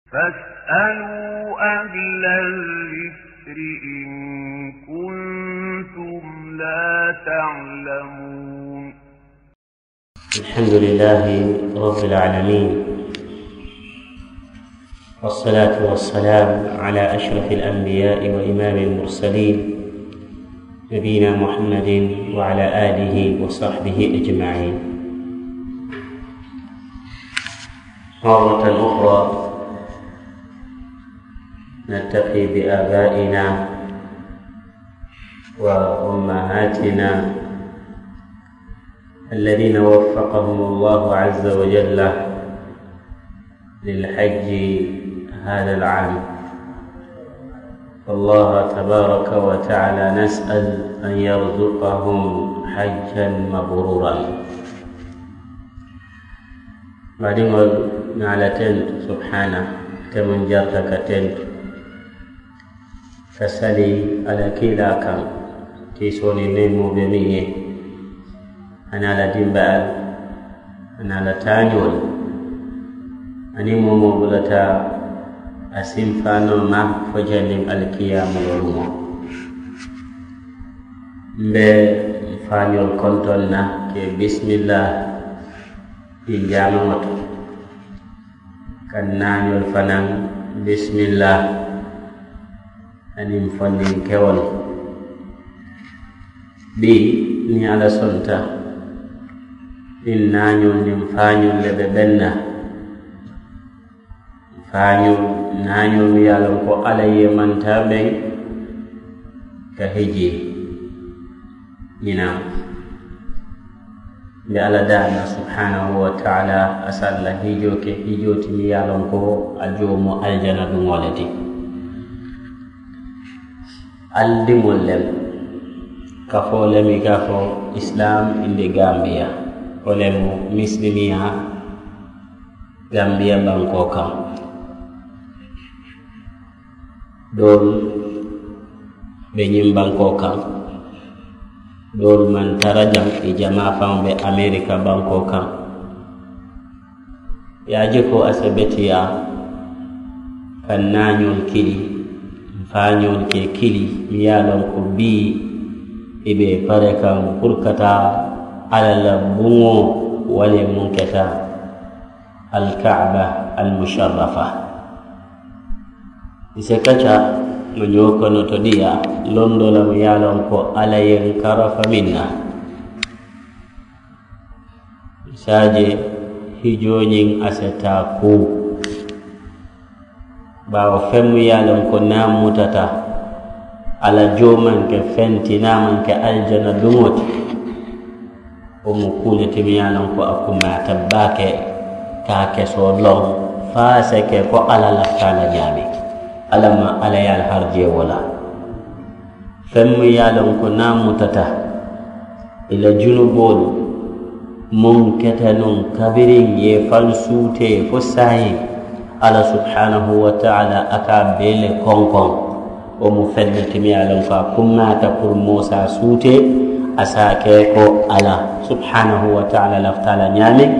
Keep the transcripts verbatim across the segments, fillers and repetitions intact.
فاسألوا أهل الذكر إن كنتم لا تعلمون. الحمد لله رب العالمين، والصلاة والسلام على أشرف الأنبياء وإمام المرسلين، نبينا محمد وعلى آله وصحبه أجمعين. مرة أخرى نلتقي بآبائنا وأمهاتنا الذين وفقهم الله عز وجل للحج هذا العام. الله تبارك وتعالى نسأل أن يرزقهم حجا مبرورا. Baadiŋolu, ǹ a la tentu subhaanahu, ate muŋ jarata ka tentu ka sali a la kiilaa kaŋ, kiisoo niŋ neemoo be meŋ ye, aniŋ a la dimbayaalu, aniŋ a la taañoolu, aniŋ moo wo moo bulata a sinfaanoo ma fo janniŋ alikiyaamoo luŋo. M̀ be m̀ faañoolu kontoŋ na ka ì bisimillaahi ñiŋ jaamaŋo to, ka naañoolu fanaa bisimillaahi aniŋ fondinkewolu. Bii, niŋ Alla sonta, ñiŋ naañoolu niŋ faañoolu le be beŋ na. Faañoolu, naañoolu ye a loŋ ko Alla ye mantaa beŋ ka hijji ñiŋ na. M̀ be Alla daani la subhaanahu wa taala, a si a la hijjoo ke, hijjoo ti meŋ ye a loŋ ko a joo mu alijana duŋo le ti. Ali diŋolu le, kafoo le meŋ i ka a fo Islam in the Gambia, wo le mu misilimiyaa Gambiya bankoo kaŋ. Doolu be ñiŋ bankoo kaŋ, doolu maŋ tara jaŋ, ì jamaa faŋo be Amerika bankoo kaŋ. Ì ye a je ko a si beteyaa ka ǹ naañoolu kili, ǹ faañoolu ke kili, meŋ ye a loŋ ko bii ì be ì pare kaŋ puru ka taa Alla la buŋo, wo le muŋ keta Alkaaba Almusharrafa. Ì si kaca ŋa ñoo kono to diyaa londoo la meŋ ye a loŋ ko Alla ye ǹ karafa meŋ na. Ì si a je hijoo ñiŋ a si taa kuu, baawo feŋ meŋ ye a loŋ ko niŋ a mutata, a la joo maŋ ke feŋ ti, niŋ a maŋ ke alijana duŋo ti. Wo mu kuu le ti meŋ ye a loŋ ko a kumata baake, ka a kesoo loŋ, fo a si ke ko Alla lafita a la ñaameŋ. Alla maŋ Alla ye a la harijee wo la. Feŋ meŋ ye a loŋ ko niŋ a mutata, ì la junuboolu muŋ keta nuŋ kabiriŋ ì ye i faŋ suutee fo saayiŋ, Alla subhaanahu wa taala a ka a bee le konkoŋ. Wo mu feŋ ne ti meŋ ye a loŋ ko a kummaata puru moo si a suutee, a si a ke ko Alla subhaanahu wa taala lafita a la ñaameŋ,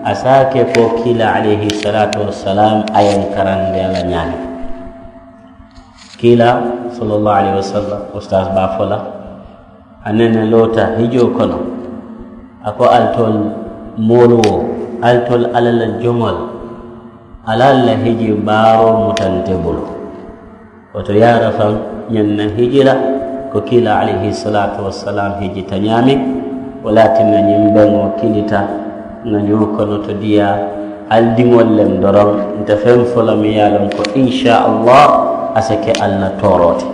a si a ke ko kiilaa alayhi salaatu wassalaam a ye ǹ karandi a la ñaameŋ. Kiilaa sallallahu alayhi wa sallam, ustaas be a fo la, a nene loota hijoo kono, a ko, alitolu moolu wo, alitolu Alla la joŋolu, Alla la hiji baaroo muta nte bulu. Wo to yaara faŋ ñaŋ na hiji la, ko kiilaa alayhi salaatu wassalaam hijita ñaameŋ. Wo le ye a tinna ñiŋ beŋo kilita ŋa ñoo kono to diyaa, ali diŋolu le doroŋ. Nte feŋ fo la meŋ ye a loŋ ko insha Allah a si ke ali la tooroo ti.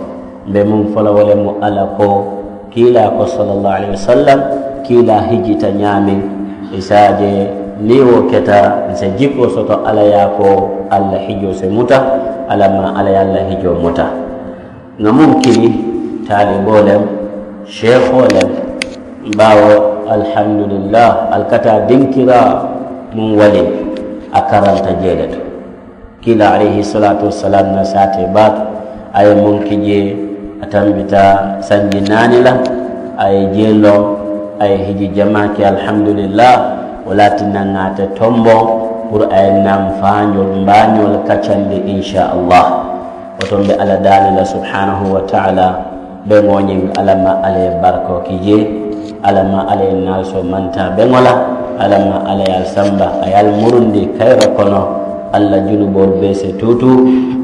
M̀ be muŋ fo la wo le mu Alla ko, kiilaa ko sallallahu alayhi wa sallam, kiilaa hijita ñaameŋ, ì si a je niŋ wo keta ǹ si jikoo soto Alla ye a ko ali la hijoo si muta. Alla maŋ Alla ye ali la hijoo muta. Ŋa muŋ kili taaliboo le, seekoo le, baawo alhamdulillahi ali ka taa dinkiraa muŋ waliŋ a karanta jee le to. Kiilaa alayhi salaatu wassalaam na saatee baake, a ye muŋ ki jee, a tambita sanji naani la, a ye jee loŋ, a ye hiji jamaa ke alhamdulillahi. Wo le ye a tinna ŋa ate tomboŋ Puru a ye nnaa mfaañoolu mbaañoolu kaccandi insa allah. Wo to mbe alla daani la subhaanahu wa taala. Beŋo ñiŋ alla ma alla ye barikoo ki jee. Alla ma alla ye nnaalu soo mantaa beŋo la. Alla ma alla ye ali samba a ye ali murundi kayira kono. Alla junuboolu bee si tuutu.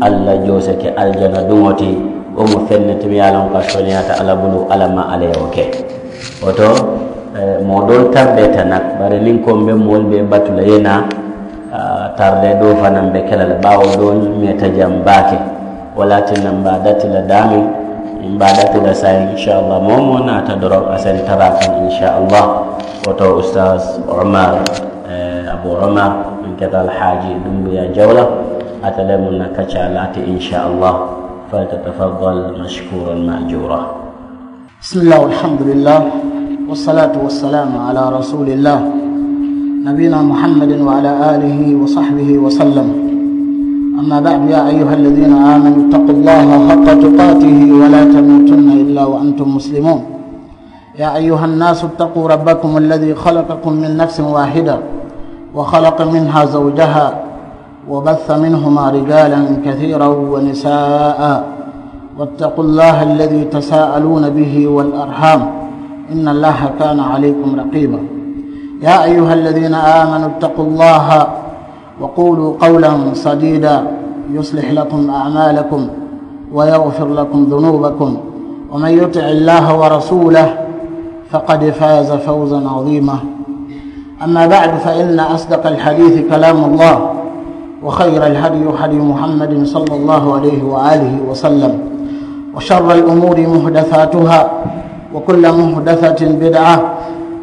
Alla joo si ke alijana duŋo ti. Wo mu feŋ ne ti miŋ ye a loŋ ko a sooneyaata alla bulu alla ma alla ye wo ke. Wo to moo doolu tardeeta nak bari niŋ ko mbe moolu be batu la ye naa. Tardee doo fanaŋ be ke la le baawo doolu meeta jaŋ baake. Wo le ye a tinna mbe a dati la daameŋ mbe a dati la saayiŋ insa allah moo moo naata doroŋ a se n tara a kaŋ insa allah. Wo to ustaas omar abu omar meŋ keta alhaaji dumbuyaa jaw la. Ate le mu n na kaccaa laati insa allah. Falitatafaddal mashkuuran maajuuraa. بسم الله والحمد لله والصلاة والسلام على رسول الله نبينا محمد وعلى آله وصحبه وسلم. أما بعد، يا أيها الذين آمنوا اتقوا الله حق تقاته ولا تموتن إلا وأنتم مسلمون. يا أيها الناس اتقوا ربكم الذي خلقكم من نفس واحدة وخلق منها زوجها وبث منهما رجالا كثيرا ونساء واتقوا الله الذي تساءلون به والأرحام إن الله كان عليكم رقيبا. يا أيها الذين آمنوا اتقوا الله وقولوا قولا سديدا يصلح لكم أعمالكم ويغفر لكم ذنوبكم ومن يطع الله ورسوله فقد فاز فوزا عظيما. أما بعد، فإن أصدق الحديث كلام الله، وخير الهدي هدي محمد صلى الله عليه وآله وسلم، وشر الأمور محدثاتها، وكل محدثة بدعة،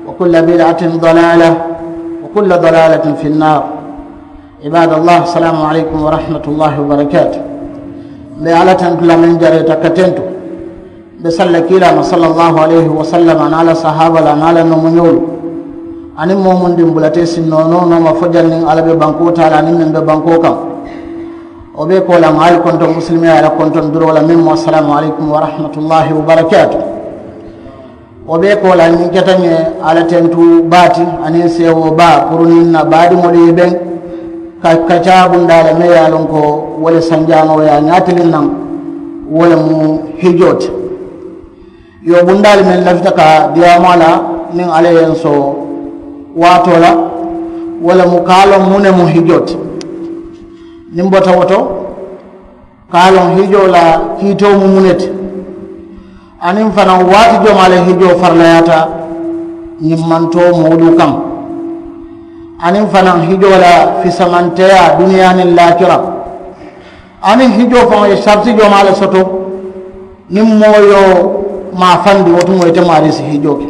وكل بدعة ضلالة، وكل ضلالة في النار. عباد الله، السلام عليكم ورحمة الله وبركاته. Mbe Alla tentu la meŋ jareeta ka tentu. Mbe salla kiilaa ma sallallahu alayhi wa sallam aniŋ a la sahaaba la aniŋ a la nomoñoolu aniŋ moo mundiŋ bulata i si noonoo nooma fo janniŋ alla be bankoo taa la aniŋ meŋ be bankoo kaŋ. Wo bee koolaa ŋa ali kontoŋ musilimeyaa la kontoŋ duroo la meŋ mu assalaamu alaykum wa rahmatullahi wa barakaatu. Wo bee koolaa ñiŋ keta ñe alla tentu baa ti aniŋ seewoo baa puru niŋ na baadiŋolu ye beŋ. Ka kacaa bundaa le meŋ ye a loŋ ko wo le sanjaanoo ye a ñaatiliŋ naŋ. Wo le mu hijoo ti. Yo bundaa le meŋ lafita ka diyaamu a la niŋ alla ye n soo waatoo la. Wo le mu ka a loŋ muŋ ne mu hijoo ti. Niŋ bota wo to ka a loŋ hijoo la kiitoo mu muŋ ne ti. Aniŋ fanaŋ waati jomaa le hijoo farilayaata ñimmantoo moolu kaŋ. Aniŋ fanaŋ hijoo la fisamanteyaa duniyaa niŋ laakira. Aniŋ hijoo faŋo ye sariti jomaa le soto. Niŋ moo ye wo maafandi wo tumoo ite maarii si hijoo ke.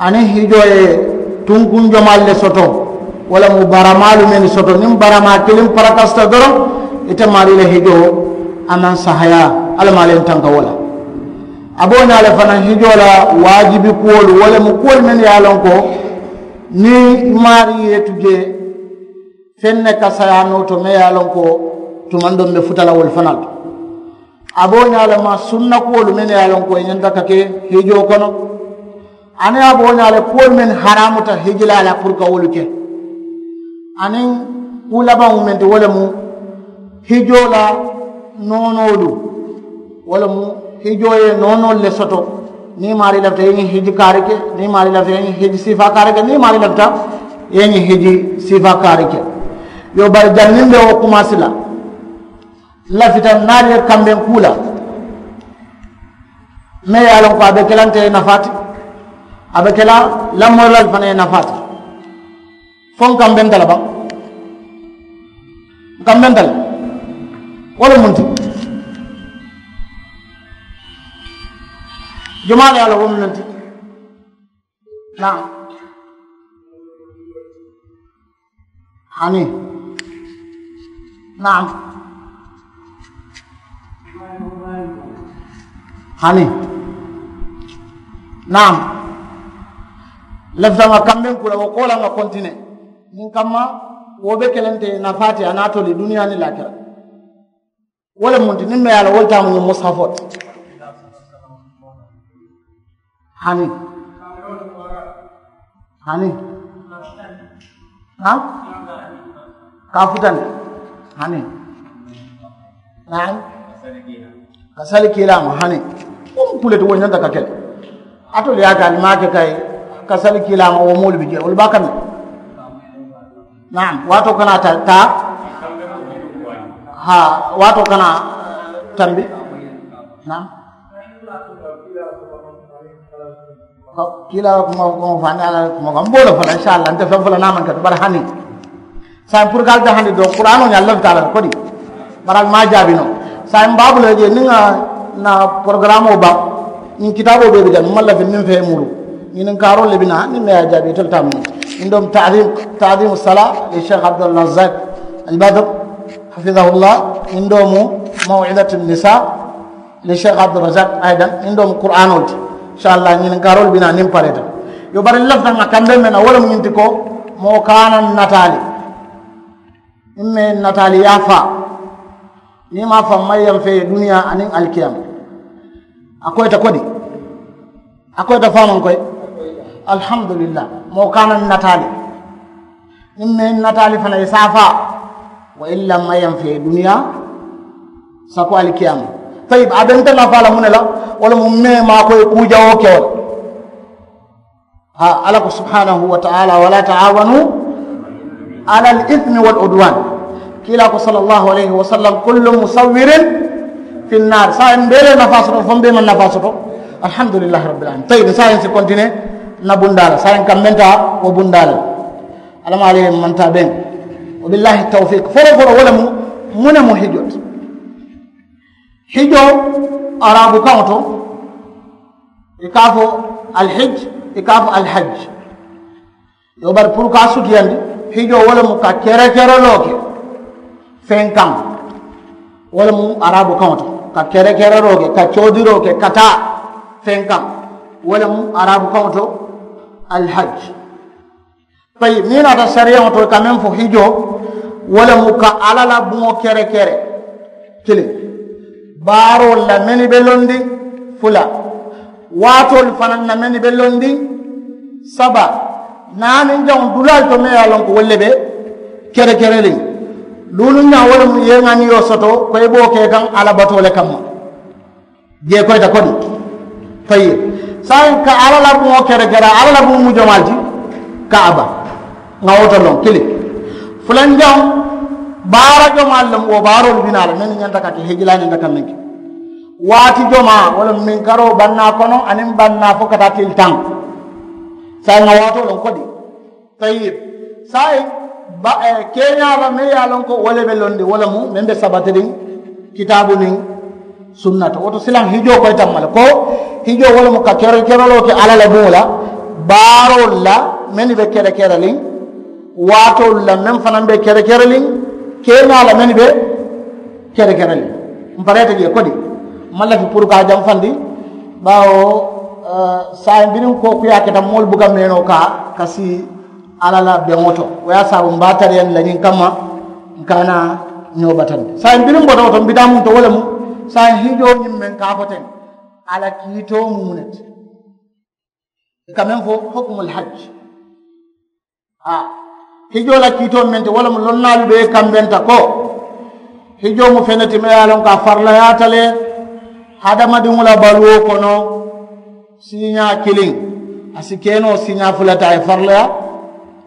Aniŋ hijoo ye tunkuŋ jomaalu le soto. Wo le mu baramaalu mennu soto niŋ baramaa kiliŋ parakasita doroŋ ite maarii le hijoo a maŋ sahayaa. Alla maa le ye n tanka wo la. A be wo ñaa le fanaŋ hijoo la waajibi kuwolu wo le mu kuwolu mennu ye a loŋ ko niŋ i maarii ye i tu jee feŋ ne ka sayaa noo to meŋ ye a loŋ ko tumandoŋ be futa la wolu fanaa le to. A be wo ñaa le ma sunna kuwolu mennu ye a loŋ ko i ñanta ka ke hijoo kono. Aniŋ a be wo ñaa le kuwolu mennu haraamuta hijilaa la puru ka wolu ke. Aniŋ kuu labaŋo meŋ ti wo le mu hijoo la noonoolu. Wo le mu hijoo ye noonoolu le soto. Niŋ i maarii lafita i ye ñiŋ hiji kaari ke niŋ i maarii lafita i ye ñiŋ hiji siifaa kaari ke niŋ i maarii lafita i ye ñiŋ hiji siifaa kaari ke. Yo bari janniŋ be wo kumaasi la n lafita n naari ye kambeŋ kuu la. Meŋ ye a loŋ ko a be ke la nte ye nafaa ti. A be ke la lamoyiraalu fanaŋ ye nafaa ti. Fo n kambenta le baŋ n kambenta le. Wo le muŋ ti jumaa le ye a loŋ wo muŋ ti. Naam. Hani. Naam. Hani. Naam. Lafita ŋa kambeŋ kula wo kola ŋa kontine. Niŋ kamma wo be kelente nafaati a naatoli duniyaa ni laakira. Wo le munti niŋ me ye a la wo le taamu ñiŋ musafoo ti. Hani. Hani. Ha. Ka futandi hani. Naam. Ka sali kiilaama hani. Wo mu kule ti wo ñanta ka kele. Atolu ye a ke ali maake kay. Ka sali kiilaama wo moolu bi jee wolu baa kami. Naam, waatoo kana taa taa. Haa, waatoo kana tambi. Naam. Kiila la kuma kuma fo aniŋ alla la kuma ko mboolo fo la insalla nte feŋ fo la naamaŋ kati bari hani. Saayiŋ puru ka ali ta hani doo kuraanoo ñaŋ lafita a la le kodi. Bari ali maŋ a jaabi noo. Saayiŋ baabu le je niŋ ŋa na porogaramoo baŋ. Ñiŋ kitaaboo bee be jaŋ maŋ lafi niŋ fee muru. Ñiŋ niŋ kaaroo le bi naa niŋ me ye a jaabi itelu taamu. Ñiŋ doo mu taadimu salaa li sheikh abdulrazak albadr, hafidahullah. Ñiŋ doo mu mawidatu nisa. Li sheikh abdulrazak aydan ñiŋ doo mu kuraanoo ti. Insalla ñininkaaroo le bi naa niŋ pareeta. Yo bari n lafita ŋa kambe meŋ na wo le mu ñiŋ ti ko moo kaana n nataali. Niŋ mee n nataali ye a faa niŋ maa faŋ maŋ yaŋ fee ye duniyaa aniŋ alikiyama. A koyita kodi. A koyita faamaŋ koyi. Alhamdulillah. Moo kaana n nataali. Niŋ mee n nataali fanaŋ i se a faa. Wa illa maŋ yaŋ fee duniyaa sako alikiyama. Tayib a be nte nafaa la muŋ ne la? Wo le mu mee maakoyi kuu jawoo ke wo le. Haa alla ko subhanahu wa taala wala taawanu ala al ismi wal udwan. Kiilaa ko sala allahu alayhi wa sallam kullu musawirin fi nnaari saayiŋ n bee le nafaa soto fo n bee maŋ nafaa soto. Alhamdulillahi rabbil alamin tayib saayiŋ si kontine. N na bundaa la saayiŋ ka menta wo bundaa la. Alla maa le ye mantaa beŋ. Wa billahi tawfiq folo folo wo le mu muŋ ne mu hijoo ti. Hijoo araabu kaŋo to i ka a fo alhij i ka a fo alhaj. Yo bari puru ka a sutiyandi hijoo wo le mu ka kerekereloo ke feŋ kaŋ. Wo le mu araabu kaŋo to ka kerekereloo ke ka coodiroo ke ka taa feŋ kaŋ. Wo le mu araabu kaŋo to alhaj. Tayib niŋ i naata sariyaŋo to i ka meŋ fo hijoo wo le mu ka alla la buŋo kere kere kiliŋ. Baaroolu la mennu be londiŋ fula. Waatoolu fanaŋ na mennu be londiŋ saba. Naaniŋ jaŋo dulaalu to meŋ ye a loŋ ko wolu le be kere kereliŋ. Luuluŋ jaŋo wo le mu i ye ŋa niŋ i ye wo soto ko i be wo ke kaŋ alla batoo le kamma. Jee koyita kodi. Tayib saayiŋ ka alla la buŋo kere kere alla la buŋo mu jomaali ti. Kaaba ŋa wo to loŋ kili. Fulanjaŋo baara jomaali le mu wo baaroolu bi naa la mennu ñanta ka ke hijilaa ñanta ka meŋ ke. Waati jomaa wo le mu minkaroo bannaa kono aniŋ bannaa fo ka taa tili taŋ. Saayiŋ ŋa waatoo loŋ kodi. Tayib saayiŋ keeñaa la meŋ ye a loŋ ko wo le be londi wo le mu meŋ be sabatiriŋ kitaabu niŋ sunna to wo to silaŋ hijoo koyi tamma le ko hijoo wo le mu ka kere kereloo ke alla la buŋo la. Baaroolu la mennu be kere kereliŋ waatoolu la meŋ fanaŋ be kere kereliŋ keeñaa la mennu be kere kereliŋ. M pareeta jee kodi m maŋ lafi puru ka a jamfandi. Baawo saayiŋ biriŋ kookuyaa keta moolu buka meenoo ka ka sii alla la beŋo to wo ye a saabu m be a tariyandi la ñiŋ kamma. N ka a naa ñoo batandi saayiŋ biriŋ bota wo to m bitaa muŋ to wo le mu saayiŋ hijoo ñiŋ meŋ ka a fo teŋ. A la kiitoo mu muŋ ne ti? I ka meŋ fo hukumul hajji. Haa hijoo la kiitoo meŋ ti wo le mu lonnaalu bee kambenta ko hijoo mu feŋ ne ti meŋ ye a loŋ ko a farilayaata le hadamadiŋo la baluwo kono. Siiñaa kiliŋ a si ke noo siiñaa fula ti a ye farilaya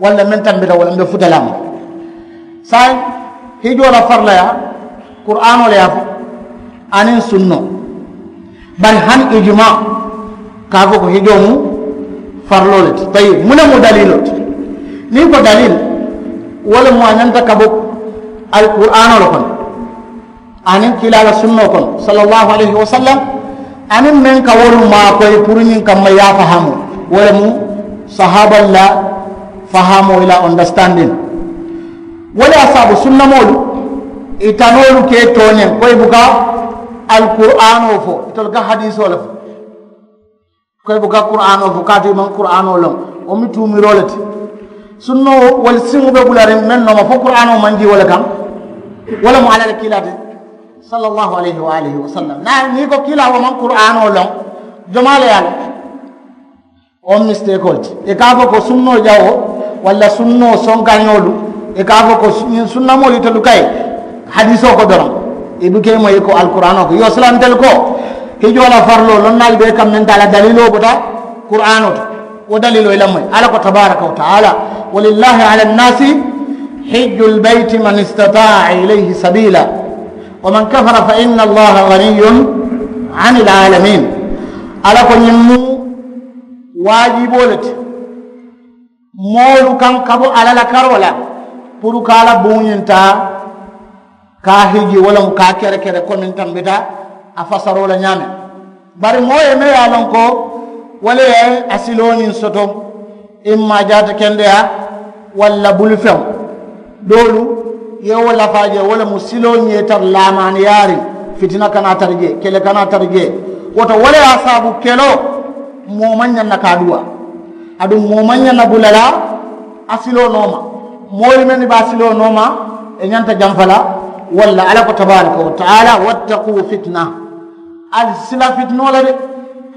walla meŋ tambita wo le mbe futa la a ma. Saayiŋ hijoo la farilayaa kuraanoo le ye a fo aniŋ sunnoo. Bari hani ijimaa ka a fo ko hijoo mu fariloo le ti tayib muŋ ne mu daliiloo ti? Niŋ ko daliili wo le mu a ñanta ka bo alkuraanoo le kono aniŋ kiilaa la sunnoo kono sala allahu alayhi wa sallam. Aniŋ meŋ ka wolu maakoyi puru ñiŋ kamma ye a fahaamoo wo le mu sahaabalu la fahaamoo i la understanding. Wo le ye a saabu sunnamoolu i tanoolu ka i tooñaŋ ko i buka alkuraanoo fo itolu ka hadiisoo le fo. Ko i buka kuraanoo fo kaatu i maŋ kuraanoo loŋ. Wo mu tuumiroo le ti sunnoo wolu siŋo be bulariŋ meŋ nooma fo kuraanoo maŋ dii wo le kaŋ. Wo le mu alla le kiilaa ti sala allahu alayhi wa alihi wa sallam naa niŋ i ko kiilaa wo maŋ kuraanoo loŋ. Jomaa le ye a loŋ? Wo mu misiteekoo le ti i ka a fo ko sunnoo jawoo walla sunnoo sonkañoolu I ka a fo ko ñiŋ sunnamoolu itelu ka ye hadiisoo ko doroŋ, i buka i moyi ko alkuraanoo ko. Yo silantelu ko hijoo la fariloo lonnaalu bee kaŋ meŋ taa la daliiloo bota kuraanoo to, wo daliiloo i la moyi. Alla ko tabaaraka wa taala, walillahi ala annaasi hijjul bayti man istataa ilayhi sabiila, wa man kafara fa inna allaha ganiyun anil aalamiin. Alla ko ñiŋ mu waajiboo le ti moolu kaŋ ka bo alla la karoo la puru ka a la buŋo ñiŋ taa ka a hiji wo le mu ka a kerekere komiŋ tambita a fasaroo la ñaameŋ. Bari moo ye meŋ ye a loŋ ko wo le ye a siloo ñiŋ soto, imma jaata kendeyaa walla bulufeŋo, doolu ye wo lafaa je wo le mu siloo ñiŋ ye tara laamaaniyaariŋ, fitina kana a tara jee, kele kana a tara jee. Wo to wo le ye a saabu keloo moo maŋ ñaŋ na ka a duwaa. Aduŋ moo maŋ ñaŋ na bula la a siloo nooma. Moolu mennu be a siloo nooma, i ñanta jamfa la. Walla alla ko tabaaraka wa taala, wattaquu fitina, ali sila fitinoo la de,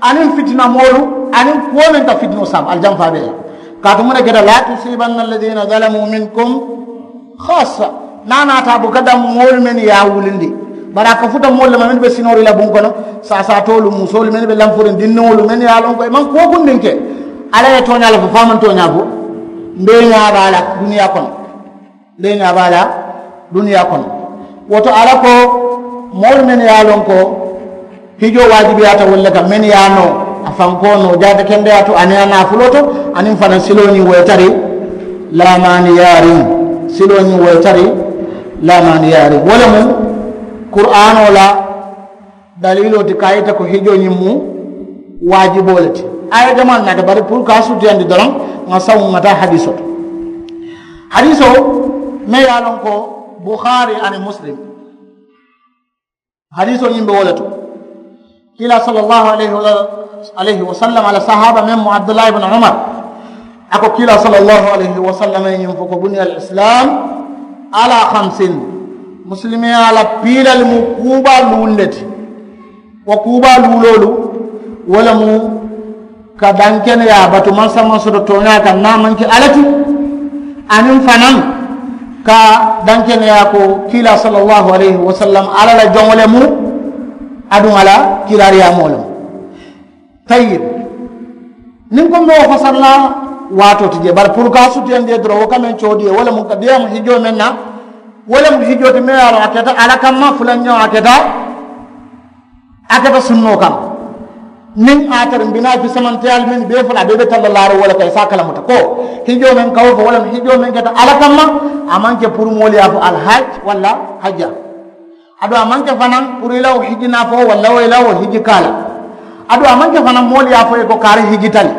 aniŋ fitinamoolu aniŋ kuwo meŋ ka fitinoo saabu ali jamfaa bee la. Kaatu muŋ ne keta, laa tusiibanna alladina zalamuu minkum khaasa, niŋ a naata a buka daŋ moolu mennu ye a wulindi, bari a ka futa moolu le ma mennu be sinoori la buŋ kono, saasaatoolu, musoolu mennu be lanfuriŋ, dinniŋolu mennu ye a loŋ ko i maŋ kuwo kundiŋ ke. Alla ye tooñaa le fo fo a maŋ tooñaa fo. Mbeeñaa be a la duniyaa kono. Mbeeñaa be a la duniyaa kono. Wo to alla ko moolu mennu ye a loŋ ko hijoo waajibiyaata wolu le kaŋ, mennu ye a noo a fankoo noo jaata kendeyaa to aniŋ a naafuloo to, aniŋ fanaŋ siloo ñiŋ wo ye tari laamaaniyaariŋ. Siloo ñiŋ wo ye tari laamaaniyaariŋ. Wo le mu kuraanoo la daliiloo ti ka a yita ko hijoo ñiŋ mu waajiboo le ti. Aaya jamaa naata bari puru ka a sutiyandi doroŋ, ŋa saŋo ŋa taa hadiisoo to. Hadiisoo meŋ ye a loŋ ko buhaari aniŋ muslim, hadiisoo ñiŋ be wo le to. Kiilaa sallallahu alayhi wa sallam a la sahaaba meŋ mu abdullahi ibnu umar, a ko kiilaa sallallahu alayhi wa sallam ye ñiŋ fo ko buniya al islam ala khamsin, musilimeyaa la piilali mu kuubaa luulu le ti. Wo kuubaa luuloolu wo le mu ka dankeneyaa batu mansa maŋ soto tooñaa kaŋ niŋ a maŋ ke alla ti, aniŋ fanaa ka dankeneyaa ko kiilaa sallallahu alayhi wa sallam alla la joŋo le mu, aduŋ a la kiilaariyaamoo le mu. Tayyib, niŋ ko mbe wo fasari la waatoo ti jee bari puru ka a sutiyandi ye doroŋ wo ka meŋ coodi ye wo le mu ka diyaamu hijoo meŋ na, wo le mu hijoo ti meŋ ye a loŋ a keta alla kamma fulanjaŋo a keta a keta sunnoo kaŋ. Niŋ a tara mbi naa fisamanteyaalu mennu bee fula a bee be talla laariŋ wo le kaŋ i si a kalamuta ko hijoo meŋ ka wo fo wo le mu hijoo meŋ keta alla kamma, a maŋ ke puru moolu ye a fo alhaj walla hajja. Aduŋ a maŋ ke fanaŋ puru i la wo hiji naafoo walla wo i la wo hiji kaala. Aduŋ a maŋ ke fanaŋ moolu ye a fo i ye ko kaari hiji tali.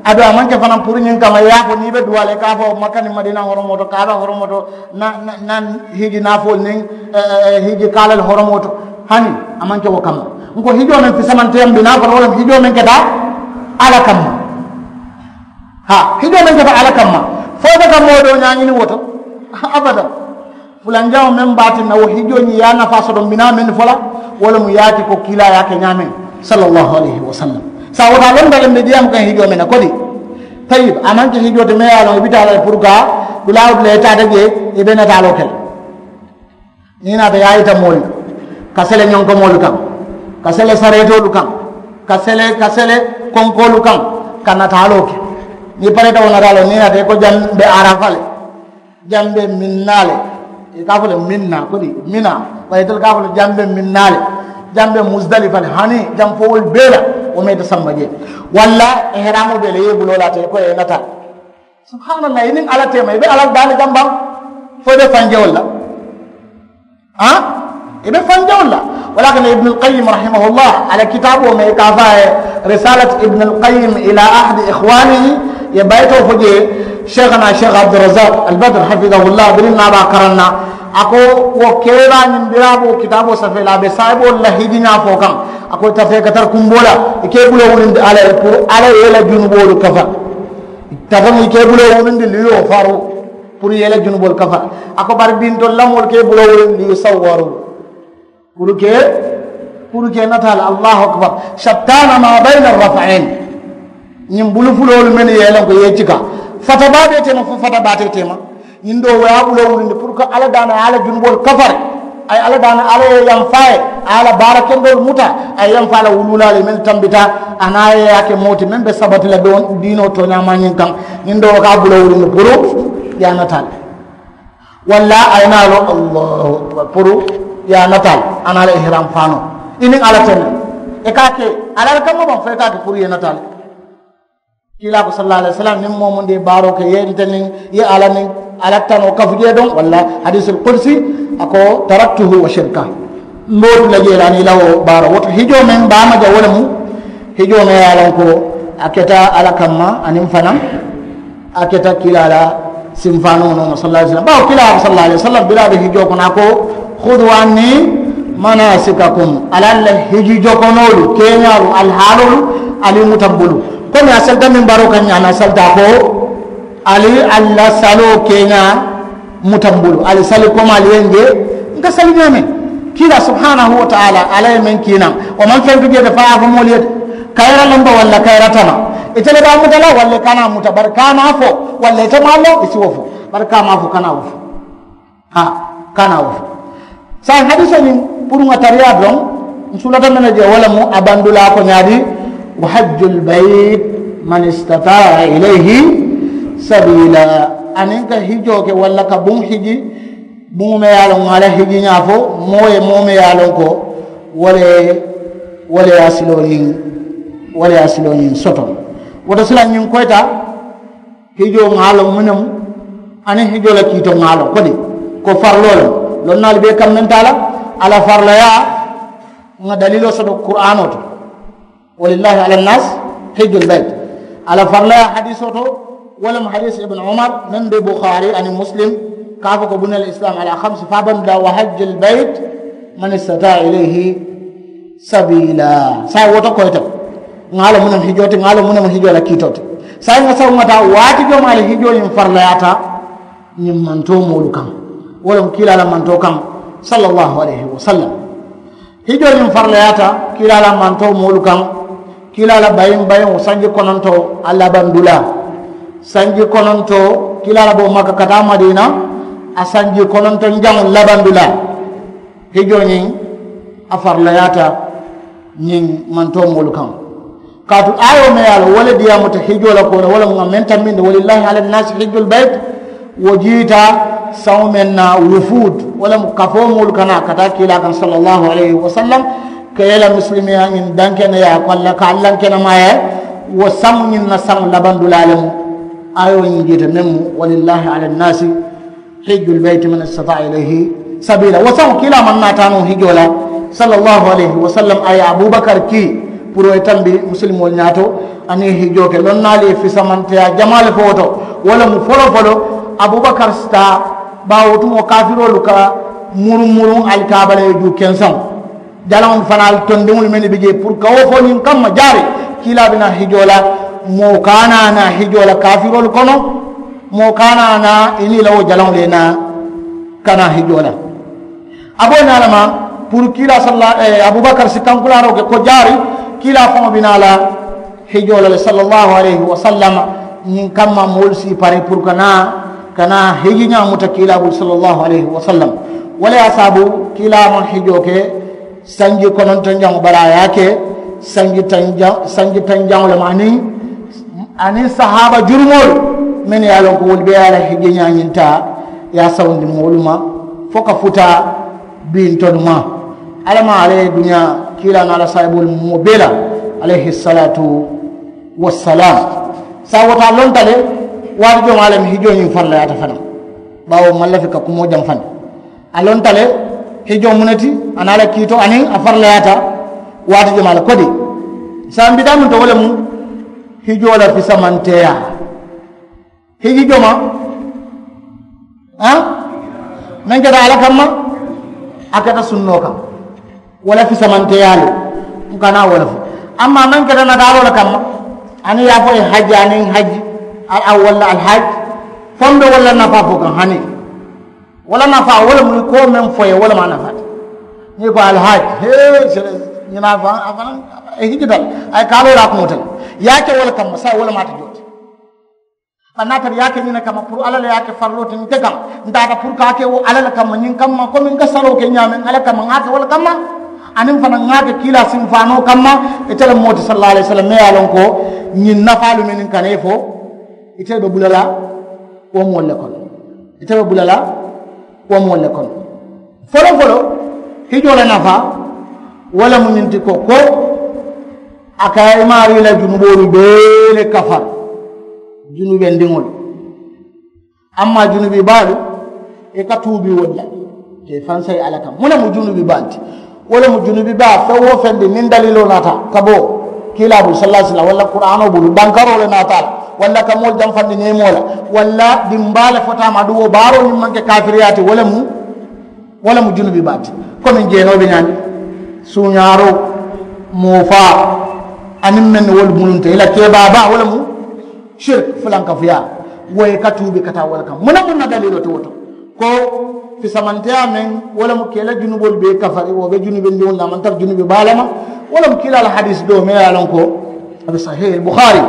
Aduŋ a maŋ ke fanaŋ puru ñiŋ kamma i ye a fo niŋ i be duwaa la i ka a fo makka niŋ madiina horomoo to kaaba horomoo to, na na na hiji naafoolu niŋ hiji kaalal horomoo to. Hani a maŋ ke wo kamma. N ko hijoo meŋ fisamanteyaŋ bi naa kono wo le mu hijoo meŋ keta alla kamma. Haa hijoo meŋ keta alla kamma, fo i be ka moo doo ñaañini wo to. Abada. Fulanjaŋo meŋ be a tinna wo hijoo ñiŋ ye a nafaa soto mbi naa meŋ fo la, wo le mu ye a ti ko kiilaa ye a ke ñaameŋ, sallallahu alayhi wa sallam. Saawo taa loŋ daliŋ be diyaamu kaŋ hijoo meŋ na kodi. Tayib, a maŋ ke hijoo ti meŋ ye a loŋ i bi taa la le puru ka dulaa wo dulaa i taata jee, i be nataaloo ke la. Niŋ i naata i ye a yita moolu ka sele ñonkomoolu kaŋ, ka sele sareetoolu kaŋ, ka sele ka sele konkoolu kaŋ, ka nataaloo ke. Niŋ i pareeta wo nataaloo niŋ i naata i ko jaŋ be arafa le, jaŋ be minnaa le, i ka a fo le minnaa kodi minaa, bari itelu ka a fo le jaŋ be minnaa le, jaŋ be musdalifa le hani jaŋ fowolu bee la. Wo meeta samba jee walla ihraamoo bee le i ye i buloo laata i ko i ye nataa. Subhaanallah, i niŋ alla teema i be alla daani jambaŋ fo i be fanjewolu la. Haa i be fanjewolu la. Wala kana ibnu alqayim rahimahullah a la kitaaboo meŋ i ka a fo a ye risalat ibnu alqayim ila ahadi ikhwanihi, ye bayitoo fo jee sheikhanaa sheikh abdurazak albadr hafidahullah biriŋ naa be a karaŋ na. A ko wo keebaa ñiŋ biraaboo kitaaboo safee la a be saayiboolu la hijiñaa fo kaŋ. A ko i tafee ka tara kumboo la i ka i buloo wulindi alla ye puru alla ye i la junuboolu kafa. Tata mu i ke i buloo wurindi liyo faru puru i ye i la junuboolu kafa. A ko bari bintolu la moolu ke i buloo wurindi liyo sawaru puru ke puru ke nata la allahu akbar. Shattana ma bayna arrafain. Ñiŋ bulu fuloolu mennu ye i loŋ ko i ye i cika fata baatee teema fo fata baatee teema. Ñiŋ doo wo ye a buloo wulindi puru ka alla daana ye a la junuboolu kafari. A ye alla daana alla ye yamfaa ye a ye a la baara kendoolu muta. A ye yamfaa la wuluulaalu ye mennu tambita a niŋ a ye a ke moo ti meŋ be sabati la diinoo tooñaa maa ñiŋ kaŋ. Ñiŋ doo wo ka a buloo wulindi puru ye a nataali walla a ye naa loŋ allahu akbar puru ye a nataali a niŋ a la ihiraam faanoo i niŋ alla teŋ. I ka a ke alla le kamma baŋ fo i ka a ke puru ye nataali. Kiilaa ko sallallaahu alayhi wasallam niŋ moo mundi ye baaroo ke ye nte niŋ ye alla niŋ alla tanoo kafu jee doŋ walla hadiisul kudusi. A ko taraktuhu wa shirka. Mbe wo tu la jee la aniŋ i la wo baaroo wo to hijoo meŋ baama ja wo le mu hijoo meŋ ye a loŋ ko a keta alla kamma aniŋ fanaŋ a keta kiilaa la simfaanoo nooma sallallaahu alayhi wasallam bawo kiilaa ko sallallaahu alayhi wasallam bilaa be hijoo kono a ko hudu anni manasikakum ali ali la hiji jokonoolu keeñaalu ali haaloolu ali muta m bulu. Komi a salita mimbaroo kaŋ ñaami a salita a ko ali ali la saloo keeñaa muta m bulu ali sali komi ali ye n je n ka sali ñaameŋ. Kiilaa subhaanahu wa taala alla ye meŋ kiinaŋ wo maŋ fentu jee de fo a ye a fo moolu ye de kayira lomba walla kayira tama. Ite le be a muta la walla i kana a muta bari ka a naa fo walla ite maŋ a loŋ i si wo fo bari ka a maŋ a fo kana a wo fo. Haa kana a wo fo. Saayiŋ hadiisoo ñiŋ puru ŋa tariyaa doroŋ n sulata meŋ na jee wo le mu a bandulaa ko ñaadi wa hajjul bayit man istataa ilayhi sabiila. Aniŋ ka hijoo ke walla ka buŋ hiji buŋo meŋ ye a loŋ ŋa a la hijiñaa fo moo ye moo meŋ ye a loŋ ko wo le wo le ye a siloo ñiŋ wo le ye a siloo ñiŋ soto. Wo to silaŋ ñiŋ koyita hijoo ŋa a loŋ muŋ ne mu aniŋ hijoo la kiitoo ŋa a loŋ kodi ko fariloo le mu. Lonnaalu bee kammentaa la a la farilayaa ŋa daliiloo soto kuraanoo to. Walillahi ala nnaasi hijjul bayt. A la farilayaa hadiisoo to wo le mu hadiisi ibnu umar meŋ be bukhaari aniŋ muslim ka a fo ko buniyal islaamu ala khamsi fo a bandaa wa hajjul bayt man istataa ilayhi sabiila. Saayiŋ wo to koyita ŋa a loŋ muŋ ne mu hijoo ti ŋa a loŋ muŋ ne mu hijoo la kiitoo ti. Saayiŋ ŋa saŋ ŋa taa waati jomaalu hijoo ñiŋ farilayaata ñiŋ mantoo moolu kaŋ wo le mu kiilaa la mantoo kaŋ sallallaahu alayhi wa sallam. Hijoo ñiŋ farilayaata kiilaa la mantoo moolu kaŋ. Kiilaa la bayiŋ bayiŋo sanji konontoo a labandulaa sanji konontoo kiilaa la boo makka ka taa madiina a sanji konontonjaŋo labandulaa. Hijoo ñiŋ a farilayaata ñiŋ mantoo moolu kaŋ. Kaatu aayoo meŋ ye a loŋ wo le diyaamuta hijoo la koo la wo le mu ŋa meŋ tambindi walillahi ala nnaasi hijjul bayt. Wo jiita saŋo meŋ na wufuud wo le mu kafoo moolu ka naa ka taa kiilaa kaŋ sallallaahu alayhi wa sallam ka ye la musilimeyaa ñiŋ dankeneyaa ko alla ka alla kenemaaya. Wo saŋo ñiŋ na saŋo labandulaa le mu. Aayoo ñiŋ jiita meŋ mu walillahi ala nnaasi hijjul bayti man istataa ilayhi sabiila wo saŋo kiilaa maŋ naa taa noo hijoo la sallallaahu alayhi wa sallam a ye abubakar kii puru ye tambi musilimoolu ñaato. Aniŋ hijoo ke lonnaalu ye fisamanteyaa jamaa le fo wo to. Wo le mu foloo foloo abubakar si taa baawo wo tumoo kaafiroolu ka muruŋ muruŋ ali ka a bala ye juu kensaŋo jalaŋolu fanaa tondiŋolu mennu be jee puru ka wo fo ñiŋ kamma jaari kiilaa be naa hijoo la. Moo ka a naa naa hijoo la kaafiroolu kono moo ka a naa naa i niŋ i la wo jalaŋolu ye naa ka naa hijoo la. A be wo naa le ma puru kiilaa salla abubakar si kankulaaroo ke ko jaari kiilaa faŋo be naa la hijoo la le sallallaahu alayhi wa sallam. Ñiŋ kamma moolu si i pari puru ka naa ka naa hijiñaa muta kiilaa bulu sallallaahu alayhi wa sallam. Wo le ye a saabu kiilaa maŋ hijoo ke sanji konontonjaŋo bari a ye a ke sanji tanjaŋo le ma aniŋ aniŋ sahaaba jurumoolu mennu ye a loŋ ko wolu be ye a la hijiñaa ñiŋ taa ye a sawundi moolu ma fo ka futa. Biŋ tolu ma alla maŋ alla ye duniyaa kiilaa niŋ a la saayiboolu moo bee la alayhi salaatu wassalaamu. Saayiŋ wo to a lonta le waati jomaa le mu hijoo ñiŋ farilayaata fanaŋ. Baawo maŋ lafi ka kumoo jaŋ fanaŋ a lonta le hijoo mu ne ti a niŋ a la kiitoo aniŋ a farilayaata waati jomaa le kodi. Saayiŋ bitaa muŋ to wo le mu hijoo la fisamanteeyaa. Hiji jomaa meŋ keta alla kamma a keta sunnoo kaŋ. Wo le fisamanteeyaa le n kana wo le fo amma meŋ keta nataaloo le kamma aniŋ ye a fo ye hajji aniŋ hajji al awwal la alhajji. Fo mbe wo le la nafaa fo kaŋ hani wo le nafaa wo le mu i ko meŋ fo ye wo le mu a nafaa ti. Niŋ i ko alhajji hee sere ñinaa faŋ a fanaŋ. Hijji dal a ye kaaloo la a kuŋo te le ye a ke wo le kamma saayiŋ wo le mu a ti joote. Bari niŋ a tara i ye a ke ñiŋ ne kamma puru alla le ye a ke farloo ti nte kaŋ, nte a ta puru ka a ke wo alla le kamma ñiŋ kamma komi n ka saloo ke ñaameŋ alla kamma ŋa a ke wo le kamma. Aniŋ fanaŋ ŋa a ke kiilaa sinfaanoo kamma. Ite le moo ti sallallaahu alayhi wasallam me ye a loŋ ko ñiŋ nafaalu mennu ka ne fo ite be bula la wo moolu le kono. Ite be bula la wo moolu le kono. Foloo foloo hijoo la nafaa wo le mu ñiŋ ti ko ko a ka i maarii la junuboolu bee le kafari. Junubendiŋolu amma junubi baalu i ka tuubi wolu la. Ke fansayi alla kaŋ muŋ ne mu junubi baalu ti? Wo le mu junubi baa feŋ wo feŋ di niŋ daliiloo naata ka bo kiilaa bulu sallallaahu alayhi wasallam walla kuraanoo bulu bankaroo le naata a la walla ka moolu jamfandi neemoo la walla dimbaa le fota a ma aduŋ wo baaroo ñiŋ maŋ ke kaafiriyaa ti wo le mu wo le mu junubi baa ti. Komi jeenoo be ñaami suuñaaroo moo faa aniŋ meŋ ne wolu mulunta i la kee baa baa wo le mu siriki fulankafuyaa. Wo ye ka tuubi ka taa wo le kaŋ muŋ ne muŋ na daliiloo ti wo to ko fisamanteyaa meŋ wo le mu ka i la junuboolu bee kafari wo be junubendiŋolu le a maŋ tara junubi baa le ma. Wo le mu kiilaa la hadiisi doo meŋ ye a loŋ ko a be sahiihil buxaari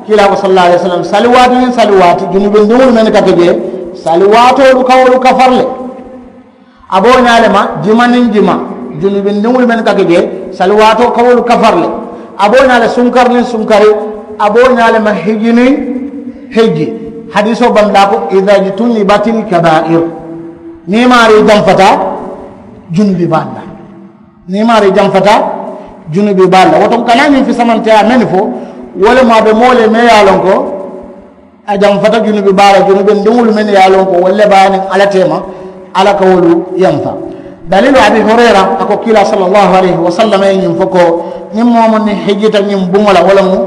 kiilaa ko sallallaahu alayhi wasallam sali waati niŋ sali waati junubendiŋolu mennu ka ke jee sali waatoolu ka wolu kafari le. A be wo ñaa le ma jima niŋ jima junubindiŋolu mennu ka ke jee sali waatoo ka wolu kafari le. A be wo ñaa le sunkari niŋ sunkari a be wo ñaa le ma hijji niŋ hijji. Hadiisoo bandulaa ko idha jtunibatil kabaa'ir niŋ i maarii jamfata junubi baalu la. Niŋ i maarii jamfata junubi baalu la wo to n kana ñiŋ fisamanteyaa mennu fo wo le mu a be moo le meŋ ye a loŋ ko a jamfata junubi baa la junubindiŋolu mennu ye a loŋ ko wolu le be a niŋ alla teema alla ka wolu yamfa. Daliilu abi hurayra a ko kiilaa sallallaahu alayhi wasallam ye ñiŋ fo ko niŋ moo mu niŋ hijjita ñiŋ buŋo la wo le mu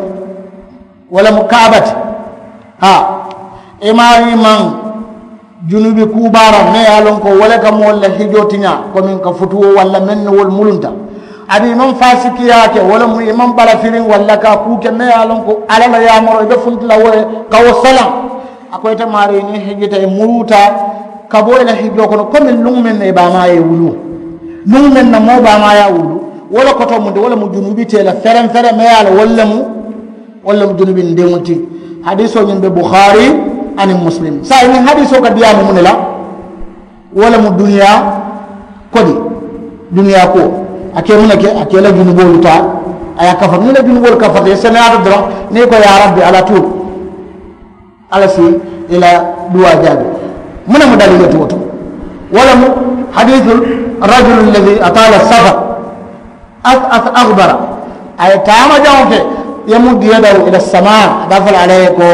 wo le mu kaaba ti. Haa i maarii maŋ junubi kuu baaraŋ meŋ ye a loŋ ko wo le ka moolu la hijoo tiñaa komiŋ ka futuwo walla meŋ ne wolu mulunta. Aduŋ i maŋ faasikiyaa ke wo le mu i maŋ balafiriŋ walla ka a kuu ke meŋ ye a loŋ ko alla la yaamaroo i be funti la wo ye ka wo salaŋ. A ko ite maarii niŋ hijita i muruuta ka bo i la hijoo kono komiŋ luŋ meŋ na i baamaa ye i wuluu luŋ meŋ na moo baamaa ye a wuluu. Wo le kotoo muŋ ti wo le mu junubi tee la fereŋ fereŋ meŋ ye a loŋ wo le mu wo le mu junubindiŋo ti. Hadiisoo ñiŋ be buxaari aniŋ musilimu saayiŋ ñiŋ hadiisoo ka diyaamu muŋ ne la? Wo le mu duniyaa kodi duniyaa kuwo a ke muŋ ne ke a ke i la junuboolu taa a ye a kafari niŋ i la junuboolu kafarita i seneyaata doroŋ niŋ i ko yaa rabbi alla tuubu alla si i la duwaa jaabi. Muŋ ne mu daliiloo ti wo to? Wo le mu hadiisu rajulu alladi ataala safar. As'as akhbara a ye taama jaŋo ke. Yamuddu yadahu ila samaa a be a fo la alla ye ko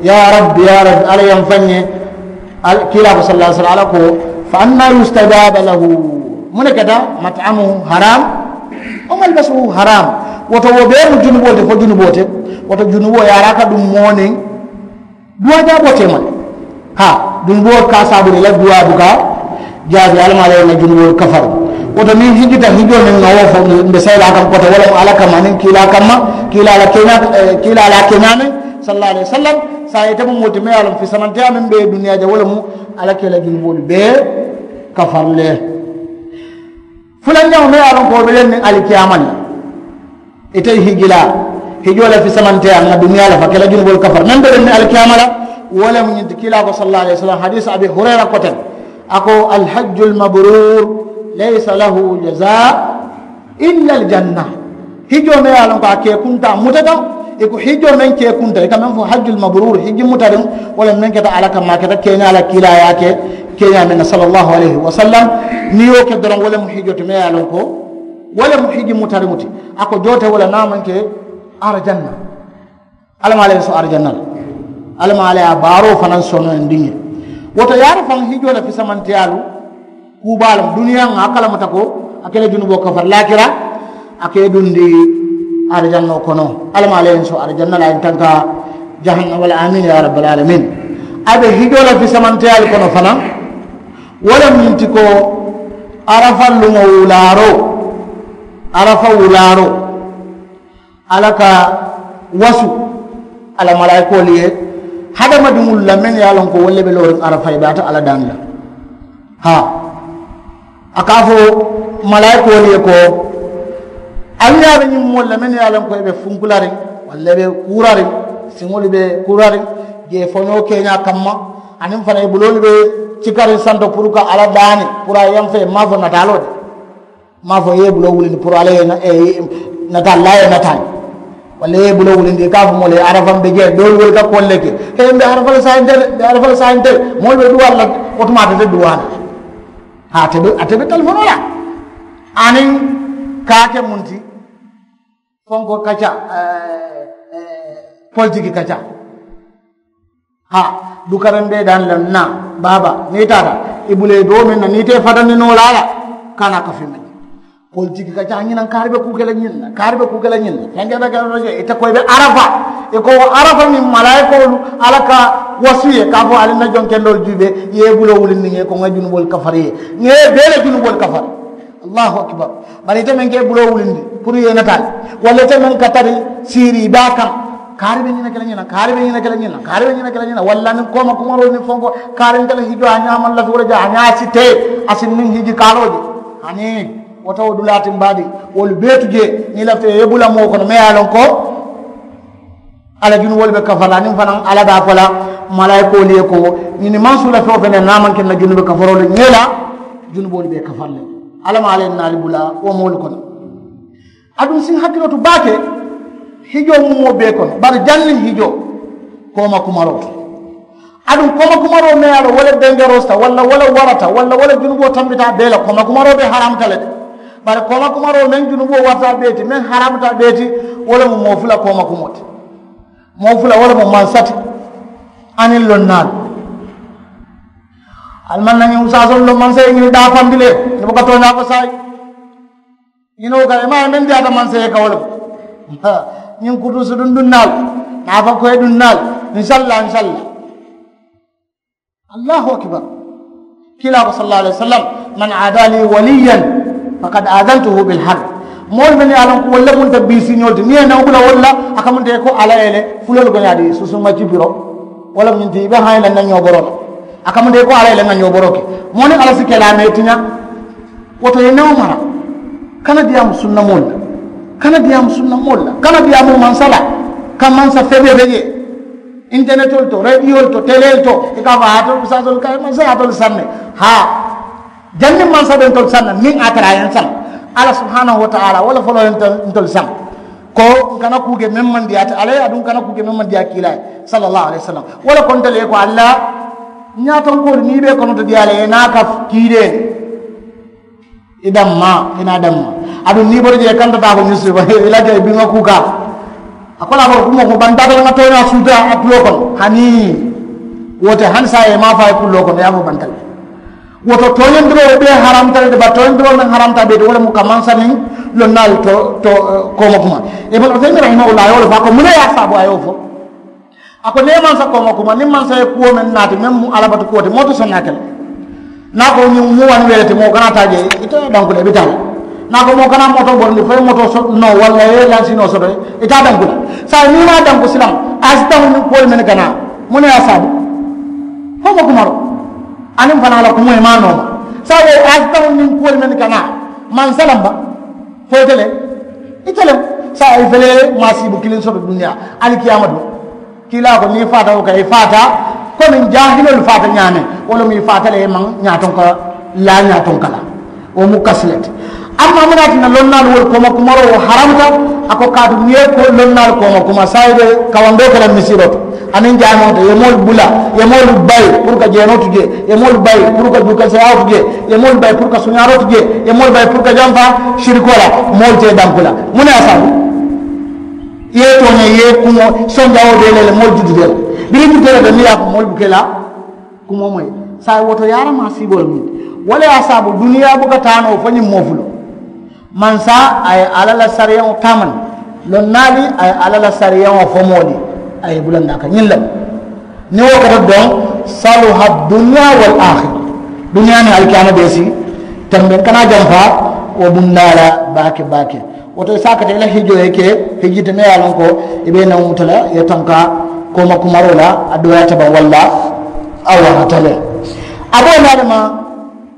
yaa rabbi yaa rabbi alla ye n faŋ ye. Kiilaa ko sallallaahu alayhi wasallam alla ko fa anna yustajaba lahu? Muŋ ne keta mat'amuhu haram wa malbasuhu haram. Woto wo bee mu junuboo te fo junuboo te. Woto junuboo yaara ka duŋ moo niŋ duwaa jaaboo teema le. Haa duŋ buwo ka saaburi la duwaa buka jaabi alla maa la ye na junuboo kafari. Woto niŋ hijita hijoo niŋ ŋa wo fo mbe sayilaa kaŋ koto wala mu alla kamma niŋ kiilaa kamma kiilaa la keñaa kiilaa la keñaa meŋ sallallaahu alayhi wasallam. Saayiŋ ite mu moo ti meŋ ye a loŋ fisamanteyaa meŋ be duniyaa je wo le mu alla ke la junuboolu bee kafari le. Fulanjaŋo meŋ ye a loŋ ko wo be leŋ niŋ alikiyaama le. Ite hijilaa hijoo le fisamanteyaa ŋa duniyaa le fa ke la junuboolu kafari meŋ be leŋ niŋ alikiyaama la. Wo le mu ñiŋ ti kiilaa ko sallallaahu alayhi wasallam hadiisi abi hurayra koteŋ a ko alhajju almabrur laysa lahu jazaa illa aljanna. Hijoo meŋ ye a loŋ ko a kee kunta a mutata i ko hijoo meŋ kee kunta i ka meŋ fo hajju almabrur hiji mutariŋ. Wo le meŋ keta alla kamma a keta keeñaa la kiilaa ye a ke keeñaa meŋ na sallallaahu alayhi wasallam. Niŋ i ye wo ke doroŋ wo le mu hijoo ti meŋ ye a loŋ ko wo le mu hiji mutariŋo ti. A ko joo te wo le niŋ a maŋ ke arajanna. Alla maa alla ye so arajanna la. Alla maa alla ye a baaroo fanaŋ sonoyandiŋ ye. Woto yaara faŋ hijoo le fisamanteyaalu kuu baa le mu duniyaa ŋa a kalamuta ko a ke le junuboo kafari laakira a ka i dundi arijannoo kono. Alla maa alla ye n so arijanna la a ye n tanka jahannama la amiin yaa rabbil aalamiin. A be hijoo la fisamanteyaalu kono fanaŋ. Wo le mu ñiŋ ti ko arafa luŋo wulaaroo arafa wulaaroo alla ka wasu a la malaayikoolu ye hadamadiŋolu la mennu ye a loŋ ko wolu le be looriŋ arafa i be a ta alla daani la. Haa a ka a fo malaayikoolu ye ko ali ye a be ñiŋ moolu la mennu ye a loŋ ko i be funkulariŋ walla i be kuurariŋ siŋolu be kuurariŋ Ye foñoo keeñaa kamma, aniŋ fanaŋ i buloolu be cikariŋ santo puru ka alla daani puru a ye yaŋ fee maŋ a fo nataaloo de. Maŋ a fo i ye i buloo wulindi puru alla ye nataalaa ye nataani. Walla i ye i buloo wulindi i ka a fo moolu ye arafa mbe jee doolu wolu ka koolu le ke. He mbe arafa le saayinte le mbe arafa le saayinte le. Moolu be duwaa la. Wo tumaa te te duwaa la. Haa a te be a te be talifonoo la. Aniŋ ka a ke muŋ ti? Fonko kaca. Politiki kaca. Haa dukaraŋ bee daani la naa baaba niŋ i taata i bula i doo meŋ na niŋ i te i fatandi noo la a la. Ka naa ka fii meŋ politiki kaca ñinaŋ kaari be kuu ke la ñiŋ na kaari be kuu ke la ñiŋ na. Feŋ keta ke la je ite ko i be arafa. I ko wo arafa niŋ malaayikoolu alla ka wasu ye ka a fo ali na joŋ kendoolu juubee i ye i buloo wulindi ŋe ko ŋa junuboolu kafari ye ŋe bee la junuboolu kafari. Allahu akibar. Bari ite meŋ ka i buloo wulindi puru i ye i nataali walla ite meŋ ka tari siiri i baa kaŋ. Kaari be ñina ke la ñina kaari be ñina ke la ñina kaari be ñina ke la ñina walla niŋ kooma kumaroo niŋ fonko kaari nte la hijoo a ñaamaŋ lafi wo le je a ñaa si tee. A si niŋ hiji kaaloo je. Hani wo tawo dulaa ti mbaadi wolu bee tu jee niŋ i lafita i ye i bula moo kono meŋ ye a loŋ ko alla junuboolu be kafa la aniŋ fanaŋ alla be a fo la malaayikoolu ye ko ñini maŋ suu la feŋ wo feŋ ne niŋ a maŋ ke n na junubu kafaroo le ñee la. Junuboolu be kafa la le. Alla maŋ alla ye naali bula wo moolu kono. Aduŋ siŋ hakkiloo tu baake. Hijoo muŋ moo bee kono bari janniŋ hijoo kooma kumaroo to. Aduŋ kooma kumaroo meŋ ye a loŋ wo le dengeroo sita walla wo le warata walla wo le junuboo tambita a bee la kooma kumaroo be haramuta le de. Bari kooma kumaroo meŋ junuboo warata a bee ti meŋ haramuta a bee ti. Wo le mu moo fula kooma kumoo ti. Moo fula wo le mu mansa ti aniŋ lonnaalu. Ali maŋ na ñiŋ usaasoolu loŋ mansa ye ñiŋ daafandi le. Ì buka tooñaa ko saayi. Ñinoo ka i maŋ ye meŋ diyaata mansa ye ka wo le mu ñiŋ kutuusu dundunnaalu. Naafa koyi dunnaalu. Insalla insalla. Allahu akibar. Kiilaa ko salla allahu alayhi wasallam, man aada li waliyan fakad aadantuhu bil harb. Moolu mennu ye a loŋ ko wolu le munta biisiñoolu ti niŋ i ye newo bula wolu la. A ka munta i ko alla ye le fuloolu goñaa di susuma cibiro. Wo le mu ñiŋ ti i be hayi la n na ñooboroo la. A ka munta i ko alla ye le n na ñooboroo ke. Moo niŋ alla si ke la a mee tiña. Wo to i ye newo mara. Kana diyaamu sunna moolu la. Kana diyaamu sunna moolu la kana diyaamu mansa la. Ka mansa febee be jee internetoolu to rediyoolu to teleelu to i ka a fo a ye tolu usaasoolu ka ye mansa ye a tolu saŋ ne. Haa janniŋ mansa be ntolu saŋ na niŋ a tara a ye n saŋ. Alla subahanahu wataala wo le foloo ye ntolu saŋ. Ko n kana kuu ke meŋ maŋ diyaa ti alla ye aduŋ n kana kuu ke meŋ maŋ diyaa kiilaa ye. Salla allahu alayhi wasallam. Wo le ko ntelu ye ko alla ñaatonkoolu niŋ i be i konoto diyaa la i ye naa ka kiidee. I damma i naa damma. Aduŋ niŋ i bota jee i kanta taa ko ñiŋ suuba i la jee i biŋa kuukaa. A ko la a bota kumoo ko bantaata la ŋa tooñaa suuta a tuloo kono hanii. Wo te hani saayiŋ i maŋ a fo a ye kulloo kono i ye a fo banta le. Wo to tooñandiroo wo bee haramta le de bari tooñandiroo meŋ haramta bee ti wo le mu ka mansa niŋ lonnaalu to to kooma kuma. Ibnu usaymin rahimahullah a ye wo le fo a ko muŋ ne ye a saabu a ye wo fo. A ko niŋ i mansa kooma kuma niŋ mansa ye kuwo meŋ naati meŋ mu alla batu kuwo ti moo te soŋ na a ke le. Niŋ a ko ñiŋ mu wani wele ti moo kana taa jee ite danku le i bi taa le. Niŋ a ko moo kana mootoo bondi fo i ye mootoo noo walla i ye lansinoo soto i taa danku le. Saayiŋ niŋ i maŋ a danku silaŋ a ye si taŋo ñiŋ kuwolu mennu ka naa. Muŋ ne ye a saabu? Kooma kumaroo aniŋ fanaa la kumoo i maŋ a nooma. Saayiŋ a ye si taŋo ñiŋ kuwolu mennu ka naa maŋ salanba. Fo ite le ite le. Saayiŋ i fele maasiibu kiliŋ soto duniyaa alikiyaama duŋ. Kiilaa ko niŋ i faata wo ka i faata komiŋ jaahiloolu faata ñaameŋ. Wo le mu i faata le i maŋ ñaatonka laa ñaatonka la. Wo mu kasi le ti. Amma muŋ ne ye a tinna lonnaalu wolu kooma kumaroo wo haramuta. A ko kaatu niŋ i ye ko lonnaalu kooma kuma saayiŋ i be kawandoo ke la misiroo to aniŋ jaameŋo to i ye moolu bula i ye moolu bayi puru ka jeenoo tu jee i ye moolu bayi puru ka juukanseyaawo tu jee i ye moolu bayi puru ka suñaaroo tu jee i ye moolu bayi puru ka jamfaa sirikoo la. Moolu te i danku la muŋ ne ye a saabu? I ye tooña i ye kumoo sonjawoo bee le le moolu jututeela biriŋ juteela be miŋ ye a fo moolu bukeela. Kumoo moyi saayiŋ wo to yaaramaa siiboo le mu wo le ye a saabu duniyaa buka taa noo fo ñiŋ moo fuloo. Mansa a ye alla la sariyaŋo taamandi. Lonnaali a ye alla la sariyaŋo fo moo le a ye i bulandi a ka ñiŋ le mu. Niŋ wo keta doŋ saluha duniyaa wal aakhira. Duniyaa niŋ alikiyaama bee si tembeŋ kana jamfaa. Wo bundaa la baake baake. Wo to i si a kata i la hijoo ye ke hijii te meŋ ye a loŋ ko i be i naŋ muta la i ye tanka kooma kumaroo la a dooyaata baŋ walla a warata le. A be wo ñaama.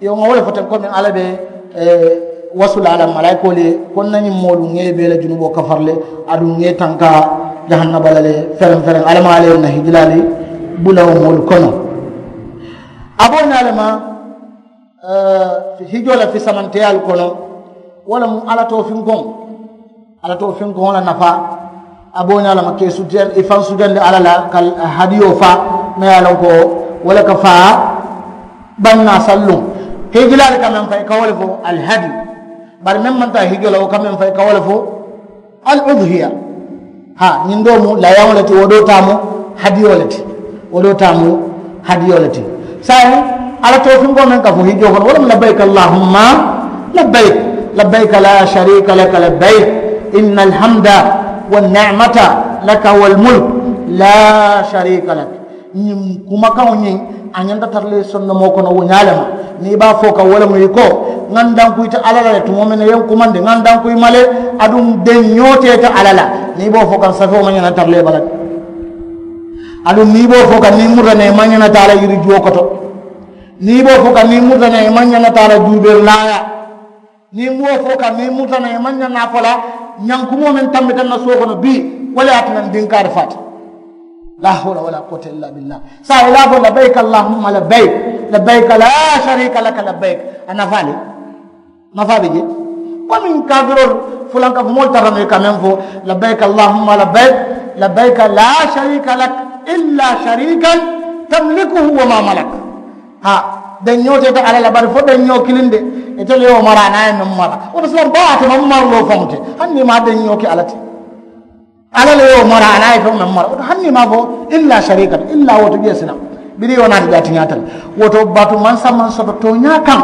Yo ŋa wo le fo teŋ komi alla be wasu la a la malaayikoolu ye ko n na ñiŋ moolu ŋa ye bee la junuboo kafari le. Aduŋ ŋa ye tanka jahannaba la le fereŋ fereŋ alla maŋ alla ye n na hijilaa le. Bulawo moolu kono. A be wo ñaa le ma hijoo la fisamanteyaalu kono. Wo le mu alla toofinkoŋ. Alla toofinkoŋo la nafaa a be wo ñaa le ma ka i sutiya i faŋ sutiyandi alla la ka hadiyoo faa. Meŋ ye a loŋ ko wo le ka faa bannaa salluŋ. Hijilaalu ka meŋ fo i ka wo le fo alhadi. Bari meŋ maŋ taa hijoo la wo ka meŋ fo i ka wo le fo al udhiya. Haa ñiŋ doo mu layaŋo le ti wo doo taa mu hadiyoo le ti. Wo doo taa mu hadiyoo le ti. Saayiŋ alla toofinkoo meŋ ka fo hijoo kono wo le mu labbayka allahumma labbayk, labbayka laa shariika laka labbayk, inna alhamda wanni'mata laka walmulk, laa shariika lak. Ñiŋ kumakaŋo ñiŋ a ñanta tara le sondomoo kono wo ñaa le ma. Niŋ i be a fo ka wo le mu i ko ŋa n dankuyi te alla la le tumoo meŋ ne ye n kumandi ŋa n dankuyi ma le. Aduŋ deŋ ñoo te ite alla la. Niŋ i be wo fo kaŋ safewo maŋ ñana tara le bala. Aduŋ niŋ i be wo fo kaŋ niŋ i murita ne i maŋ ñana taa la yiri juwo koto. Niŋ i be wo fo kaŋ niŋ i murita ne i maŋ ñana taa la juuberi laaya. Niŋ i mu wo fo kaŋ niŋ i murita ne i maŋ ñana fo la ñankumoo meŋ tambita n na suwo kono bii. Wo le ye a tinna n dinkaari faata. Laa hawla walaa kuwata illaa billaa. Saayiŋ i la a fo labbayka allahumma labbayk, labbayka laa shariika laka labbayk. A nafaa le nafaa be jee. Komiŋ kaafiroolu fulankafumoolu tara nuŋ i ka meŋ fo, labbayka allahumma labbayk, labbayka laa shariika lak, illaa shariikan tamlikuhu wa maa malak. Haa deŋ ñoo te ite alla la bari fo deŋ ñoo kiliŋ de. Ite le ye wo mara a niŋ a ye meŋ mara wo te silaŋ baa ate maŋ maraloo faŋo te. Hani niŋ i maŋ a deŋ ñoo ke alla te. Alla le ye wo mara a niŋ a ye feŋo meŋ mara wo to hani niŋ i maŋ a fo illaa shariikan illaa wo to jee silaŋ. Biriŋ i wo naati jaatiñaata le. Wo to batu mansa maŋ soto tooñaa kaŋ.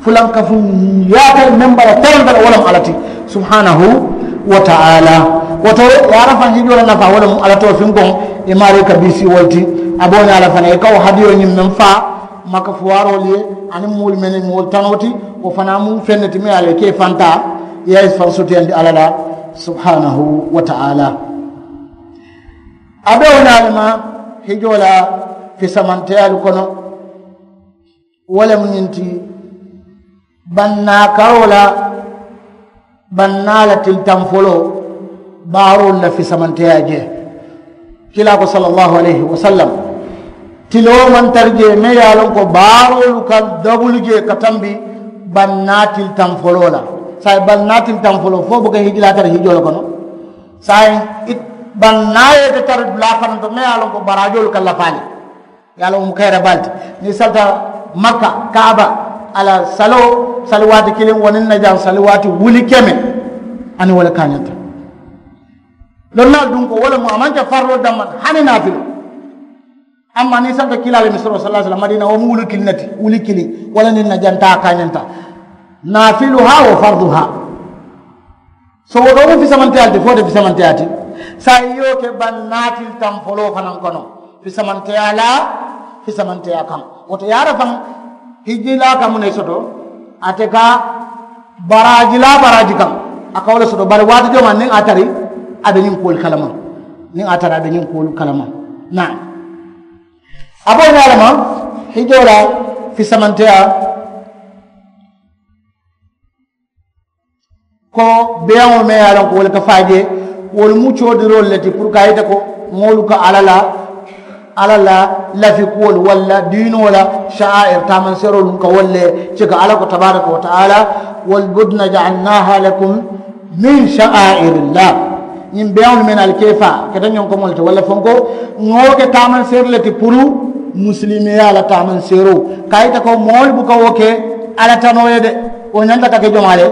Fulankafuŋ yaata meŋ bara taranta le wo le mu alla ti subhaanahu wa taala. Wo to yaarafaŋ hijoo la nafaa wo le mu alla toofinkoŋ. I maarii ka biisii wo le ti. A be wo ñaa la fanaa i ka wo hadiyoo ñiŋ meŋ faa maka fuwaaroolu ye aniŋ moolu mennu moolu tanoo ti. Wo fanaa mu feŋ ne ti meŋ ye a la i ka i fantaa i ye a i faŋ sutiyandi alla la subhaanahu wa taala. A be wo ñaa le ma hijoo la fisamanteyaalu kono. Wo le mu ñiŋ ti bannaa karoo la bannaa la tili taŋ foloo baaroolu la fisamanteyaa jee. Kiilaa ko sallallahu alayhi wa sallam tiloo maŋ tara jee meŋ ye a loŋ ko baaroolu ka dabulu jee ka tambi bannaa tili taŋ foloo la. Saayiŋ bannaa tili taŋ foloo fo buka hijilaa tara hijoo le kono. Saayiŋ bannaa ye ite tara dulaa fanaŋ to meŋ ye a loŋ ko baraajoolu ka lafaa le. Ye a loŋ wo mu kayira baa le ti niŋ i salita makka kaaba a la saloo sali waati kiliŋ wo niŋ na jaŋ sali waati wuli keme. Aniŋ wo le kaañanta. Lonnaalu duŋ ko wo le mu a maŋ ke farloo damma hani naafiloo. Amma niŋ i salita kiilaa le misiroo sallaa sallam madiina wo mu wuli kiliŋ ne ti wuli kiliŋ. Wo le niŋ na jaŋ taa kaañanta. Naafiluhaa wa farduhaa. So wo doo mu fisamanteyaa le ti fo wo te fisamanteyaa ti. Saayiŋ i ye wo ke bannaa tili taŋ foloo fanaŋ kono fisamanteyaa la fisamanteyaa kaŋ. Wo to yaara faŋ hijjilaa ka muŋ ne soto ate ka baraajilaa baraaji kaŋ. A ka wo le soto bari waati jooma niŋ a tari a be ñiŋ kuwolu kalama. Niŋ a tari a be ñiŋ kuwolu kalama. Naa a be wo ñaa le ma hijjoo la fisamanteyaa ko beeyaŋolu meŋ ye a loŋ ko wolu ka faa jee wolu mu coodiroolu le ti puru ka a yita ko moolu ka alla la alla la lafi kuwolu walla diinoo la sa'aa'ir taamanseeroolu ka wolu le cika alla ko tabaaraka wa taala. Wal budna ja'alnaaha lakum min sa'aa'iri llah. Ñiŋ beeyaŋolu meŋ ali ka i faa keta ñoŋ komo le ti walla fonko ŋa wo ke taamanseeri le ti puru musilimeyaa la taamanseeroo ka a yita ko moolu buka wo ke alla tanoo ye de. Wo ñanta ka ke jomaa le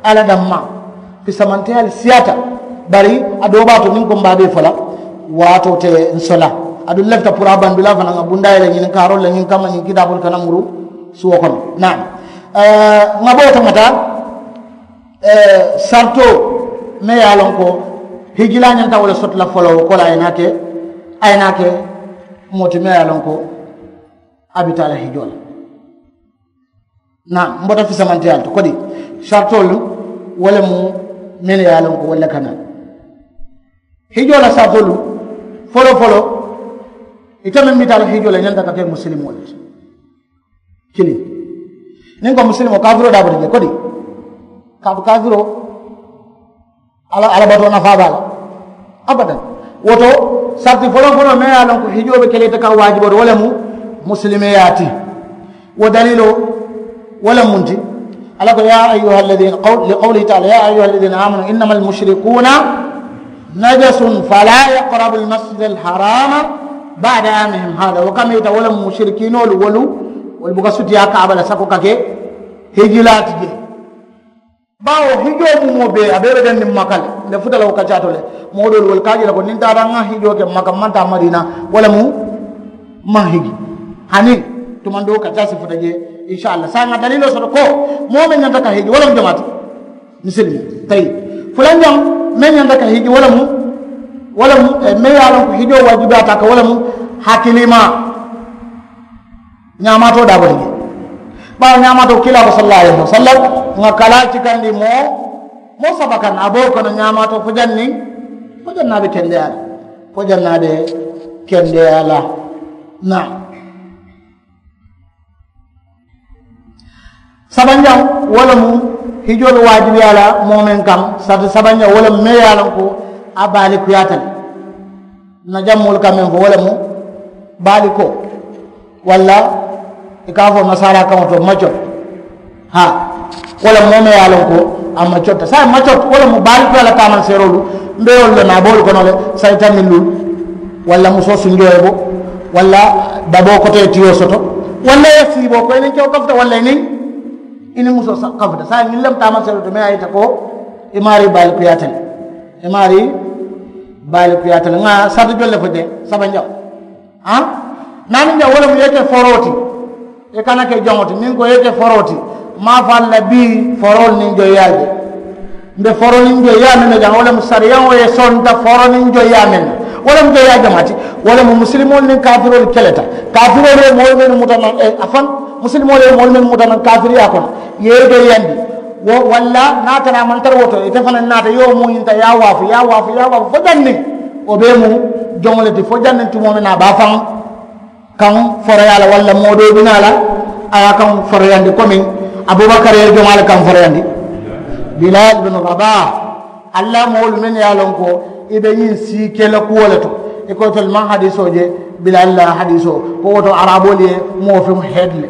alla dammaa. Fisamanteyaalu siyaata bari a doo baa to niŋ ko m̀ be a bee fo la waatoo te ǹ sola. Aduŋ ǹ lafita puru a bandulaa fanaŋ ŋa bundaa ye le ñiŋ kaaroolu le ñiŋ kamma ñiŋ kitaaboolu kana muru suwo kono. Naam. Ŋa boo tamata saritoo meŋ ye a loŋ ko hijilaa ñanta wo le soto la foloo wo ko la a ye naa ke a ye naa ke moo ti meŋ ye a loŋ ko a bi taa la hijoo la. Naa m̀ bota fisamanteyaa le to kodi saritoolu wo le mu mennu ye a loŋ ko wolu le ka naa. Hijoo la saritoolu foloo foloo ite meŋ bi taa la hijoo la i ñanta ka ke musilimoo le ti. Kiliŋ niŋ ko musilimoo kaafiroo daa bota jee kodi kaatu kaafiroo alla alla batoo nafaa be a la. Abadan. Wo to, sarti foloŋ foloŋ meŋ ye a loŋ ko hijoo be ke la ite kaŋ waajiboo ti wo le mu musilimeyaa ti. Wo daliiloo wo le mu munti? Alla ko, yaa ayyuha alladina, li qawlihi taala, yaa ayyuha alladina amanu innama almushrikuuna najasun fala yaqrabu almasjida alharama bada amihim hada. Wo kamita wo le mu musirikiinoolu wolu, wolu buka sutiyaa kaaba la sako ka ke hijilaa ti jee. Baawo hijoo bumoo bee a bee be daŋ niŋ maka le. Nte futa la wo kaccaa to le. Moo doolu wolu ka a je le ko niŋ n taata n ŋa hijoo ke maka n maŋ taa madiina, wo le mu maŋ hiji. Hani tumandoo kaccaa si futa jee. Insaallaah saayiŋ ŋa daliiloo soto ko moo meŋ ñanta ka hiji wo le mu jamaati misilimi tayi. Fulanjaŋ meŋ ñanta ka hiji wo le mu wo le mu meŋ ye a loŋ ko hijoo waajibiyaata a kaŋ wo le mu hakilimaa. Ñaamaatoo daa bota jee. Baawo ñaamaatoo kiilaa ko sallallaahu alayhi wasallam, ŋa kalaa cikandi moo moo saba kaŋ a be wo kono ñaamaatoo fo janniŋ fo janniŋ a be kendeyaa la. Fo janniŋ a be kendeyaa la. Naa sabanjaŋ wo le mu hijoo be waajibiyaa la moo meŋ kaŋ. Sati sabanjaŋ wo le mu meŋ ye a loŋ ko a baalikuyaata le. N na jaŋ moolu ka meŋ fo wo le mu baalikoo, walla i ka a fo nasaaraa kaŋo to macot. Haa, wo le mu moo meŋ ye a loŋ ko a macot saayiŋ macot wo le mu baalikuyaa la taamanseeroolu. Mbe ye wolu le naa boolu kono le sayita millu, walla musoo sunjoo ye bo, walla daboo koto ye tiyoo soto, walla i ye siiboo ko i niŋ kewo kafuta walla i niŋ i niŋ musoo kafuta saayiŋ ñiŋ le mu taamanseeroolu to meŋ ye a yita ko i maarii baalikuyaata le. I maarii baalikuyaata le ŋa sarita jolu le fo jee sabanjaŋo. Haa, naaniŋ jaŋ wo le mu i ye ke foroo ti. I kana ke joŋo ti niŋ ko i ye ke foroo ti. Maŋ a fo a la bii foroolu niŋ joyiyaa je. Mbe foro niŋ joyiyaa meŋ na jaŋ wo le mu sariyaŋo ye sonta foro niŋ joyiyaa meŋ na. Wo le mu joyiyaa jamaa ti. Wo le mu musilimoolu niŋ kaafiroolu keleta. Kaafiroolu ye moolu mennu muta naŋ a faŋ musilimoolu ye moolu mennu muta naŋ kaafiriyaa kono i ye i joyiyandi. Wo walla niŋ a tara a maŋ tara wo to ite fanaŋ naata i ye wo muuyinta i ye a waafu i ye a waafu i ye a waafu fo janniŋ. Wo bee mu joŋo le ti fo janniŋ tumoo meŋ na a be a faŋ kaŋ foroyaa la walla moo doo bi naa la a ye a kaŋ foroyandi komiŋ abubakar ye jomaa le kaŋ foroyandi. Bilal binu rabah, alla moolu mennu ye a loŋ ko i be ñiŋ sii ke la kuwo le to. I ko itolu maŋ hadiisoo je bilal la hadiisoo ko wo to araboolu ye moo feŋ heedi le.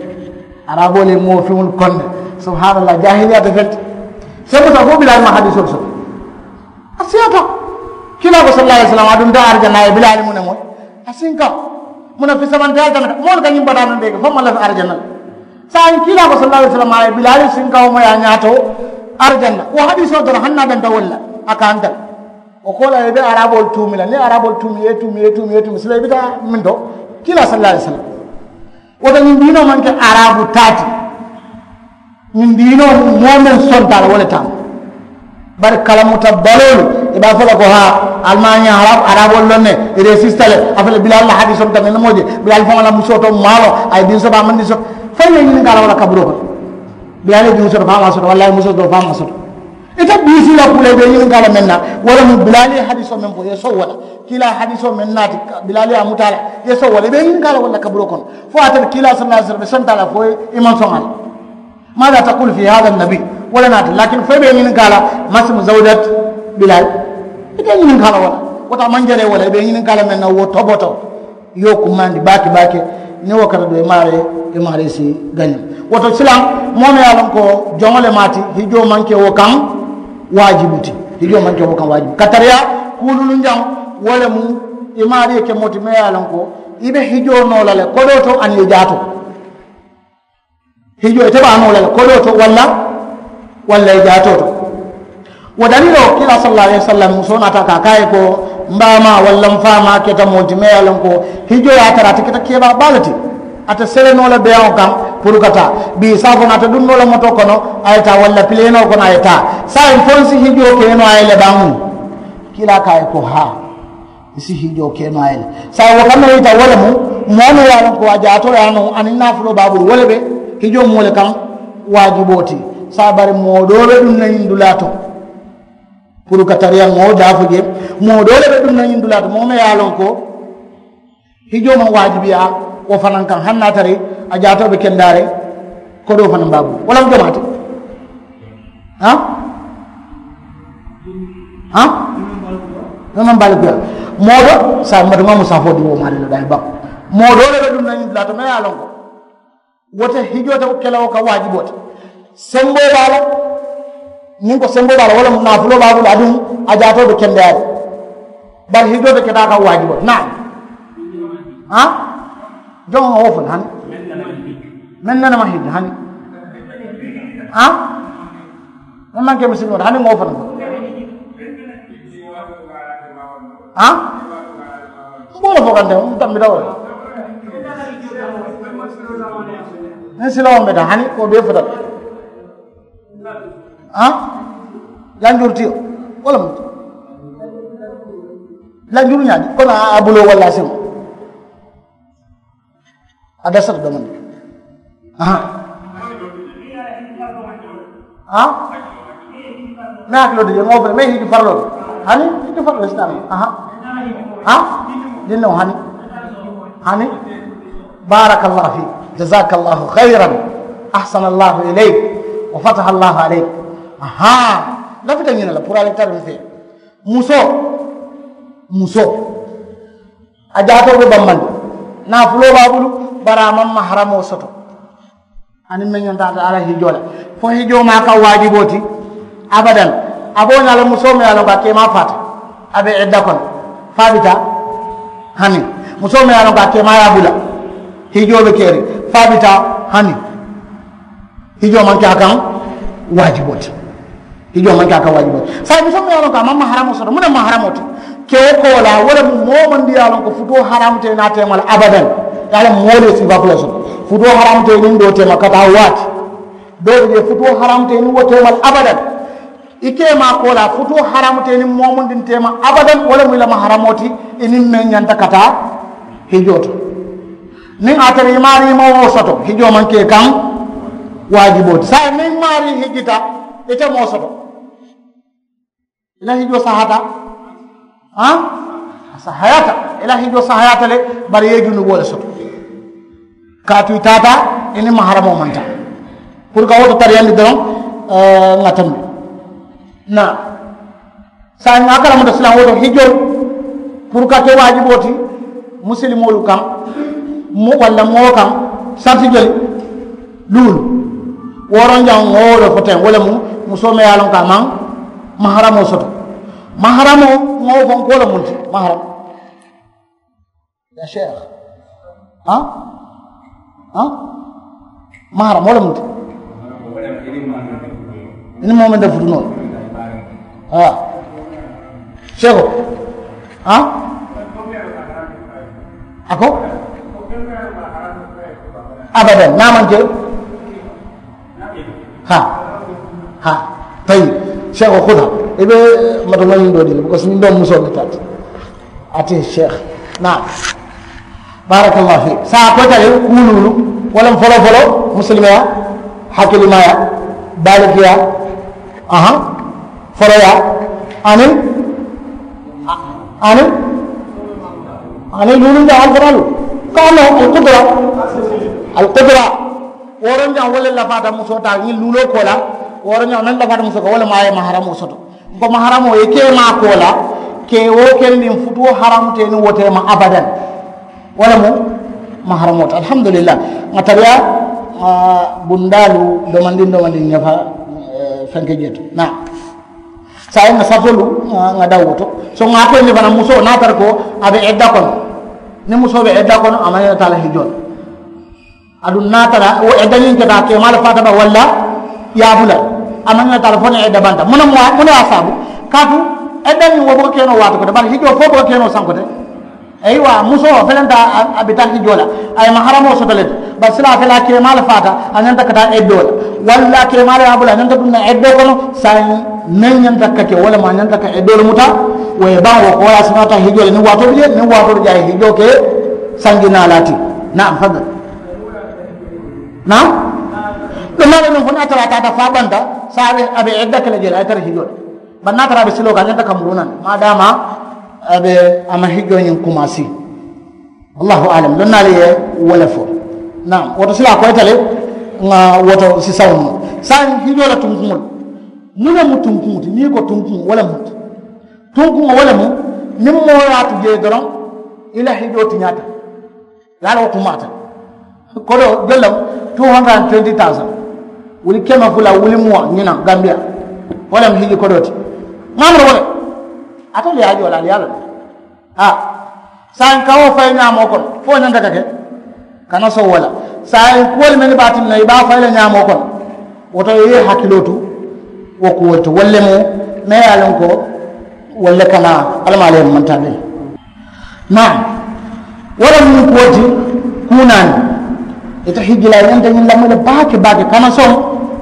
Araboolu ye moo feŋolu kondi. Subahaanallaahi jaahiliyaa te feŋ ti. Semuta fo bilal maŋ hadiisoolu soto. A siyaata kiilaa ko sallallaahu alayhi wasallam a dunta arijana a ye bilaali mu ne moyi. A sinkaŋo mu ne fisamanteyaa le tamita moolu ka ñiŋ bataa meŋ bee ke fo maŋ lafi arijana le. Saayiŋ kiilaa ko sallallaahu alayhi wasallam a ye bilaali sinkaŋo moyi a ñaato arijana wo hadiisoo doroŋ hani niŋ a danta wolu la. A ka a nta le wo koolaa i be araboolu tuumi la niŋ araboolu tuumi i ye tuumi i ye tuumi i ye tuumi sila i bi taa meŋ to kiilaa sallallaahu alayhi wasallam. Wo to ñiŋ diinoo maŋ ke arabu taa ti. Ñiŋ diinoo moo meŋ sonta a la wo le taa. Bari kalamuta baloolu i be a fo la ko haa ali maŋ a ñaa araboolu loŋ ne i resisita le. A fele bilaalu la hadiisoo mu tamit ne moo je bilaalu faŋo la musoo to maa loŋ a ye diŋ soto a maŋ diŋ soto. Fo i ye ñininkaa la wo la kaburoo kono. Bilaalu ye diŋo soto fo a maŋ a soto walla a ye musoo soto fo a maŋ a soto. Ite biisii la kuu la i be ñininkaa la meŋ na wo le mu bilaalu ye hadiisoo meŋ fo i ye sow wo la. Kiilaa hadiisoo meŋ naati bilaalu ye a muta a la i ye sow wo la i be ñininkaa la wo le la kaburoo kono. Fo a tara kiilaa sallallaahu alayhi wasallam be sonta a la fo i maŋ soŋ a la. Maada takulu fii haada nabi? Wo le naata lakin fo i be i ñininkaa la masimu zawjat bilal. I be i ñininkaa la wo le wo to a maŋ jaree wo le i be i ñininkaa la meŋ na wo toboto. I ye wo kumandi baake baake. Niŋ wo kata do i maaree i maaree si gañi. Wo to silaŋ moo meŋ ye a loŋ ko joŋo le maati hijoo maŋ ke wo kaŋ waajibu ti. Hijoo maŋ ke wo kaŋ waajibu ka tariyaa kuululunjaŋ. Wo le mu i maaree ke moo ti meŋ ye a loŋ ko i be hijoo noo la le kodoo to aniŋ i jaatoo. Hijoo ite be a noo la le kodoo to walla walla i jaatoo to. Wo daliiloo kiilaa sallallaahu alayhi wasallam musoo naata ka a ko a ye ko m baamaa walla m faamaa keta moo ti meŋ ye a loŋ ko hijoo ye a tara ate keta keebaa baa le ti. Ate sele noo la beyaŋo kaŋ puru ka taa bii saafo naata duŋ noo la motoo kono a ye taa walla pileenoo kono a ye taa. Saayiŋ fo n si hijoo ke noo a ye le baamu. Kiilaa ko a ye ko haa. I si hijoo ke noo a ye le. Saayiŋ wo kamma yita wo le mu moo meŋ ye a loŋ ko a jaatoo ye a noo aniŋ naafuloo be a bulu wo le be hijoo moo le kaŋ waajiboo ti. Saayiŋ bari moo doo be duŋ na ñiŋ dulaa to. Puru ka tariyaŋ moo daafo je moo doo le be duŋ na ñiŋ dulaa to moo meŋ ye a loŋ ko hijoo maŋ waajibiyaa wo fanaŋ kaŋ hani niŋ a tara a jaatoo be kendaariŋ. Kodoo fanaŋ be a bulu wo le mu jomaa ti. Haa haa meŋ maŋ baalikuyaa. Moo doo saayiŋ matuŋa mu safoo diwoo maari le daayi baŋ. Moo doo le be duŋ na ñiŋ dulaa to meŋ ye a loŋ ko wo te hijoo te ke la wo ka waajiboo ti. Semboo be a la. Niŋ ko semboo be a la wo le mu naafuloo be a bulu aduŋ a jaatoo be kendeyaa le. Bari hijoo te ke taa ka waajiboo ti naam. Haa joŋo ŋa wo fo le hani meŋ nene ma hiji hani. Haa meŋ maŋ ke misilimoolu hani ŋa wo fo le. Haa mboolo fo kante n tambita wo le. Niŋ silawo mbeta hani ko bee fota le. Haa lanjuru tiyo wo le mu lanjuru ñaadi kono a buloo walla a siŋo. A dasata domandi. Aha. Ha? Me hakiloo ti je ŋa wo fele me hiji farloo ti hani hiji farloo ti sitana. Aha. Ha? Dinno hani. Hani. Barakallahu fik. Jazakallahu khairan. Ahsanallahu ilayk. Wa fatahallahu alayk. Aha. Lafita ñina la pour ale tari fe. Musoo. Musoo. A jaatoo be bambandi. Naafuloo be a bulu. Bari a maŋ maharamoo soto. Aniŋ meŋ ñanta a la hijoo la. Fo hijoo maa ka waajiboo ti. Abadan. A be wo ñaa la musoo meŋ ye a loŋ ko a keemaa faata. A be edda kono. Fo a bi taa. Hani. Musoo meŋ ye a loŋ ko a keemaa ye a bula. Hijoo be keeriŋ. Fo a bi taa. Hani. Hijoo maŋ ke a kaŋ. Waajiboo ti. Hijoo maŋ ke a kaŋ waajiboo ti saayiŋ musoo meŋ ye a loŋ ko a maŋ maharamoo soto muŋ ne maharamoo ti. Kewo koolaa wo le mu moo maŋ di ye a loŋ ko futoo haramu te i naa teema la abadan. Ye a loŋ moo le ye siiba fula soto. Futoo haramu te i niŋ doo teema ka taa waati. Doo bi jee futoo haramu te i niŋ wo teema la abadan. I keemaa koolaa futoo haramu te i niŋ moo muŋ di teema abadan wo le mu i la maharamoo ti. I niŋ meŋ ñanta ka taa hijoo to. Niŋ a tara i maarii moo wo soto hijoo maŋ ke i kaŋ. Waajiboo ti saayiŋ niŋ maarii hijita ite moo soto. I la hijoo sahaata. A sahayaata. I la hijoo sahayaata le. Bari i ye junuboo le soto. Kaatu i taata i niŋ maharamoo maŋ taa. Puru ka wo to tariyandi doroŋ. Ŋa tambi. Na saayiŋ a kalamuta silaŋ wo to hijoo. Puru ka ke waajiboo ti musilimoolu kaŋ. Walla moo kaŋ. Sarti jeli luulu. Woronjaŋ ŋa wo le fo teŋ wo le mu musoo meŋ ye a loŋ ko a maŋ. Maharamoo soto. Maharamoo ŋa wo fo n ko wo le munti maharam. Ya sheikh. Ha? Ha? Maharamoo le munti. I niŋ moo meŋ te futunoo la. Ha? Sheikh. Ha? A ko abadan niŋ a maŋ ke. Ha? Ha? Tayi. Sheikh, kuta i be matomañiŋ doo dii le because ñiŋ doo musoo le taati. Ate sheikh. Naam. Barakallahu fik saayiŋ a koyita le kuu luulu. Wo le mu foloo foloo musilimeyaa, hakilimaayaa, baalikiyaa. Aha. Foloyaa. Aniŋ aniŋ aniŋ luulunjaŋ alfanaalu. Ka a loŋ alkudura. Alkudura. Woronjaŋ wo le lafaata musoo taa ñiŋ luuloo koolaa. Woronjaŋ meŋ lafaata musoo ka wo le maa ye maharamoo soto. N ko maharamoo ye keemaa koolaa. Ke wo kendiŋ futuo haramu te niŋ wo teema abadan. Wo le mu maharamoo ti alhamdulillahi. Ŋa tariyaa bundaalu domandiŋ domandiŋ ñafa. Fenke jee to naa. Saayiŋ ŋa safolu ŋa daw wo to. So ŋa a koyindi fanaŋ musoo niŋ a tara ko a be edda kono. Niŋ musoo be edda kono a maŋ ñanta a la hijoo la. Aduŋ niŋ a tara wo edda ñiŋ keta keemaa le faata ba walla. Ye a bula a maŋ ñanta a la fo niŋ edda banta muŋ ne mu a saabu. Kaatu edda ñiŋ wo buka keenoo waati kote bari hijoo fo buka keenoo sankote. Ayiwa musoo felenta a bi taa hijoo la. A ye maharamoo soto le ti bari silaa fela keemaa le faata. A ñanta ka taa eddoo la walla keemaa le ye a bula a ñanta duŋ na eddoo kono. Saayiŋ meŋ ñanta ka ke wo le mu a ñanta ka eddoo le muta. Wo ye baŋ wo ko wo ye a siñaa taa hijoo le niŋ waatoo bi jee niŋ waatoo bi jee a ye hijoo ke. Sanji naa laati. Naam fadal. Naam. Duŋ naa le niŋ fo niŋ a tara a taata faa banta. Saa a be edda ke le jee le a ye tara hijoo le. Bari niŋ a tara a be siloo kaŋ a ñanta ka muruu naŋ maadaama a be a maŋ hijjoo ñiŋ kumaasi. Allahu alam lonnaalu ye wo le fo. Naam woto silaa koyita le. Ŋa woto sisaŋo mu saayiŋ hijjoo la tunkuŋolu. Muŋ ne mu tunkuŋo ti niŋ i ko tunkuŋo wo le mu. Tunkuŋo wo le mu. Niŋ moo ye a tu jee doroŋ, i la hijoo ti ñaata? Ye a la wo kumaata. Kodoo jollam two hundred and twenty thousand, wuli keme fula wuli muwa ñinaŋ gambiya. Wo lem hiji kodoo ti ŋamuro wo le. Ate le ye a joola ali ye a loŋ. A saayiŋ ka wo fayi ñaamoo kono fo ñanta ka ke. Kana sow wo la saayiŋ kuwolu mennu be a tinna i be a fayi la ñaamoo kono. Wo to i ye i hakiloo tu wo kuwolu to wolu le mu me ye a loŋ ko wolu le kana alamaalu ye mantaa be. Naa wo le mu kuwo ti. Kuunaani ite hijjilaa i ñanta ñiŋ lamoyi le baake baake kana soŋ.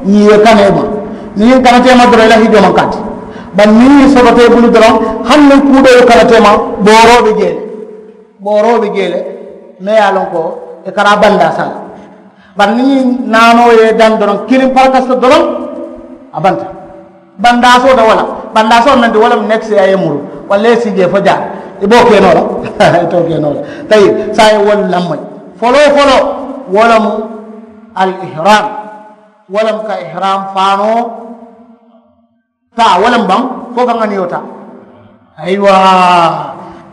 Ñiŋ ye kana i ma niŋ ñiŋ kana te i ma doroŋ i la hijjoo maŋ kaati. Bari niŋ ñiŋ sotota i bulu doroŋ hani niŋ kuu doo ye kana te i ma booroo be jee le. Booroo be jee le me ye a loŋ ko i kana bandaa saa la. Bari niŋ ñiŋ naanoo ye i daŋ doroŋ kiliŋ parakasita doroŋ a banta. Bandaasoo te wo la. Bandaasoo meŋ ti wo le mu nekisi a ye muru walla ye sii jee fo jaa. I be wo ke noo la i te wo ke noo la. Tayi saayiŋ wolu lamma foloo foloo wo le mu al ihram. Wo le mu ka ihram faanoo taa wo le mu baŋ fo ka ŋaniyoo taa. Ayiwa,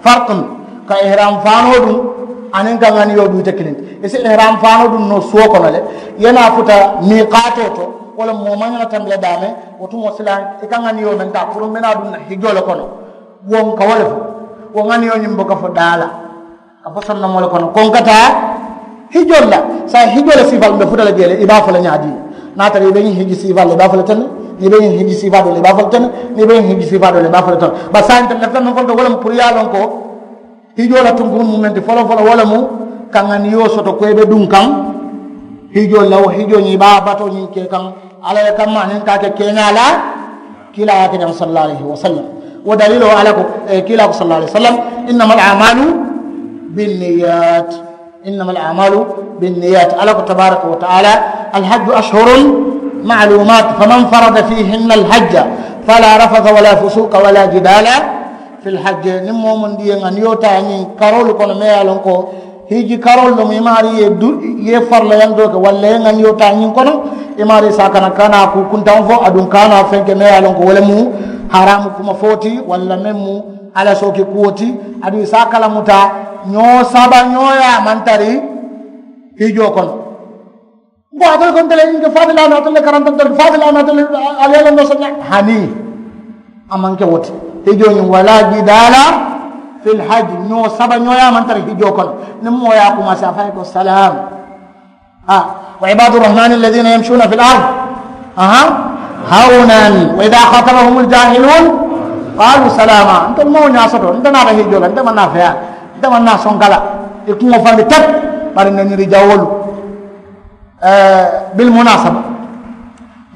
farkun ka ihram faanoo duŋ aniŋ ka ŋaniyoo duŋ ite kiliŋ ti. I si ihram faanoo duŋ noo suwo kono le i ye naa futa miikaatoo to. Wo le moo maŋ ñana tambila daame wo tumoo sila i ka ŋaniyoo meŋ taa puru mbe naa duŋ na hijoo le kono. Wo n ka wo le fo wo ŋaniyoo ñiŋ buka fo daa la. A fo sonnomoo le kono ko n ka taa hijoo la. Saayiŋ hijoo la siifaalu be futa la jee le i be a fo la ñaadii? Niŋ a tara i be ñiŋ hiji siifaalu la i be a fo la tene. Niŋ i be ñiŋ hiji siifaa doo la i be a fo la tene. Niŋ i be ñiŋ hiji siifaa doo la i be a fo la tene. Bari saayiŋ ntelu lafita meŋ fo le to wo le mu puru ye a loŋ ko hijoo la tunkuruŋ mu meŋ ti foloo foloo wo le mu ka ŋaniyo soto ko i be duŋ kaŋ. Hijoo la wo hijoo ñiŋ i be a batoo ñiŋ ke kaŋ alla le kamma aniŋ ka a ke keeñaa la. Kiilaa ye a ke ñaŋ sallallaahu alayhi wasallam. Wo daliiloo alla ko kiilaa ko sallallaahu alayhi wasallam, innama al amalu binniyat. Innama al amalu binniyat alla ko tabaraka wa taala, alhajju ashhurun maalumat faman farada fihinna alhajja fala rafasa wala fusuka wala jidala. Fil hajje niŋ moo maŋ diiyeŋ a niŋ i ye wo taa ñiŋ karoolu kono meŋ ye a loŋ ko hiji karoolu loŋ i maarii ye du i ye farillayantoo ke walla i ye ŋa niŋ i ye wo taa ñiŋ kono. I maarii se a kana kana kuu kuntaŋo fo aduŋ kana feŋ ke meŋ ye a loŋ ko wo le mu haraamu kuma fo ti walla meŋ mu alla sooki kuwo ti. Aduŋ i se a kalamuta ñoo saba ñoo ye a maŋ tari hijoo kono. N ko ate le ko ntele ñiŋ ke faati laana ate le karanta ntele faati laana ate le. Ali ye le no soña hani a maŋ ke wo ti. Hijoo ñiŋ wala jidaala fil hajji ñoo saba ñoo ye a maŋ tara hijoo kono. Niŋ moo ye a kumaasi a fayi ko salaam. Ha. Wa ibaadu rahmaani alladina yamsuuna fil ard aha hawnan wa ida khatabahum aljahiluun qaalu salaama. Nte moo ñaa soto nte naata hijoo la nte maŋ naa feyaa nte maŋ naa sonkala. I kuŋo fandi tep bari nganiri jawolu. Bil munasaba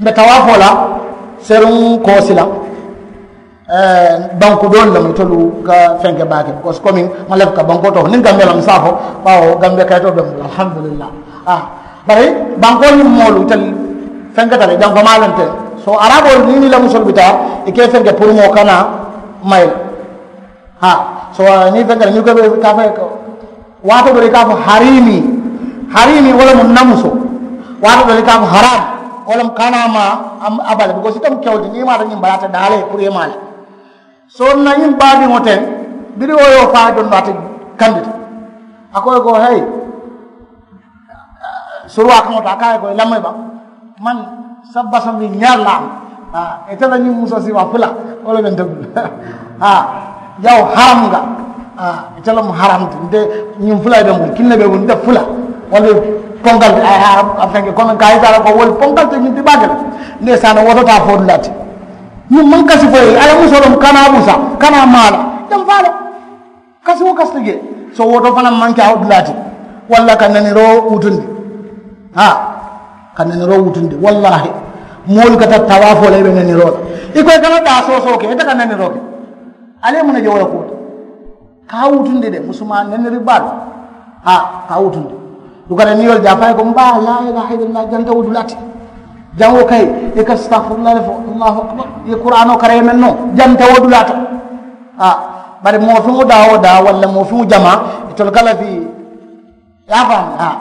mbe tawaafoo la seruŋ koosi la. Banku doolu le mu itolu ka fenke baake because komi ma lefu ka bankoo to niŋ gambe la mu saafo. Bawo gambe kayitoo be mu la alhamdulillah. Bari bankoo niŋ moolu itelu fenketa le janko maa lente. So araboolu niŋ ni la musolu bi taa i ke fenke puru moo kana mayi la. Ha. So ni fenke ni ko be ka fe ko waato do ka fo harimi. Harimi wala mun namuso. Waato do ka fo haram wala kana ma abale because itam kewti ni ma da nyim balata dale pour yemale. So na nyim baadi moten bidi wo yo fa don bata kandita. Akoy go hey. Suruwaa kaŋo to a ka a ye ko i lamoyi baŋ. Man sabba sambi ñaar la am. Ite la ñiŋ musoo siima fula wo le benta bulu. Jaw haram nga. Ite la mu haram ti nte ñiŋ fula be bulu kinne be bulu nte fula. Wala konkal a fenke kono ka ita la ko wol konkal te ñiŋ ti baake la. Nde sana woto ta fo dulati. Ñiŋ man kasi fo ye ala musoo loŋ kana busa kana maala. Jam faala. Kasi wo kasita jee. So woto fanaŋ maŋ ke a wo dulaa ti. Walla ka neniroo wutundi. Ha. Ka neniroo wutundi wallahi. Moolu ka tara tawaafoo la i be neniroo la. I ko i kana daa soosoo ke ite ka neniroo ke. Ali ye muŋ ne je wo le kuwo to. Ka a wutundi de musumaa neniri baalu. Ha. Ka a wutundi. Dukata niŋ i ye wo le je a fo a ye ko m baa laa ilaha illallah janta wo dulaa ti. Jaŋ wo kayi i ka sitafurullah le fo. Allahu akbar. I ye kuraanoo kara i ye meŋ noo janta wo dulaa to. Bari moo feŋo daa wo daa walla moo feŋo jamaa itolu ka lafii. Ye a faamu haa.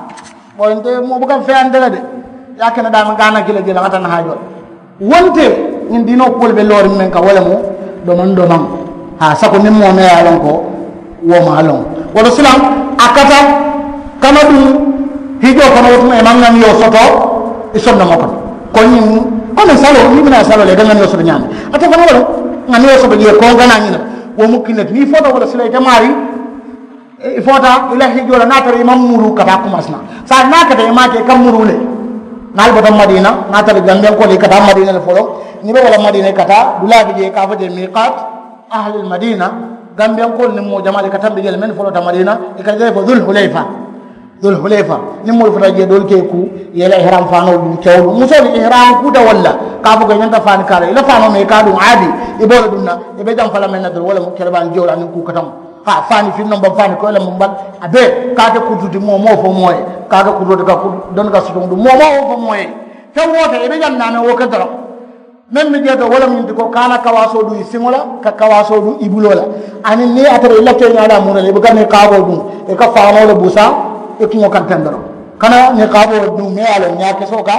Bon nte moo buka feyante le de. Ye a kene daa meŋ ka a na kila jela ŋa ta na haajoo la. Wonte ñiŋ diinoo kuwolu be looriŋ meŋ ka wo le mu domaŋ domaŋ. Haa sako niŋ moo meŋ ye a loŋ ko wo maŋ a loŋ. Wo to silaŋ a kata kana duŋ hijoo kono wo tuma i maŋ ŋaniyoo soto i sondomoo kono. Ko ñiŋ komi saloo niŋ i bi naa saloo le i ka ŋaniyoo soto ñaama. Ate fanaŋ wo le ŋaniyoo soto jee koŋ kana ñiŋ na. Wo mu kiŋ ne ti niŋ i foota wo le silaŋ i te maarii i foota i la hijoo la niŋ a tara i maŋ muru ka taa kumasina. Saayiŋ niŋ a kata i maŋ a ke i ka muru le. Niŋ ali bota madiina niŋ a tara gambiyankoolu i ka taa madiina le foloo niŋ i be wo la madiina i ka taa dulaa bi jee i ka a fo jee miikaat ahlil madiina. Gambiyankoolu niŋ moo jamaa le i ka tambi jee le mennu foloota madiina i ka jee fo dul hulayfa. Dul hulayfa niŋ moolu fota jee doolu ke i kuu i ye i la ihiraam faanoo duŋ kewolu musoolu ihiraam kuuta walla ka a fo ko i ñanta faani kaa la i la faanoo meŋ i ka a duŋ aadi. I be wo le duŋ na i be jamfa la meŋ na doroŋ wo le mu kelebaa jewla niŋ kuu kataŋo. Haa faani firi noŋ baŋ faani koyi le mu baŋ a bee ka a ke kurutu ti moo moo fo moo ye ka a ke kurutu ti ka doni ka sutuŋ duŋ moo moo wo fo moo ye. Feŋ wo feŋ i be jaŋ naame wo ke doroŋ. Meŋ be jee to wo le mu ñiŋ ti ko ka a la kawaasoo duŋ i siŋo la ka kawaasoo duŋ i buloo la. Aniŋ niŋ a tara i la keeñaa la a muura la i buka niŋ kaaboo duŋ i ka faanoo le busa i kuŋo kaŋ teŋ doroŋ. Kana niŋ kaaboo duŋ meŋ ye a loŋ ñaa kesoo ka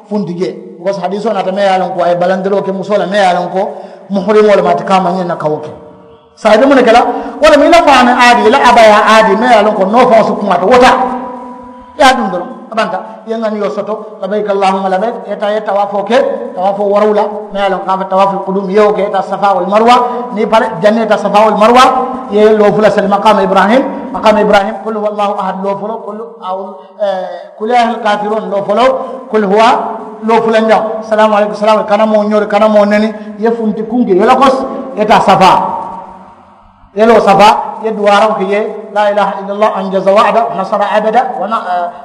funti jee. Because hadiisoo naata meŋ ye a loŋ ko a ye balandiroo ke musoo la meŋ ye a loŋ ko muhurimoo le maati ka a maŋ ñiŋ na ka wo ke. Saayiŋ i be muŋ ne ke la wo le mu i la faani aadi i la abayaa aadi meŋ ye a loŋ ko noo faŋo si kumaata wo taa. I ye a duŋ doroŋ a banta i ye ŋaniyoo soto labayika allahumma labayika i ye taa i ye tawaafoo ke. Tawaafoo woorowula meŋ ye a loŋ ka a fo tawaaful kuduum i ye wo ke i ye taa safaa wal maruwa. Niŋ i pare janniŋ i ye taa safaa wal maruwa i ye loo fula seli makaama ibrahim. Makaama ibrahim kul huwa allahu ahad loo folo kul aw kul ya ayyuhal kaafiruun loo folo kul huwa loo fulanjaŋo salaamu aleykum salaamu aleykum kana moo ñoori kana moo neni. I ye funti kuŋ ke i ye la kosi i ye taa safaa. Yeloo saba ye duwaaraŋo ke je. La ilaha illallah anjaza wa'da nasara abada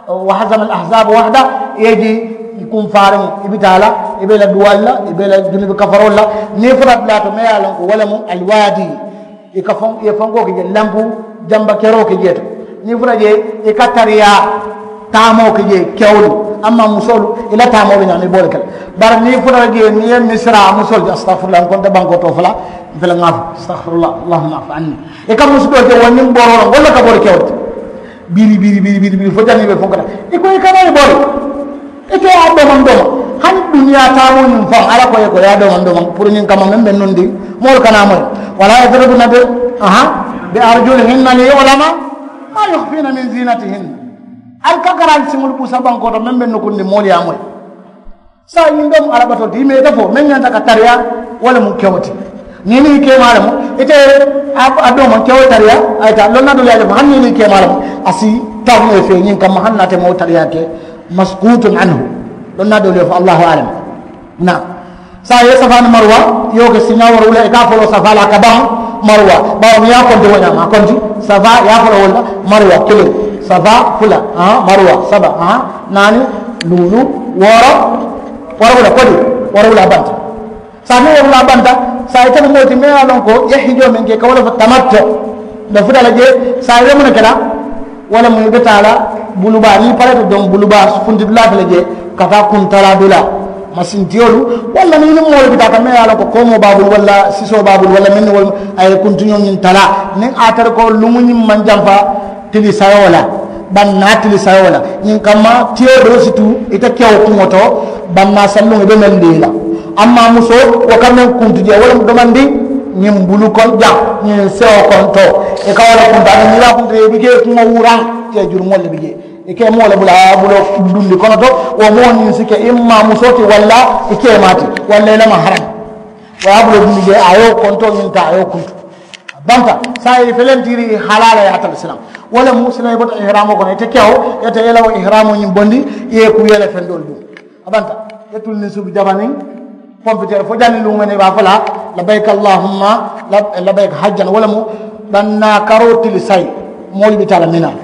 wa hazama al ahzaba wahda. Ye ji kunfaariŋo i bi taa la i be la duwaalu la i be la junubi kafaroolu la. Niŋ i fota dulaa to meŋ ye a loŋ ko wo le mu alwaadi. I ka faŋ i ye fankoo ke je lampu jamba keroo ke jee to. Niŋ i fota je i ka tariyaa taamoo ke jee kewolu amma musoolu i la taamoo be ñaama i be wo le ke la. Bari niŋ i fota je niŋ i ye misira musoolu je astafirullah n konte bankoo to fula. Nte le ŋa a fo astahfirullah allahumma afu anni. I ka musu doo ke wo niŋ booroo loŋ walla ka bori kewo ti. Biri biri biri biri biri fo janniŋ i be fonkata i ko i kana i bori. I ke ye a domaŋ domaŋ hani duniyaa taamoo ñiŋ faŋ alla ko ye ko ye a domaŋ domaŋ puru ñiŋ kamma meŋ be nundi moolu kana moyi. Wala yadribna bi aha bi arjulihinna li yulama ma yukhfina min zinatihinna. Ali ka kara ali siŋolu busa bankoo to meŋ be nukundi moolu ye a moyi. Saayiŋ ñiŋ be mu alla batoo ti i meeta fo meŋ ñanta ka tariyaa. Wo le mu kewo ti niŋ i niŋ i keemaa le mu ite a doo maŋ kewo tariyaa. A ye taa lonna doolu ye a je fo hani niŋ i niŋ i keemaa le mu a si taŋ ne fee ñiŋ kamma hani naate moo tariyaa ke. Maskutun anhu. Lonna doolu ye fo allahu alam. Na saayiŋ i ye safaa ni maruwa i ye wo ke siiñaa woro wula i ka a foloo safaa la a ka baŋ. Maruwa baawo niŋ i ye a konti wo ñaama a konti safaa i ye a foloo wolu la. Maruwa kiliŋ safaa fula maruwa saba naani luulu wooro. Wara wula kodi wara wula banta. Saa niŋ wara wula banta saa ite mu moo ti meŋ ye a loŋ ko i ye hijoo meŋ ke ka wo le fo tamatto. Be futa la jee saa i be muŋ ne ke la. Wo le mu i be taa la bulubaa niŋ i pareeta doŋ bulubaa funtidulaa fele jee ka taa kuntalaa dulaa. Masintiyolu walla niŋ i niŋ moolu bi taa ka meŋ ye a loŋ ko koomoo be a bulu walla sisoo be a bulu walla meŋ niŋ wolu a ye kuntiñoo ñiŋ talaa niŋ a tara ko luŋo ñiŋ maŋ jamfa. Tili sayoo la bannaa tili sayoo la ñiŋ kamma tiyoo doo si tu ite kewo kuŋo to. Bannaa salluŋo i be meŋ dii la amma musoo wo ka meŋ kuntu jee wo le mu domandi. Ñiŋ bulu kono jaŋ ñiŋ sewo konto i ka wo le kuntu aniŋ niŋ i be a kuntu ye i bi jee kuŋo wuraŋ. Tiye jurumoo le bi jee i ke moo le bula a ye a buloo dundi kono to. Wo moo ñiŋ si ke i maa musoo ti walla i keemaa ti walla i le ma haraŋ. Wo ye a buloo dundi jee a ye wo konto ñiŋ taa a ye wo kuntu. A banta saayiŋ i felentiiri i halaa la ye a tara silaŋ. Wo le mu silaŋ i bota ihraamoo kono ite kewo ite i la wo ihraamoo ñiŋ bondi i ye i kuu i ye i la fendoolu duŋ. A banta i ye tulu niŋ subu jamaniŋ pompiteeri fo janniŋ luŋ meŋ i be a fo la labayika allahumma labayika hajjan wo le mu. Bannaa karoo tili sayi moolu bi taa la minaa.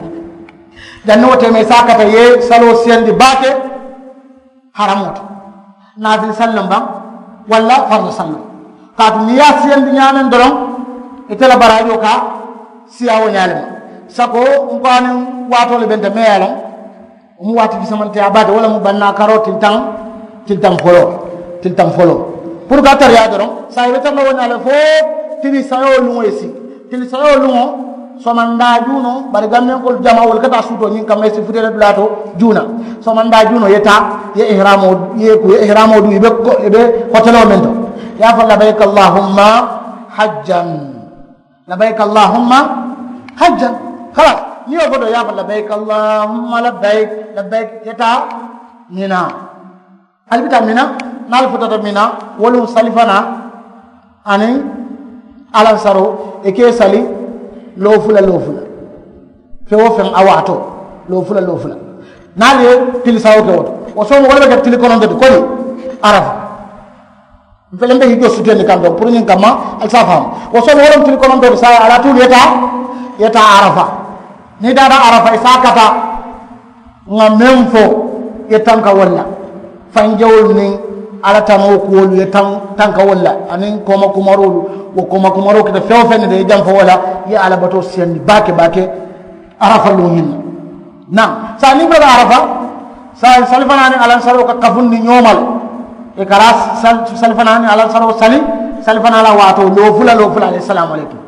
Janniŋ wo teema i se a kata i ye saloo siyandi baake. Haramoo ti naafili salloŋ baŋ walla farla salloŋ. Kaatu niŋ i ye a siyandi ñaameŋ doroŋ ite la baraajoo ka siyaa wo ñaa le ma. Sako n ko a niŋ waatoo le benta meŋ ye a loŋ wo mu waati fisamanteyaa baake wo le mu bannaa karoo tili taŋ. Tili taŋ foloo tili taŋ foloo puru ka tariyaa doroŋ saa i be tara la wo ñaa le fo tili sayoo luŋo ye si. Tili sayoo luŋo somandaa juunoo bari gambenkoolu jamaa wolu ka taa suutoo ñiŋ kamma i si futeele dulaa to juuna. Somandaa juunoo i ye taa i ye ihiraamoo i ye ku i ye ihiraamoo duu i be hoteloo meŋ to i ye a fo labayika allahumma hajjan. Labayka allahumma hajjan. Kala niŋ i ye wo fo doo i ye a fo labayka allahumma labayk labayk i ye taa mina. Ali bi taa mina niŋ ali futata mina wolu sali fanaa aniŋ alansaroo i ka i sali loofula loofula. Feŋ wo feŋ a waatoo loofula loofula niŋ ali ye tili sawoo ke wo to wo soomo wo le be ke tili kononto ti koni arafa. Mfele mbe hijjoo suteeni kaŋ to puru ñiŋ kamma ali si a faham. Wo soomo wo le mu tili kononto ti saayiŋ alaa tuulu ye taa ye taa arafa. Niŋ i taata arafa i si a kata ŋa meŋ fo i ye tanka wolu la. Fanjewolu niŋ alla tanoo kuwolu i ye tanka wolu la aniŋ kooma kumaroolu. Wo kooma kumaroo keta feŋ wo feŋ ne de i ye jamfa wo la i ye alla batoo siyandi baake baake. Arafa luŋ ñiŋ na naŋ saayiŋ niŋ i bota arafa saayiŋ sali fanaa niŋ alansaroo ka kafundi ñooma le. I ka raa sali fanaa niŋ alansaroo sali sali fanaa la waatoo loo fula loo fula alayhi salaamu aleykum.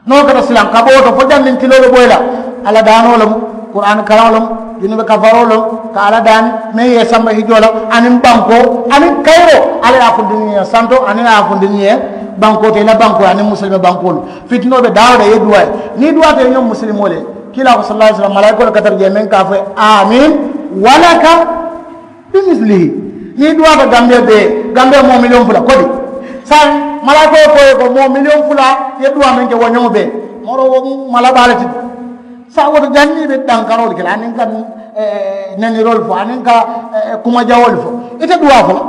Niŋ wo keta silaŋ ka bo wo to fo janniŋ tiloo be boyi la. Alla daanoo loŋ, kuraani karaŋo loŋ, junube kafaroo loŋ, ka alla daani meŋ ye i samba hijoo la, aniŋ bankoo aniŋ kayiroo. Alla ye a funtindi ñiŋ ye santo aniŋ a ye a funtindi ñiŋ ye bankoo to i la bankoo aniŋ musilime bankoolu. Fitinoo be daawo da i ye duwaa ye. Niŋ i duwaata i ye ñoŋ musilimoo le ye kiilaa ko sallallaahu alayhi wa sallam malaayikoolu ka tara jee meŋ ka a fo ye, aamiin, walaka bimisilihi. Niŋ i duwaata gambee bee gambee moo miliyoŋ fula kodi saayiŋ malaayikoo ye ko ye ko moo miliyoŋ fula ye duwaa meŋ ke wo ñoŋo bee. Moro wo mu mala baa le ti. Saayiŋ wo to janniŋ i be dankaroolu ke la aniŋ ka neniroolu fo aniŋ ka kumajawoolu fo ite duwaa fo la.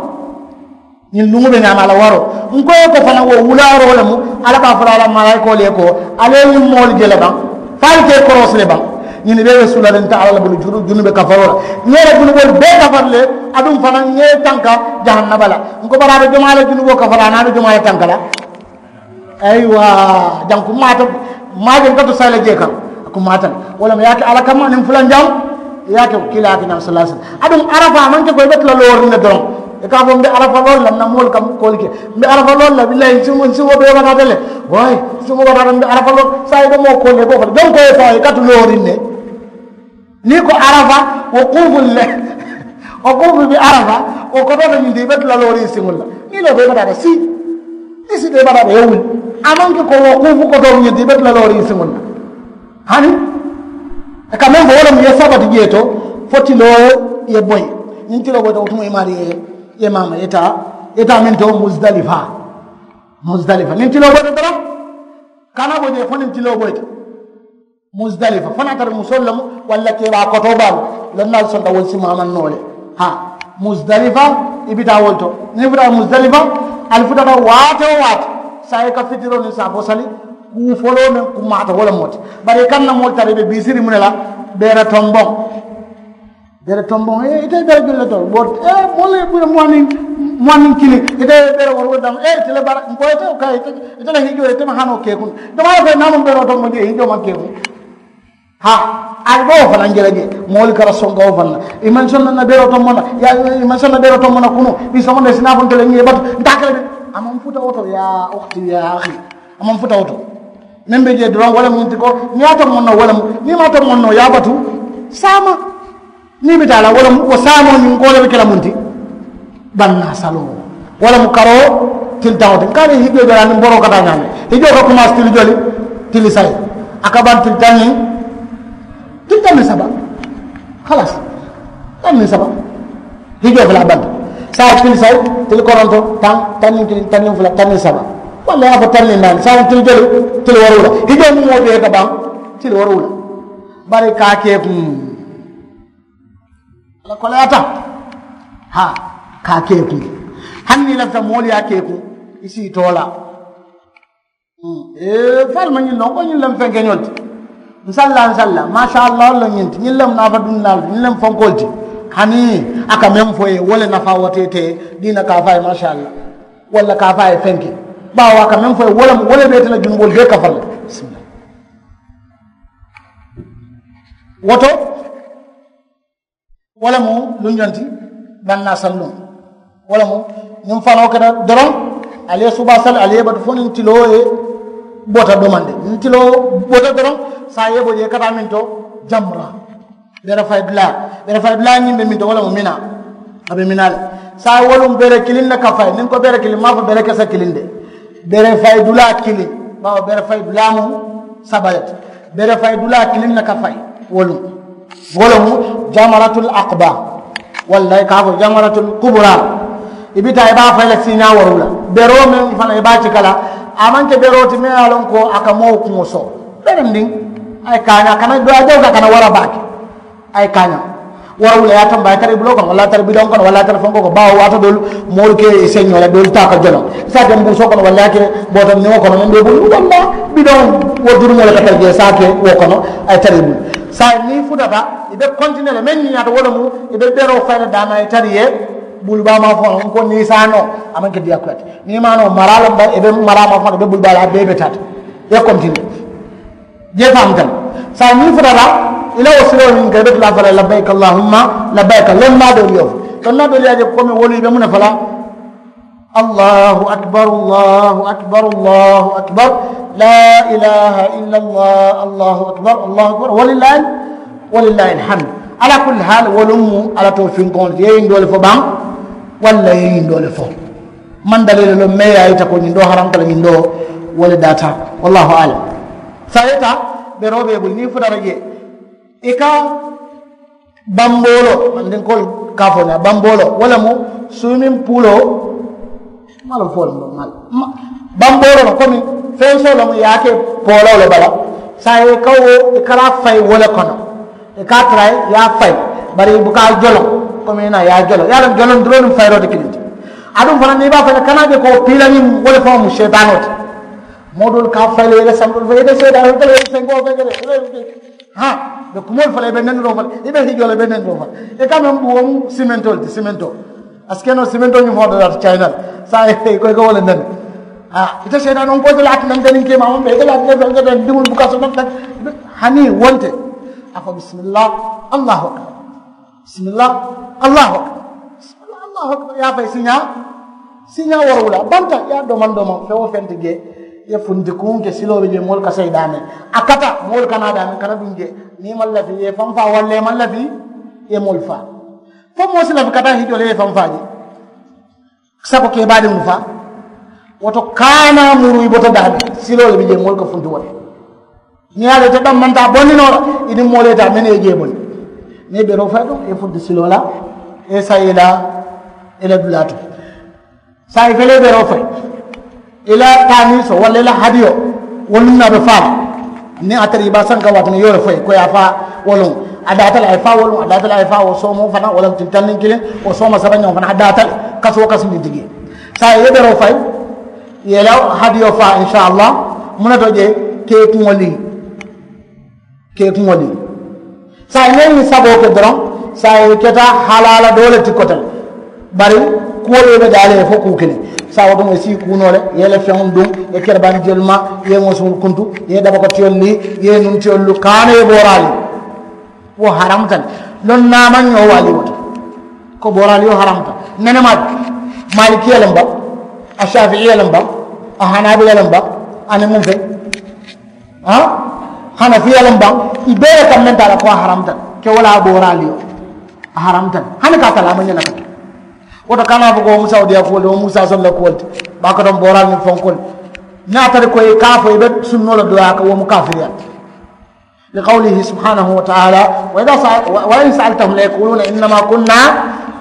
Ñiŋ luŋo be ñaama a la waroo n ko ye ko fanaŋ wo wulaaroo le mu. Alla be a fo la a la malaayikoolu ye ko ali ye ñiŋ moolu je le baŋ fo ali ka i koroosi le baŋ. Ñiŋ bee be suularinta alla le bulu junube kafaroo la. Ŋa i la junuboolu bee kafari le. Aduŋ fanaŋ ŋa i tanka jahannaba la. N ko bari a be jomaa le junuboo kafari a niŋ a be jomaa le tanka la. Ayiwa jaŋ kummaata. Maa jaŋ ka to sayla jee kaŋ a kummaata le. Wo le mu ye a ke alla kamma niŋ fulanjaŋ i ye a ke kiilaa ye a ke ñaŋ sallaa sallam. Aduŋ arafa a maŋ ke ko i be tula looriŋ ne doroŋ. I ka a fo mbe arafa loolu la n na moolu ka koolu ke mbe arafa loolu la billahi n siŋo bee bataata le. Wayi n siŋo bataata mbe arafa loolu saayiŋ i be moo koolu le i be wo fo le joŋ ko ye fo a ye i ka tu looriŋ ne. Niŋ i ko arafa wo kuufulu le. Wo kuufu be arafa wo kotoota ñiŋ ti i be tula looriŋ siŋolu la. Niŋ i loo bee bataata sii i si bee bataata ye wuli. A maŋ ke ko wo kuufu kotoo ñiŋ ti i be tula looriŋ siŋolu la. Hani i ka meŋ fo wo le mu i ye sabati jee to fo tiloo ye boyi. Niŋ tiloo boyita wo tuma i maarii ye ye maama i ye taa i ye taa meŋ to musdalifa. Musdalifa niŋ tiloo boyita doroŋ kana bo jee fo niŋ tiloo boyita. Musdalifa fo naa tara musoolu le mu walla kebaa kotoo baalu. Lonnaalu sonta wolu si maamaŋ noo le haa musdalifa. I bi taa wolu to niŋ i futata musdalifa ali futata waati wo waati. Saayiŋ i ka fitiroo niŋ saafoo sali kuu foloo meŋ kummaata wo le moo ti. Bari i kaŋ na moolu tara i be biisiriŋ mu ne la beere tomboŋ. Beere tomboŋ ite beere julu le to bo moolu ye bula muwaniŋ kiliŋ ite beere woro woro daŋ ite le bara n ko ite ka ite le hijoo ite ma hanoo kee kuŋ. Jamaa ye ko naa maŋ beeroo tomboŋ jee hijoo maŋ kee kuŋ. Haa ali be wo fanaŋ je la jee moolu kara sonka wo fanaŋ. I maŋ sonna na beeroo tomboŋ na i maŋ sonna beeroo tomboŋ na kunoo i somonda i si naa fo nte le ñiŋ ye batu nte a kele de. A maŋ futa wo to yaa okti yaa ahi. A maŋ futa wo to. Meŋ be jee doroŋ wo le mu ñiŋ ti ko niŋ ye a tomboŋ noo wo le mu niŋ i maŋ a tomboŋ noo ye a batu. Saama niŋ i be taa la wo le mu wo saamoo ñiŋ ko wo le be ke la muŋ ti. Bannaa saloo wo le mu karoo tilitaŋo ti n ka a be hijoo joola niŋ boroo ka taa ñaami hijoo ka kumaasi tili joli. Tili sayi a ka baŋ tili taŋ niŋ tili taŋ niŋ saba. Halasi taŋ niŋ saba. Hijoo fula a banta saayiŋ tili sayi tili koronto taŋ taŋ niŋ kiliŋ taŋ niŋ fula taŋ niŋ saba. Walla i ye a fo taŋ niŋ naani saayiŋ tili joli tili woruula. Hijoo niŋ moo bee ka baŋ tili woruula. Bari ka a ke kuŋ a la koleyaata. Haa ka a ke kuŋ hani niŋ i lafita moolu ye a ke kuŋ i si i too la. Fo ali maŋ ñiŋ loŋ ko ñiŋ lemu fenkeñolu ti. Nsalla nsalla maasa allah walla ñiŋ ti ñiŋ lemu naafa dunnaalu ti ñiŋ lemu fonkoolu ti. Hani a ka meŋ fo ye wo le nafaa wote ite diina ka a fo a ye maasa allah walla ka a fo a ye fenke. Baawo a ka meŋ fo ye wo lemu wo le be ite la junuboolu bee kafa la. Bisimilla. Woto wo le mu luŋ joŋ ti. Bannaa salluŋ wo le mu niŋ fanoo keta doroŋ. Ali ye subaa sali ali ye batu fo niŋ tiloo ye bota domandi niŋ tiloo bota doroŋ. Saa ye bo jee kata meŋ to jamra bere fayi dulaa bere fayi dulaa ñiŋ be meŋ to wo le mu minaa. A be minaa le saa woluŋ bere kiliŋ ne ka fayi niŋ ko bere kiliŋ maŋ a fo bere kese kiliŋ de. Bere fayi dulaa kiliŋ. Bawo bere fayi dulaa mu saba le ti. Bere fayi dulaa kiliŋ ne ka fayi wo luŋ. Wo le mu jamaratul akba, walla i ka a fo jamaratul kubura. I bi taa i be a fayi la siiñaa woru la. Beroo meŋ fanaŋ i be a cika la, a maŋ ke beroo ti meŋ ye a loŋ ko a ka moo kuŋo soo. Berendiŋ a ye kaañaa kana doo a jaw ka kana wara baake. A ye kaañaa wara wula ye a tamba a ye tara i buloo kono walla a ye tara bidoŋ kono walla a ye tara fenkoo kono baawo waato doolu moolu ke i señoo la doolu taa ka joloŋ i se a ke mbuusoo kono walla i ye a ke booto niŋo kono meŋ be i bulu walla bidoŋ wo durumoo le ka tara jee i se a ke wo kono. A ye tara i bulu saayiŋ niŋ i futata i be kontinee le meŋ ñiñaata wo le mu i be beroo fayi le daama i tara i ye bulu baa maa faŋo n ko niŋ i se a noo a maŋ ke diyaa kuyaati niŋ i maŋ a noo maraa le i be maraa maa faŋo i be bulu baa la a bee be taata i ye kontinee. Jee faamuta le saayiŋ niŋ i futata i la wo siroo ñiŋ ka i be tulaa fo la labbayka allahumma labbayka lonnaa doolu ye wo fo lonnaa doolu ye a je komi wolu i be muŋ ne fo la. Allahu akbar, allahu akbar, allahu akbar. La ilaha illa allah, allahu akbar, allahu akbar, walillahi walillahi alhamdu. Ala kulli hal wolu mu ala to finkoŋolu ti i ye ñiŋ doolu fo baŋ walla i ye ñiŋ doolu fo. Maŋ daliilu loŋ meŋ ye a yita ko ñiŋ doo haramta le ñiŋ doo wo le daata. Wallahu alam. Saayiŋ i ta beroo be i bulu niŋ i futata jee i ka bambooloo mandinkoolu ka a fo ñaa bambooloo wo le mu suumiŋ puuloo malo fo le mu malo bambooloo le komi feŋ soo le mu i ye a ke pooloo le bala. Saayiŋ i ka wo i ka la fayi wo le kono. I ka a tara i ye a fayi bari i buka a joloŋ komi i naa i ye a joloŋ i ye a loŋ joloŋ duloo niŋ fayiroo ti kiliŋ ti. Aduŋ fanaŋ niŋ i be a fayi la kana a je ko piila ñiŋ wo le faŋo mu seetaanoo ti. Moo doolu ka a fayi le i ye i la santoolu fayi i be seetaanoo fayi i be senkoo fayi i be ha i be kumoolu fo la i be nendiroo fo la i be hijoo la i be nendiroo fo la i ka meŋ buwo mu simentoo le ti simentoo. A si ke noo simentoo ñiŋ faŋo dadaata cayina le saayiŋ i ko i ka wo le neni. Haa ite seetaanoo n ko ite le a ti nante niŋ keemaa maŋ be ite le a ti nante nante diŋolu buka soto nante. Hani wonte a ko bisimillah. Allahu akbar. Bisimillah. Allahu akbar. Bisimillah allahu akbar i ye a fayi siiñaa. Siiñaa woorowula banta i ye a domaŋ domaŋ feŋ wo feŋ ti jee i ye funti kuŋ ke siloo be jee moolu ka sayi daameŋ. A kata moolu kana daameŋ kana duŋ jee. Niŋ i maŋ lafi i ye i faŋ faa walla i maŋ lafi i ye moolu faa. Fo moo si lafi ka taa hijoo le i ye i faŋ faa jee. Sako ke i baadiŋolu faa. Wo to kaana muru i bota daameŋ siloo le be jee moolu ka funti wo le. Niŋ i ye a loŋ ite daŋ maŋ taa bondi noo la i niŋ moolu ye taa mennu ye jee bondi. Niŋ i beroo fayi to i ye funti siloo la i ye sayi i la i la dulaa to. Saayiŋ i fele i beroo fayi i la taamiisoo walla i la hadiyoo wo luŋ na a be faa la. Niŋ a tara i be a sanka waati niŋ i ye wo le fayi ko i ye a faa wo luŋ. A daata le a ye faa wo luŋ a daata le a ye faa wo soomoo fanaa wo le tili taŋ niŋ kiliŋ wo sooma saba ñaŋo fanaa a daata le. Kasi wo kasi niŋ tigi ye saayiŋ i ye beroo fayi i ye i la hadiyoo faa insaallaah. Muŋ ne to jee kee kuŋo lii kee kuŋo lii. Saayiŋ niŋ i ye ñiŋ saboo ke doroŋ saayiŋ i keta halaala doo le ti kote le. Bari kuwo le i be daa le i ye fo kuu kiliŋ. Saayiŋ wo to moo i si i kuu noo le i ye i la feŋolu duŋ i ye kerebaani jelu maa i ye i ŋosuŋolu kuntu i ye i dabakotiyolu lii i ye i nuntiyolu lu kaana i ye booraa lii. Wo haramuta le. Loŋ naa maŋ ñoo waalii wo to ko booraa lii wo haramuta. Nene maa maalikiya le mba a saafiiya le mba a hanaabila le mba aniŋ muŋ feŋ hanafiya le mba i bee le kaŋ meŋ taa la ko a haramuta. Ke wo le a booraa lii wo a haramuta le hani ka a talaa maŋ ñe la ka ke. Wo to kana fo ko wo mu sawudiya kuwo le wo mu saasoŋ le kuwo le ti. Baa ko toŋ booraa niŋ fonko le. Niŋ a tara ko i ka a fo i be sunnoo le doyaa ka wo mu kaafiriyaa le ti. Li qawlihi subhanahu wa taala wa in saaltahum la yakuluna innama kunna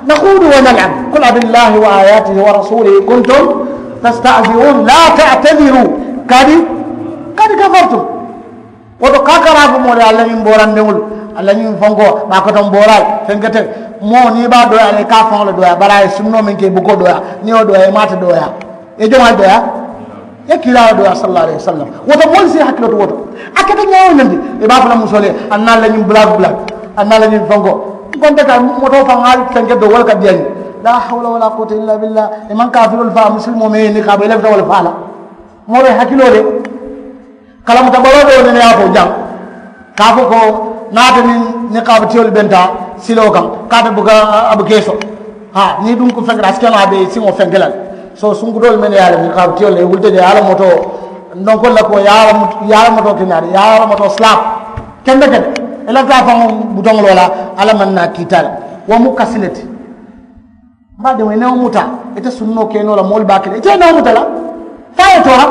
nakhudu wa nalab kul abillahi wa ayatihi wa rasulihi kuntum tastahziun la taatadiru kadi kadi kafartum. Wo to ka a kara a fo moo le alla ñiŋ boorandiŋolu alla ñiŋ fonkoo baa kotoŋ booraa le fenkete moo niŋ i be a doyaa la i ka a faŋo le doyaa bari a ye sunnoo meŋ ke i buko doyaa niŋ i wo doyaa i maata doyaa. Ye jomaa doyaa ye kiilaa doyaa sallallaahu alayhi wasallam. Wo to moolu si i hakiloo to wo to a keta ñaawo ñandi. I be a fo la musoo le ye a naa la ñiŋ bulaak bulaak a naa la ñiŋ fenkoo. N konte ka motoo faŋ ŋa fenke doo wo le ka diya ñiŋ. Laa hawla walaa kuwata illaa billaa. I maŋ kaafiroolu faa musilimoo meŋ ye niŋ ka a bo i lafita wo le faa la. Moo be hakiloo le kalamuta baloo doo nene ye a fo jaŋ. Ka a fo ko naata niŋ niŋ ka a be tiyolu benta siloo kaŋ ka a be buka a be keeso. Haa niŋ duŋ ko feŋ kata a si ke noo a be siŋo feŋ ke la le. So sunkutoolu mennu ye a loŋ ka a be tiyolu le i wulita je ye a la motoo ndonkolu la ko ye a la motoo keñaari ye a la motoo silaapu kende kende. I lafita a faŋo butoŋoloo la alla maŋ naa kiita le. Wo mu kasi le ti. Mbaadiŋo i newo muta ite sunnoo ke noo la moolu be a ke la ite i newo muta la. Fo a ye toora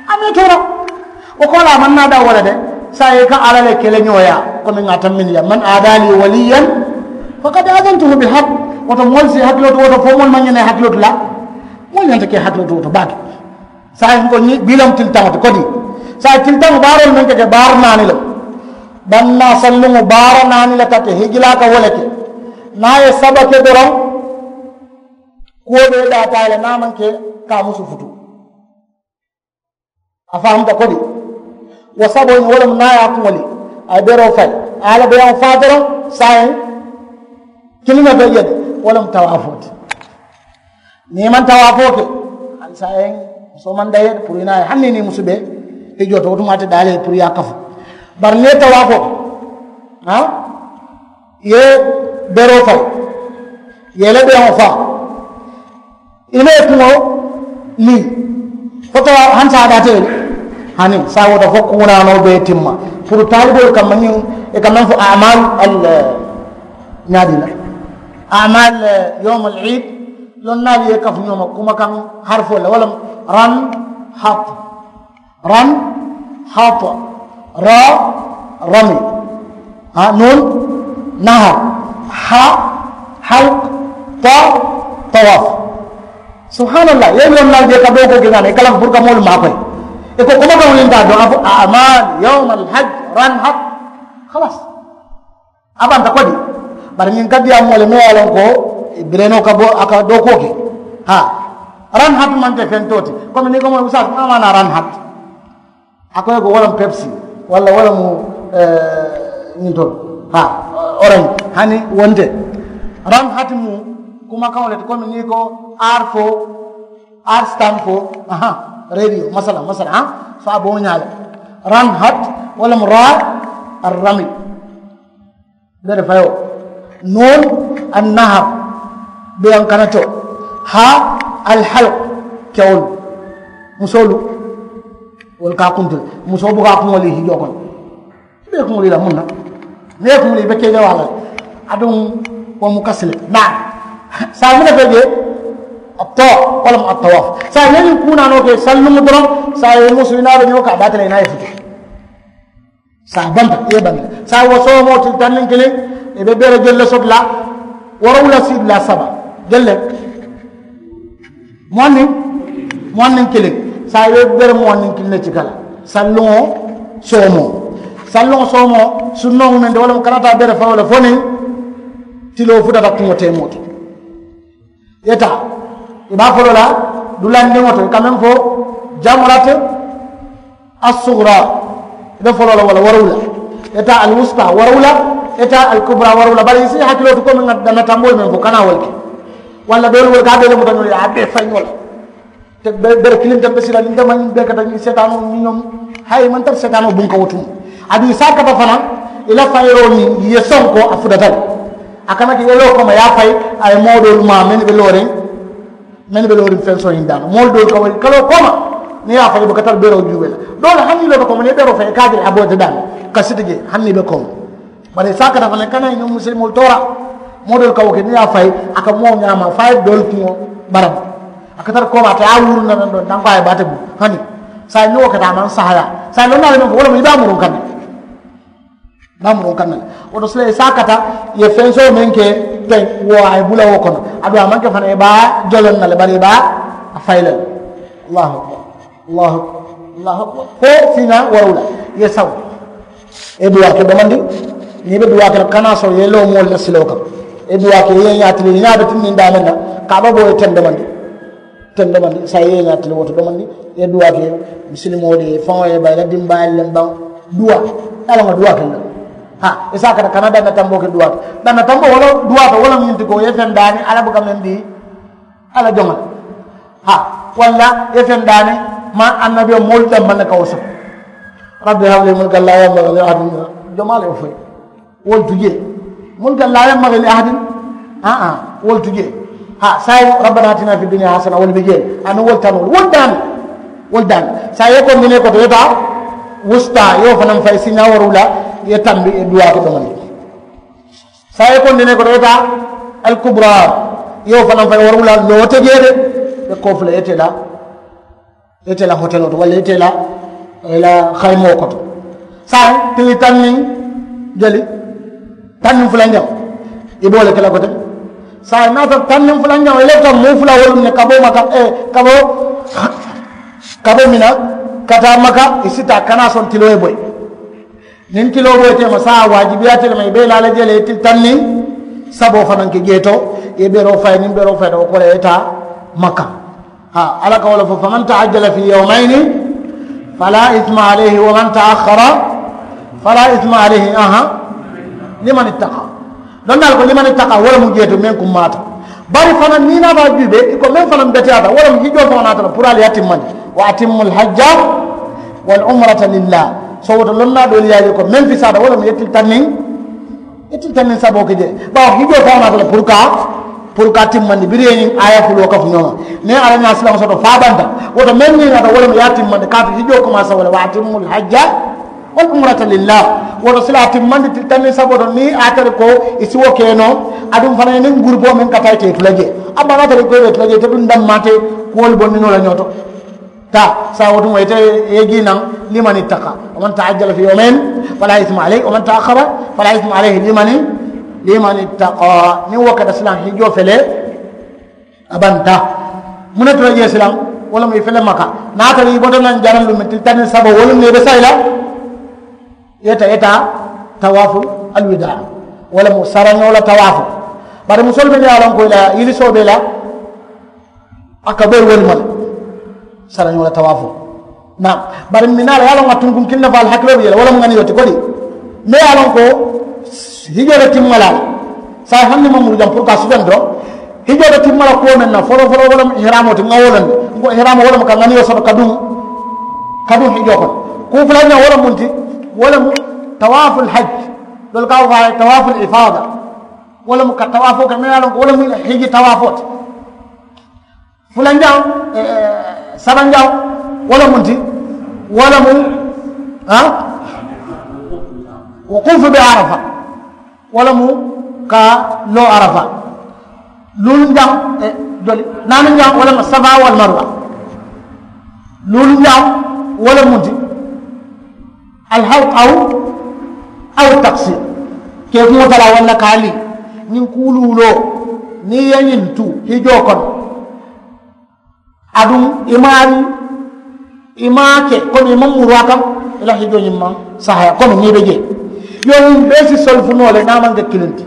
a maŋ i toora. Wo koolaa maŋ naa daŋ wo le de. Saayiŋ i ka alla le keleñooyaa komi ŋa a tammindiya man aadaali waliyan, fakad aadantuhu bil hak. Woto moolu si hakiloo to woto fo moolu maŋ ñene hakiloo to la. Moolu ñanta ke hakiloo to woto baake. Saayiŋ ko ñiŋ bii le mu tilitaŋo ti kodi. Saayiŋ tilitaŋo baaroolu meŋ ka ke baara naani le. Bannaa salluŋo baara naani le ka ke hijilaa ka wo le ke. Niŋ a ye saba ke doroŋ, kuwo bee daataa le niŋ a maŋ ke ka a musu futu. A faamuta kodi. Wo saboo ñiŋ wo le mu niŋ a ye a kuŋo lii, a ye beroo fayi, a ye a la beyaŋo faa doroŋ. Saayiŋ kiliŋ ne be je de. Wo le mu tawaafoo ti. Niŋ i maŋ tawaafoo ke, hani saayiŋ musoo maŋ daye puru i naa ye hani niŋ i musu be hijoo to wo tumaa te daali ye puru i ye a kafu. Bari niŋ i ye tawaafoo ke, haa, i ye beroo fayi, i ye i la beyaŋo faa, i la i kuŋo niŋ fo tawa hani saayiŋ a daata i ye le. Hani saayiŋ wo to fo kuunaanoo be i timma puru taaliboolu kamma ñiŋ i ka meŋ fo amal al ñaadii la amal yowmal iid. Lonnaalu ye i kafu ñoo ma kumakaŋ harifoo le wo le mu ran, hat, ran, hat, ra, rami, ha, nun, nahar, ha, halk, ta, tawaf. Subhanallah, i ye lonnaalu je ka dookoo ke ñaana i kalaŋ puru ka moolu maakoyi. I ko kumakaŋo ñiŋ taa doŋ a fo amal yowmal haj, ran, hat, halas. A banta kodi. Bari ñiŋ ka diyaa moo le meŋ ye a loŋ ko birenoo ka bo a ka dookoo ke. Haa, ran hatu maŋ ke fentoo ti. Komi niŋ i ko moo usaas maa maanaa ran hatu. A ko i ko wo le mu pepsi, walla wo le mu ñiŋ to, haa, orange, hani wo nte. Ran hatu mu kumakaŋo le ti komi niŋ i ko aar fo, aar stan fo, aha, radio masala masala, haa, fo a be wo ñaa le. Ran hat, wo le mu raa, arrami. Bere fayoo, nuun, annahar, beyaŋ kanatoo, haa, alhalk, kewolu, musoolu. Wolu ka a kuntu le, musoo buka a kuŋo lii hijoo kono. I be i kuŋo lii la muŋ na? Niŋ i ye kuŋo lii i be kee jawaa la le. Aduŋ, wo mu kasi le naa. Saayiŋ muŋ ne fee jee? Attawaf, wo le mu attawaf. Saayiŋ i ye ñiŋ kuu naanoo ke salluŋo doroŋ. Saayiŋ i musu i naa be ñoo ka a daata le i naa ye futu. Saayiŋ a banta i ye banta. Saayiŋ wo soomoo tili taŋ niŋ kiliŋ, i be bere jelu le soto la, woorowula sii dulaa saba jelu le, muwaŋ niŋ, muwaŋ niŋ kiliŋ. Saayiŋ i be bere muwaŋ niŋ kiliŋ le cika la. Salluŋo soomoo, salluŋo soomoo sunnoo mu meŋ ti wo le mu kana taa bere fawoo le fo niŋ tiloo futata kuŋo teemoo to. I ye taa, i be a foloo la dulandiŋo to i ka meŋ fo, jamurati assuguraa, i be foloo la wo la woorowula. I ye taa alwusta woorowula, i ye taa alkuburaa woorowula bari i si i hakiloo ti komi ŋa danna tamboolu meŋ fo kana wo le ke. Walla doolu wo le ka a bee le muta ñoo le ye a bee fayi ñoo la. Te bere kiliŋ te be sila niŋ te maŋ bee kata ñiŋ seetaanoo ñiŋ ñoŋ, hayi i maŋ tara seetaanoo buŋ ka wo tuŋ. Aduŋ i si a kata fanaŋ, i la fayiroo niŋ i ye soŋ ko a futata le. A kana ke i ye loo kooma i ye a fayi. A ye moo doolu maa mennu be looriŋ, mennu be looriŋ feŋ sohiŋ daama moolu doolu ka wo kaloo kooma. Niŋ i ye a fayi i buka tara beroo juubee la. Doolu hani i loota kooma niŋ i beroo fayi i ka a je le a boyita daama, ka siti jee hani i be kooma. Bari i si a kata fanaŋ i kana i ñoŋ musilimoolu toora. Moo doolu ka wo ke niŋ i ye a fayi a ka moo ñaama fo a ye doolu kuŋo barama. A ka tara kooma a te a wuuru na naŋ doŋ tanko a ye baate bulu hani. Saayiŋ niŋ wo keta a maŋ sahaya. Saayiŋ loŋ naa le meŋ fo wo le mu i be a muruŋ kaŋ ne. I be a muruŋ kaŋ ne le. Wo to sila i si a kata i ye feŋ soo meŋ ke teŋ wo a ye bula wo kono. Aduŋ a maŋ ke fanaŋ i be a joloŋ na le bari i be a fayi le le. Allahu akbar. Allahu akbar. Allahu akbar. Fo siiñaa woorowula i ye sawu. I ye duwaa ke domandi. Niŋ i be duwaa ke la kana soŋ i ye loo moolu la siloo kaŋ. I ye duwaa ke i ye ñaatili i ñaa be tinniŋ daameŋ na. Kaaba boo ye teŋ domandi. Teŋ domandi saayiŋ i ye ñaatili wo to domandi. I ye duwaa ke misilimoolu ye faŋo ye bayi i la dimbaayalu le baŋ. Duwaa i ye a loŋ ka duwaa ke le. Haa i si a kata kana danna tamboo ke duwaa to. Danna tamboo wo la duwaa to wo le mu ñiŋ ti ko i ye feŋ daani alla buka meŋ dii. Alla joŋo le. Haa walla i ye feŋ daani maa annabiyo moolu dammaŋ ne ka wo soto. Rabbi habli mulkan laa yanbagii li ahadin min. Jomaa le ye wo fo i ye. Wolu tu jee. Mulkan laa yanbagii li ahadin. Aa wolu tu jee. Haa saayiŋ rabbana atina fi duniya hasana wolu be jee le. Aniŋ wolu tanoolu wolu daani. Wolu daani. Saayiŋ i ye kondinee koto i ye taa, wusta i ye wo fanaŋ fayi siiñaa woorowula. I ye tambi i ye duwaa ke domandi. Saayiŋ i ye kondinee koto i ye taa, alkuburaa i ye wo fanaŋ fayi woorowula. Loo te jee de. I be koo fula i ye tee la i ye tee la hoteloo to walla i ye tee la. Ila xaymoo koto saayiŋ tili taŋ niŋ jeli taŋ niŋ fulanjaŋo i be wo le ke la kote. Saayiŋ naata taŋ niŋ fulanjaŋo i lafita moo fula wolu ne ka bo maka ka bo ka bo mina ka taa maka i si taa kana soŋ tiloo ye boyi. Niŋ tiloo boyi teema saayiŋ waajibiyaate le ma i be i la a la jele i tili taŋ niŋ saboo fanaŋ ke jee to i ye beroo fayi niŋ beroo fayita wo kola i ye taa maka. Haa alla ka wo le fo faman taajjala fi yawmayni fala isma alayhi wa man taaxara fala isma alayhi aha. Liman ittaqa. Loŋ naa le ko liman ittaqa wo le mu jee to meŋ kummaata. Bari fanaŋ niŋ i naata a juubee i ko meŋ fanaŋ beteyaata wo le mu hijjoo faŋo naata la puru ali ye a timmandi. Wa atimmu alhajja wal umrata lillah. Sowoto loŋ naa doolu ye a je ko meŋ fisaata wo le mu ye tili taŋ niŋ i tili taŋ niŋ saboo ke jee. Bawo hijjoo faŋo naata le puru ka puru ka a timmandi biriŋ ye ñiŋ aaya fuloo kafu ñoo ma. Niŋ alla ñaa silaŋo soto faa banta woto meŋ ñiŋ naata wo le mu ye a timmandi kaatu hijjoo komaasa wo le wa atimmu alhajja wal umrata lillah. Woto sila a timmandi tili taŋ niŋ saboo to niŋ a tari ko i si wo ke noo. Aduŋ fanaŋ ye niŋ gurupoo meŋ ka taa ite i tula jee a baa naata le ko i be tula jee ite duŋ dammaate kuwolu bondi noo la ñoo to. Taa saayiŋ wo tumoo ite ye jii naŋ liman ittaqa. Wa man taajjala fi yawmayn fala isma alayhi wa man taaxara fala isma alayhi liman liman ittaqa. Niŋ wo keta silaŋ hijjoo fele a banta. Muŋ ne tula jee silaŋ wo le mu i fele maka naata le i bota naŋ jaraŋ luŋ meŋ tili taŋ niŋ saboo wo luŋ ne i be sayi la. Ye taa ye taa tawaafu alwidaa wo le mu sarañoo la tawaafoo. Bari musoolu mennu ye a loŋ ko i la yilisoo be i la a ka boyi wo le ma le. Sarañoo la tawaafoo naam. Bari minaa la ye a loŋ a tunkuŋ kiliŋ ne fo ali hakiloo be jee la wo le mu ŋaniyoo ti kodi. Meŋ ye a loŋ ko hijoo le timma la a la saayiŋ hani niŋ maŋ muru jaŋ puru ka a sutandi doroŋ. Hijoo be timma la kuwo meŋ na foloo foloo wo le mu ihiraamoo ti ŋa wo le mu n ko ihiraamoo wo le mu ka ŋaniyoo soto ka duŋ ka duŋ hijoo kono. Kuu fulanjaŋo wo le mu n ti wo le mu tawaaful hajji. Doolu ka a fo a ye tawaaful ifaada. Wo le mu ka tawaafoo ke meŋ ye a loŋ ko wo le mu hijji tawaafoo ti. Fulanjaŋ sabanjaŋ wo le mu n ti wo le mu wukuufu be arafa. Wo le mu ka loo arafa. Luulunjaŋ doli naanunjaŋ wo le mu safa wal marwa. Luulunjaŋ wo le mu n ti alhawq aw aw taksir. Ke kuŋo tala walla ka a lii ñiŋ kuuluuloo niŋ i ye ñiŋ tu hijoo kono. Aduŋ i maari i maake komi i maŋ muru a kaŋ. I la hijoo ñiŋ maŋ sahaya komi niŋ i be jee. Yo ñiŋ bee si solufu noo le niŋ a maŋ ke kiliŋ ti.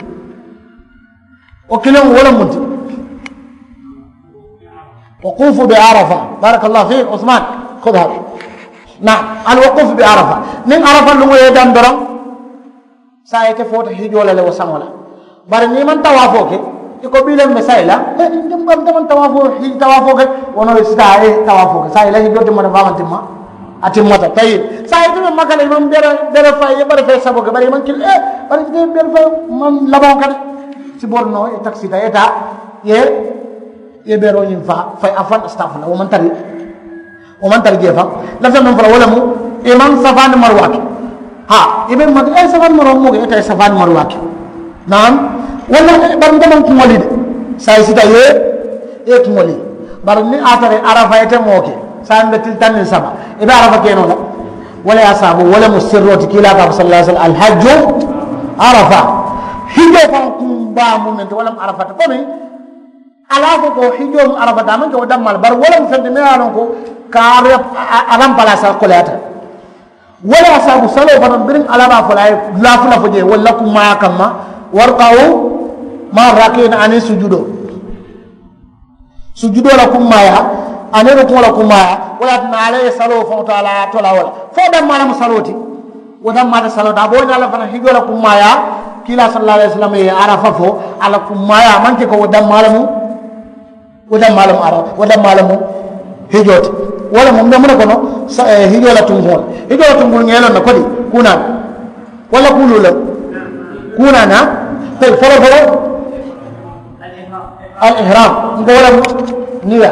Wo kiliŋ wo le mu n ti wukuufu be arafa. Barakallahu fiik usman. Kodi haka naam. Alwukuufu be arafa niŋ arafa luŋo ye i daŋ doroŋ. Saayiŋ ite foota hijoo la le wo saŋo la. Bari niŋ i maŋ tawaafoo ke i ko bii le mbe sayi la. Nte maŋ tawaafoo hiji tawaafoo ke. Wo noo i si taa i ye tawaafoo ke saayiŋ i la hijoo timmata fo a maŋ timma. A timmata tayi saayiŋ ite be maka la i maŋ bere bere fayi i ye bari fayi saboo ke bari i maŋ kili bari ite bere fayi maŋ labaŋo kati. Si bori noo i takisita i ye taa i ye i ye beroo ñiŋ faa fayi a faŋ sitaafu la wo maŋ tari. Wo maŋ tara jee faŋ. Lafita meŋ fo la wo le mu i maŋ safaani maruwaa ke. Haa i be maŋ ke i ye safaani maruwaa moo ke i ye taa i ye safaani maruwaa ke. Naam. Walla bari nte maŋ kuŋo lii de. Saayiŋ sita i ye i ye kuŋo lii. Bari niŋ a tara arafa ite moo ke saayiŋ be tili taŋ niŋ saba i be arafa ke noo la. Wo le ye a saabu wo le mu sirroo ti kiilaa ka a fo sallallaahu alayhi wasallam alhajju arafa. Hijoo faŋ kumbaa mu meŋ ti wo le mu arafa ti komi. Ala ko ko hijoo mu arafa daa maŋ ke wo dammaa le bari wo le mu feŋ ti meŋ ye a loŋ ko ka a rampalasa koleyaata. Wo le ye a saabu saloo fanaŋ biriŋ ala be a fo la a ye laafula fo jee walla kummaaya kamma. Warkawu maa rakiina aniŋ sujudoo sujudoo la kummaaya aniŋ rukuŋo la kummaaya. Wo le ye a tinna ala ye saloo faŋo to ala ye a tola wo la fo dammaa le mu saloo ti. Wo dammaa le saloo ti a be wo ñaa le fanaŋ hijoo la kummaayaa. Kiilaa sallallaahu alayhi wasallam ye arafa fo a la kummaayaa maŋ ke ko wo dammaa le mu. Wo dammaa le mu arafa wo dammaa le mu hijoo ti. Wo le mu mbe muŋ ne kono hijoo la tunkuŋo la hijoo la tunkuŋo ñeeloŋ na kodi kuunaa na walla kuuluu le. Kuunaa na tayi folo folo. Al ihram n ko wo le mu niya.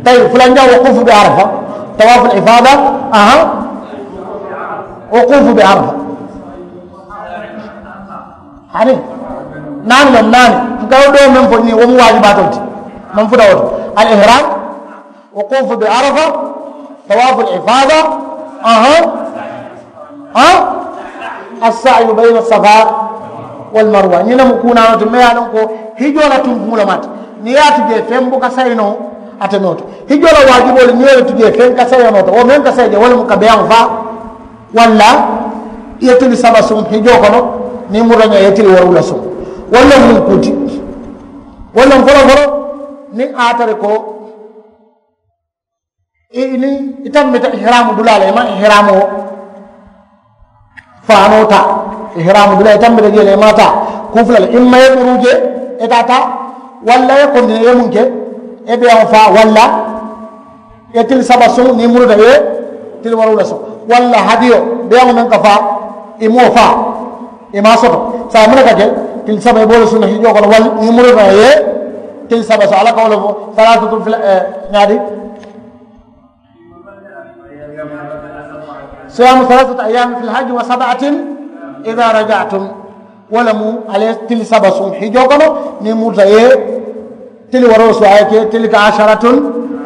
Tayi fulanjaŋ wukuufu be arafa. Tawaafu l ifaada. Aha. Wukuufu be arafa. Hani naani loŋ naani n ka wo doo meŋ fo ñiŋ wo mu waajibaatoo ti. Meŋ futa wo to al ihram. Wukuufu be arafa. Tawaafu l ifaada. Ahan. Ahan. Assayu bayna safa wal marwa ñiŋ ne mu kuunaano ti me ye a loŋ ko hijoo la tunkuŋo le maati niŋ ye a tu jee feŋ buka sayi noo. Ate noo to hijoo la waajiboolu niŋ ye le tu jee feŋ ka sayi noo to wo meŋ ka sayi jee wo le mu ka beyaŋo faa. Walla i ye tili saba suŋ hijoo kono niŋ murata ñaa i ye tili woruula suŋ. Walla muŋ kuti walla foloo foloo niŋ a tara ko i niŋ i tambita ihraamu dulaa la i maŋ ihraamoo faanoo taa. Ihraamu dulaa i tambita jee le i maŋ a taa kuu fula le i maŋ ye muruu jee i taa taa. Walla i ye kontine i ye muŋ ke i ye beyaŋo faa walla i ye tili saba suŋ niŋ i muruta i ye tili woruula suŋ walla hadiyo beyaŋo meŋ ka faa i moo faa i maŋ a soto. Saayiŋ muŋ ne ka ke tili saba i be wo le suŋ na hijoo kono walla niŋ i muruta i ye tili saba suŋ alla ka wo le fo. Salaasatu fila ñaadi siyaamu salaasati ayyaamin fil hajji wa sab'atin idaa raja'tum. Wo le mu ali ye tili saba suŋ hijoo kono niŋ i muruta i ye tili wooroo suŋ a ye ke tilka asharatun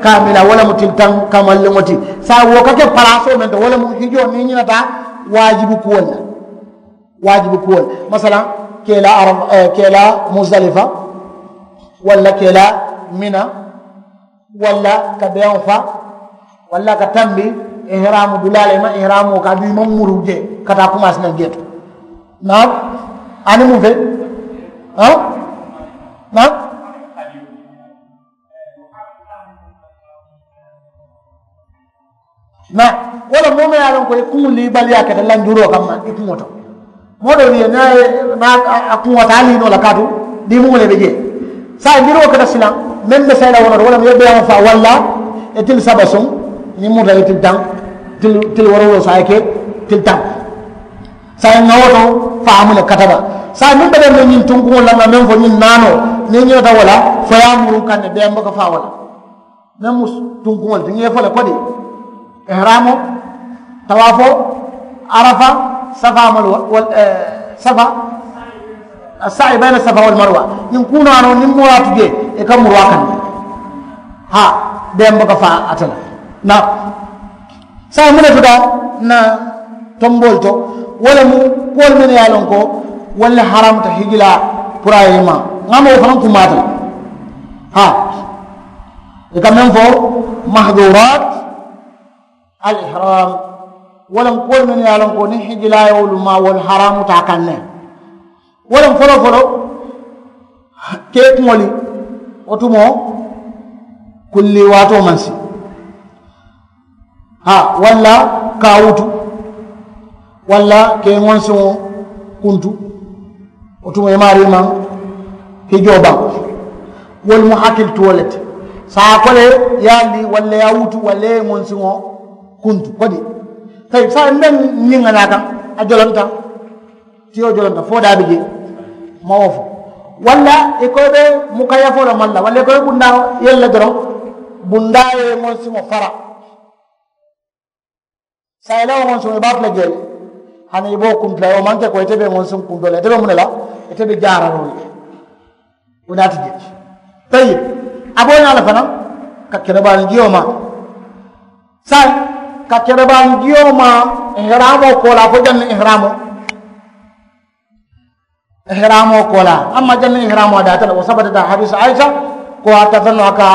kaamila wo le mu tili taŋ kamalliŋo ti. Saayiŋ wo ka ke palaasoo meŋ to wo le mu hijoo niŋ i ñinata waajibi kuwolu la. Waajibi kuwolu masalaŋ ke i la arafa ke i la musdalifa walla ke i la mina walla ka beyaŋo faa walla ka tambi ihraamu dulaa la i maŋ ihraamoo ka aduŋ i maŋ muruu jee ka taa kumaasi naŋ jee to. Naam. Aniŋ muŋ fe? Naam. Naam. Wo le moo meŋ ye a loŋ ko i kuŋo liibaliyaa keta lanjuroo kamma i kuŋo to moo doo ye niŋ a ye niŋ a kuŋo taa liinoo la kaatu diimuŋo le be jee. Saayiŋ biroo keta silaŋ meŋ be sayila wo noto wo le mu ye beyaŋo faa walla i tili saba suŋ niŋ muta i tili taŋ tili woorowuloo saayiŋ ke tili taŋ. Saayiŋ ŋa wo to faamu le kataba. Saayiŋ meŋ be dee meŋ ñiŋ tunkuŋo la ŋa meŋ fo ñiŋ naanoo niŋ ñinata wo la fo ye a muru kaŋ ne beyaŋ buka faa wo la. Meŋ mu tunkuŋolu ti ŋa ye fo le kodi ihraamoo tawaafoo arafa safa malu wal safa assa'i bayna safa wal marwa. Ñiŋ kuunaanoo niŋ moo ye a tu jee i ka muru a kaŋ ne haa beŋ buka faa ate la. Na saayiŋ muŋ ne tuta na tomboolu to wo le mu kuwolu mennu ye a loŋ ko wolu le haramuta hijilaa puru a ye i maa ŋa moo fanaŋ kumaata le. Haa i ka meŋ fo mahduraat al ihram. Wo le mu kuwolu mennu ye a loŋ ko niŋ hijilaa ye wolu maa wolu haramuta a kaŋ ne. Wo le mu foloo foloo kee kuŋo li wo tumoo kulli waatoo maŋ si haa walla ka a wutu walla ka i ŋonsiŋo kuntu. Wo tuma i maarii maŋ hijoo baŋ wolu mu hakilituwo le ti. Saayiŋ a ko le ye a lii walla ye a wutu walla ye i ŋonsiŋo kuntu kodi tayi saayiŋ mbe ñiŋ ŋa naa kaŋ a jolonta tiyo jolonta fo daa bi jee ma wo fo walla i ko i be mukayafoo le maŋ la walla i ko i be bundaa yelu la doroŋ bundaa ye i ŋonsiŋo fara. Saayiŋ i la wo ŋonsiŋo i be a tu la jee le hani i be wo kuntu la wo maŋ ke ko ite be ŋonsiŋ kuntoo la ite be muŋ ne la ite be jaararoo le. Wo naati jee tayi a be wo ñaa le fanaŋ ka kerebaani jiyoo maa saayiŋ ka kerebaani jiyoo maa ihraamoo koolaa fo janniŋ ihraamoo ihraamoo koolaa amma janniŋ ihraamoo a daata le wo sabatita hadiisa ayisa ko a tata noo a ka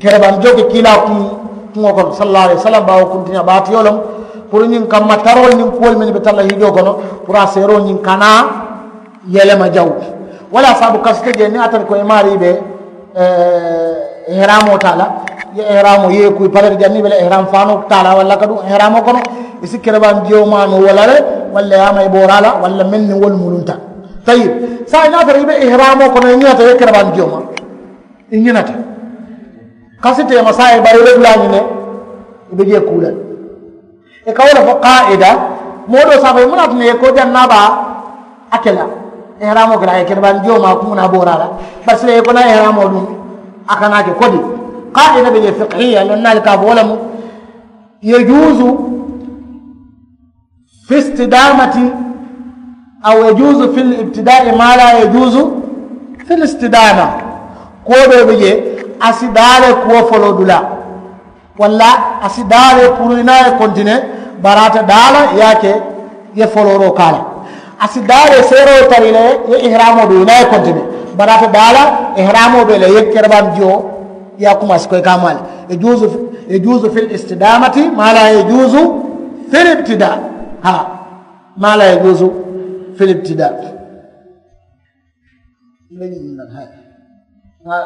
kerebaani joo ke kiilaa kuŋo kono sallallaahu alayhi wasallam baawo kuntiñaa baatiyoo loŋ puru ñiŋ kamma taroolu niŋ kuwolu mennu be tara la hijoo kono puru a seeroo ñiŋ ka naa yelema jawu. Walla saabu kasite jee niŋ a tara ko i maarii be ihraamoo taa la i ye ihraamoo i ye i kuyi pare ti janniŋ i be la ihraam faanoo taa la walla ka duŋ ihraamoo kono i si kerebaani jiyoo maa noo wo la le walla ye a mayi booraa la walla meŋ niŋ wolu mulunta. Tayib saayiŋ niŋ a tara i be ihraamoo kono i ñinata i ye kerebaani jiyoo maa i ñinata kasi teema saayiŋ bari i be dulaa ñiŋ ne i be jee kuu la le. I ka wo le fo kaida moo doo saafo ye muŋ na a tinna i ye koo jaŋ naa baa a ke la ihraamoo ke la a ye kerebaani jiyoo maa kuŋ naa booraa la bari sila i ye ko naa ihraamoo duŋ a kana ke kodi kaida be je fikihiya loŋ naa le ka a fo wo le mu yajuusu fi istidamati aw yajuusu fi libtidaai maa laa yajuusu fi listidama. Kuwo doo be je a si daa le kuwo foloo dulaa Walla a si daa le puru i naa ye kontine, bari ate daa la i ye a ke i ye folooroo ke a la. A si daa le seeroo tara i la i ye ihraamoo duu i naa ye kontine, bari ate daa la ihraamoo be i la i ye kerebaŋ jiyo i ye a kumaasi ko i ka a maa le. Yajuuzu, yajuuzu fil istidaamati maa laa yajuuzu fil ibtidaa. Haa. Maa laa yajuuzu fil ibtidaa. Be ñiŋ na le, haa. Ŋa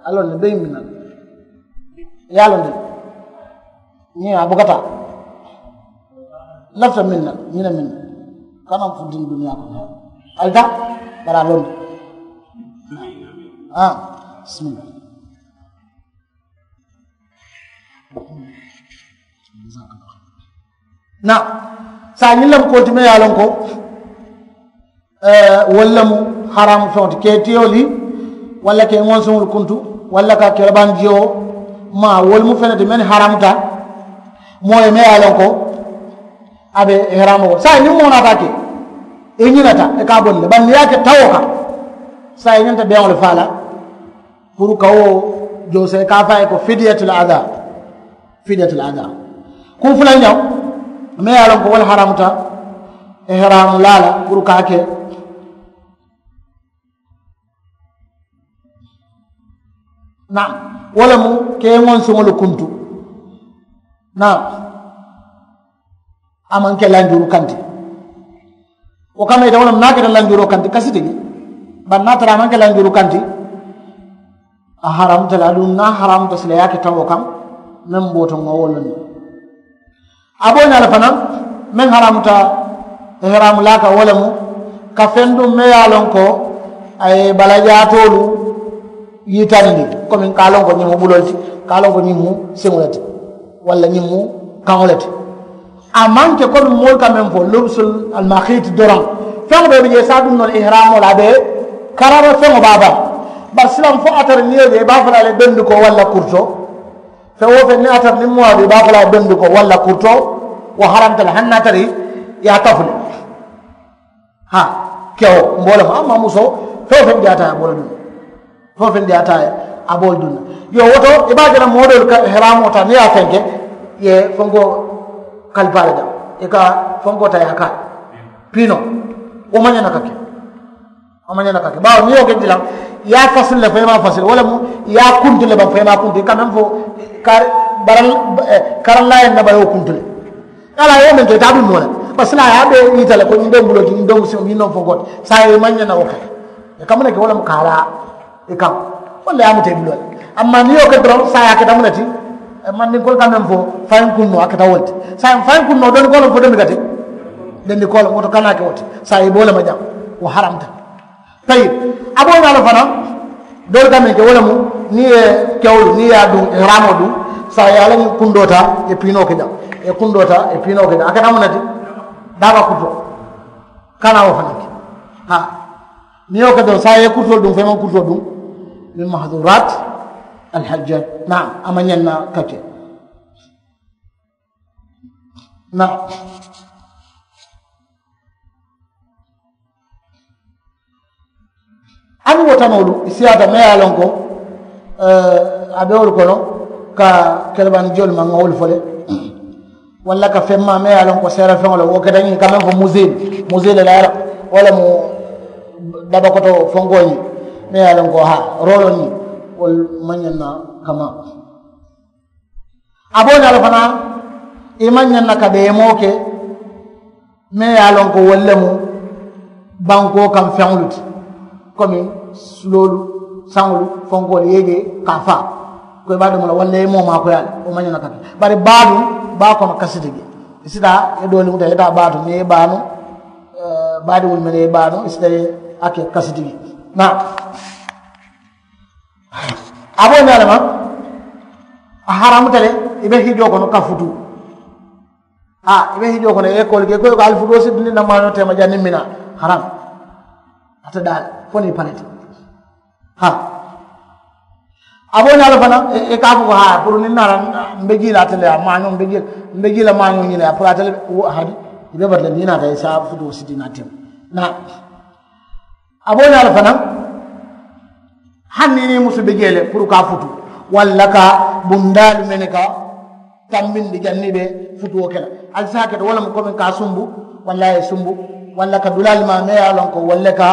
a loŋ ne be ñiŋ na le. Ye a loŋ de, ñiŋ a buka taa. Lafita meŋ na, ñiŋ na meŋ na. Kana funtini duniyaa kono. Ali taa, bari a loŋ de. Haa, bisimilla. Na, saayiŋ ñiŋ lemu koolu ti meŋ ye a loŋ ko, wolu lemu haraamu feŋo ti, ka i tiyoolu walla ka i ŋonsuŋolu kuntu, walla ka kerebaŋ jiyo maa, wolu mu feŋ ne ti meŋ haraamuta moo ye meŋ ye a loŋ ko a be haraamoo kono. Saayiŋ niŋ moo naata a ke, i ñinata i ka a bondi le, bari niŋ i ye a ke tawoo kaŋ, saayiŋ i ñanta beŋo le faa la. Puru ka wo joosee ka a fo a ye ko fidiyatul adaa. Fidiyatul adaa. Kuŋ fulanjaŋo meŋ ye a loŋ ko wo le haraamuta ihraamulaa la puru ka a ke. Naam. Wo le mu ka i ŋonsuŋolu kuntu. Naam. A maŋ ke lanjuru kaŋ ti. Wo kamma ite wo le mu niŋ a keta lanjuroo kaŋ ti kasi ti je. Bari niŋ a tara a maŋ ke lanjuru kaŋ ti, a haraamuta le aduŋ niŋ a haraamuta silaa i ye a ke tawoo kaŋ, meŋ boota ŋa wo loŋ ne. A be wo ñaa le fanaa meŋ haraamuta ihraamu laa kaŋ wo le mu ka feŋ duŋ meŋ ye a loŋ ko a ye balajaatoolu yitandi, komi ka a loŋ ko ñiŋ mu buloo le ti, ka a loŋ ko ñiŋ mu siŋo le ti, walla ñiŋ mu kaŋo le ti. A maŋ ke komi moolu ka meŋ fo lubsul almaxiiti doroŋ. Feŋo bee be jee i si a duŋ noo le ihraamoo la a be karara feŋo baa baa. Bari silaŋ fo a tara niŋ i ye je i be a fo la a le bendikoo walla kurutoo. Feŋ wo feŋ niŋ a tara niŋ moo a be i be a fo la a ye bendikoo walla kurutoo, wo haramta le hani niŋ a tara i ye a kafu le. Haa, kewo mbooloo ma amma musoo, feŋ wo feŋ diyaata a ye a boola duŋ. Feŋ wo feŋ diyaata a ye a boola duŋ. Yo wo to i be a je la moo doolu ka ihraamoo taa niŋ i ye a fenke, i ye fenkoo kalipaa le jaŋ, i ka fenkoo taa i ye a kaa piinoo. Wo maŋ ñaŋ na ka ke. Wo maŋ ñaŋ na ka ke baawo niŋ i ye wo ke dilaŋ, i ye a fasili le fo i maŋ fasili wo le mu, i ye a kuntu le baŋ fo i maŋ a kuntu i ka meŋ fo. Kari, baral, karaŋ laa ye nabayoo kuntu le. Ala ye meŋ ke taa duŋ noo le, bari silaa ye a be yita le ko ñiŋ be mbuloo ti ñiŋ be musiŋo ñiŋ noŋ fo gooti saayiŋ i maŋ ñaŋ na wo ke. I ka muŋ ne ke wo le mu kaaraa i kaŋ. Walla ye a muta i buloo le. Amma niŋ i ye wo ke doroŋ saayiŋ a keta muŋ ne ti? Mandinkoolu ka meŋ fo fayiŋ kunnoo a keta wo le ti. Saayiŋ fayiŋ kunnoo dondikoo le mu fo domi ka ti. Dondikoo le mu wo to kana ke wo ti. Saayiŋ i be wo le ma jaŋ. Wo haramta. Tayi. A be wo ñaa le fanaa. Doolu ka meŋ ke wo le mu niŋ i ye kewolu niŋ i ye a duŋ ihraamoo duŋ, saayiŋ i ye a la ñiŋ kundoo taa i ye piinoo ke jaŋ. I ye kundoo taa i ye piinoo ke jaŋ a keta muŋ ne ti? Daaba kutoo. Kana wo fanaa ke. Haa. Niŋ i ye wo ke doroŋ saayiŋ i ye kurutoo duŋ fo i maŋ kurutoo duŋ. Min mahaduraati alhajjaaj. Naam. A maŋ ñaŋ na ka ke. Naam. Aniŋ wo tanoolu i siyaata meŋ ye a loŋ ko a be wolu kono, ka kelebandi jolu maŋ ŋa wolu fo le. Walla ka feŋ maa meŋ ye a loŋ ko seere feŋo le wo keta ñiŋ ka meŋ fo musil. Musil le la wo le mu dabakoto fonkoo ñiŋ meŋ ye a loŋ ko haa rooloo ñiŋ. Wolu maŋ ñaŋ na kama. A be wo ñaa le fanaa i maŋ ñaŋ na ka deemoo ke. Meŋ ye a loŋ ko wolu le mu bankoo kaŋ feŋolu ti, komi suloolu, saŋolu, fonkoolu i ye i je ka a faa. Ko i be a domo la walla i ye moo maakoyaa le wo maŋ ñaŋ na ka ke. Bari baa duŋ baa kono kasi ti je. I si taa i ye doolu muta i ye taa baa to niŋ i ye baa nuŋ, baadiŋolu mennu ye i baa nuŋ i si taa i ye a ke kasi ti je. Naa. A be wo ñaa le ma. A haraamuta le. I be hijoo kono ka futuu. Haa i be hijoo kono i ye koolu ke i ko i ko ali futuo si dundi na maañoo teema janniŋ mina. Haraam. Ate daa le fo niŋ i pareti. Haa. A be wo ñaa le fanaa i ka a fo ko haa puru niŋ naata mbe jii la ate le a maañoo mbe jii la maañoo ñiŋ ne a puru ate le. Hadi i be batu le niŋ i naata i si a futuo si dii naa teema. Naa. A be wo ñaa le fanaa. Hani niŋ i niŋ i musu be jee le puru ka a futu walla ka bundaalu mene ka tambindi janniŋ i be futuwo ke la. Ali si a ke to wo le mu komi ka a sumbu walla a ye sumbu walla ka dulaalu maa meŋ ye a loŋ ko walla ka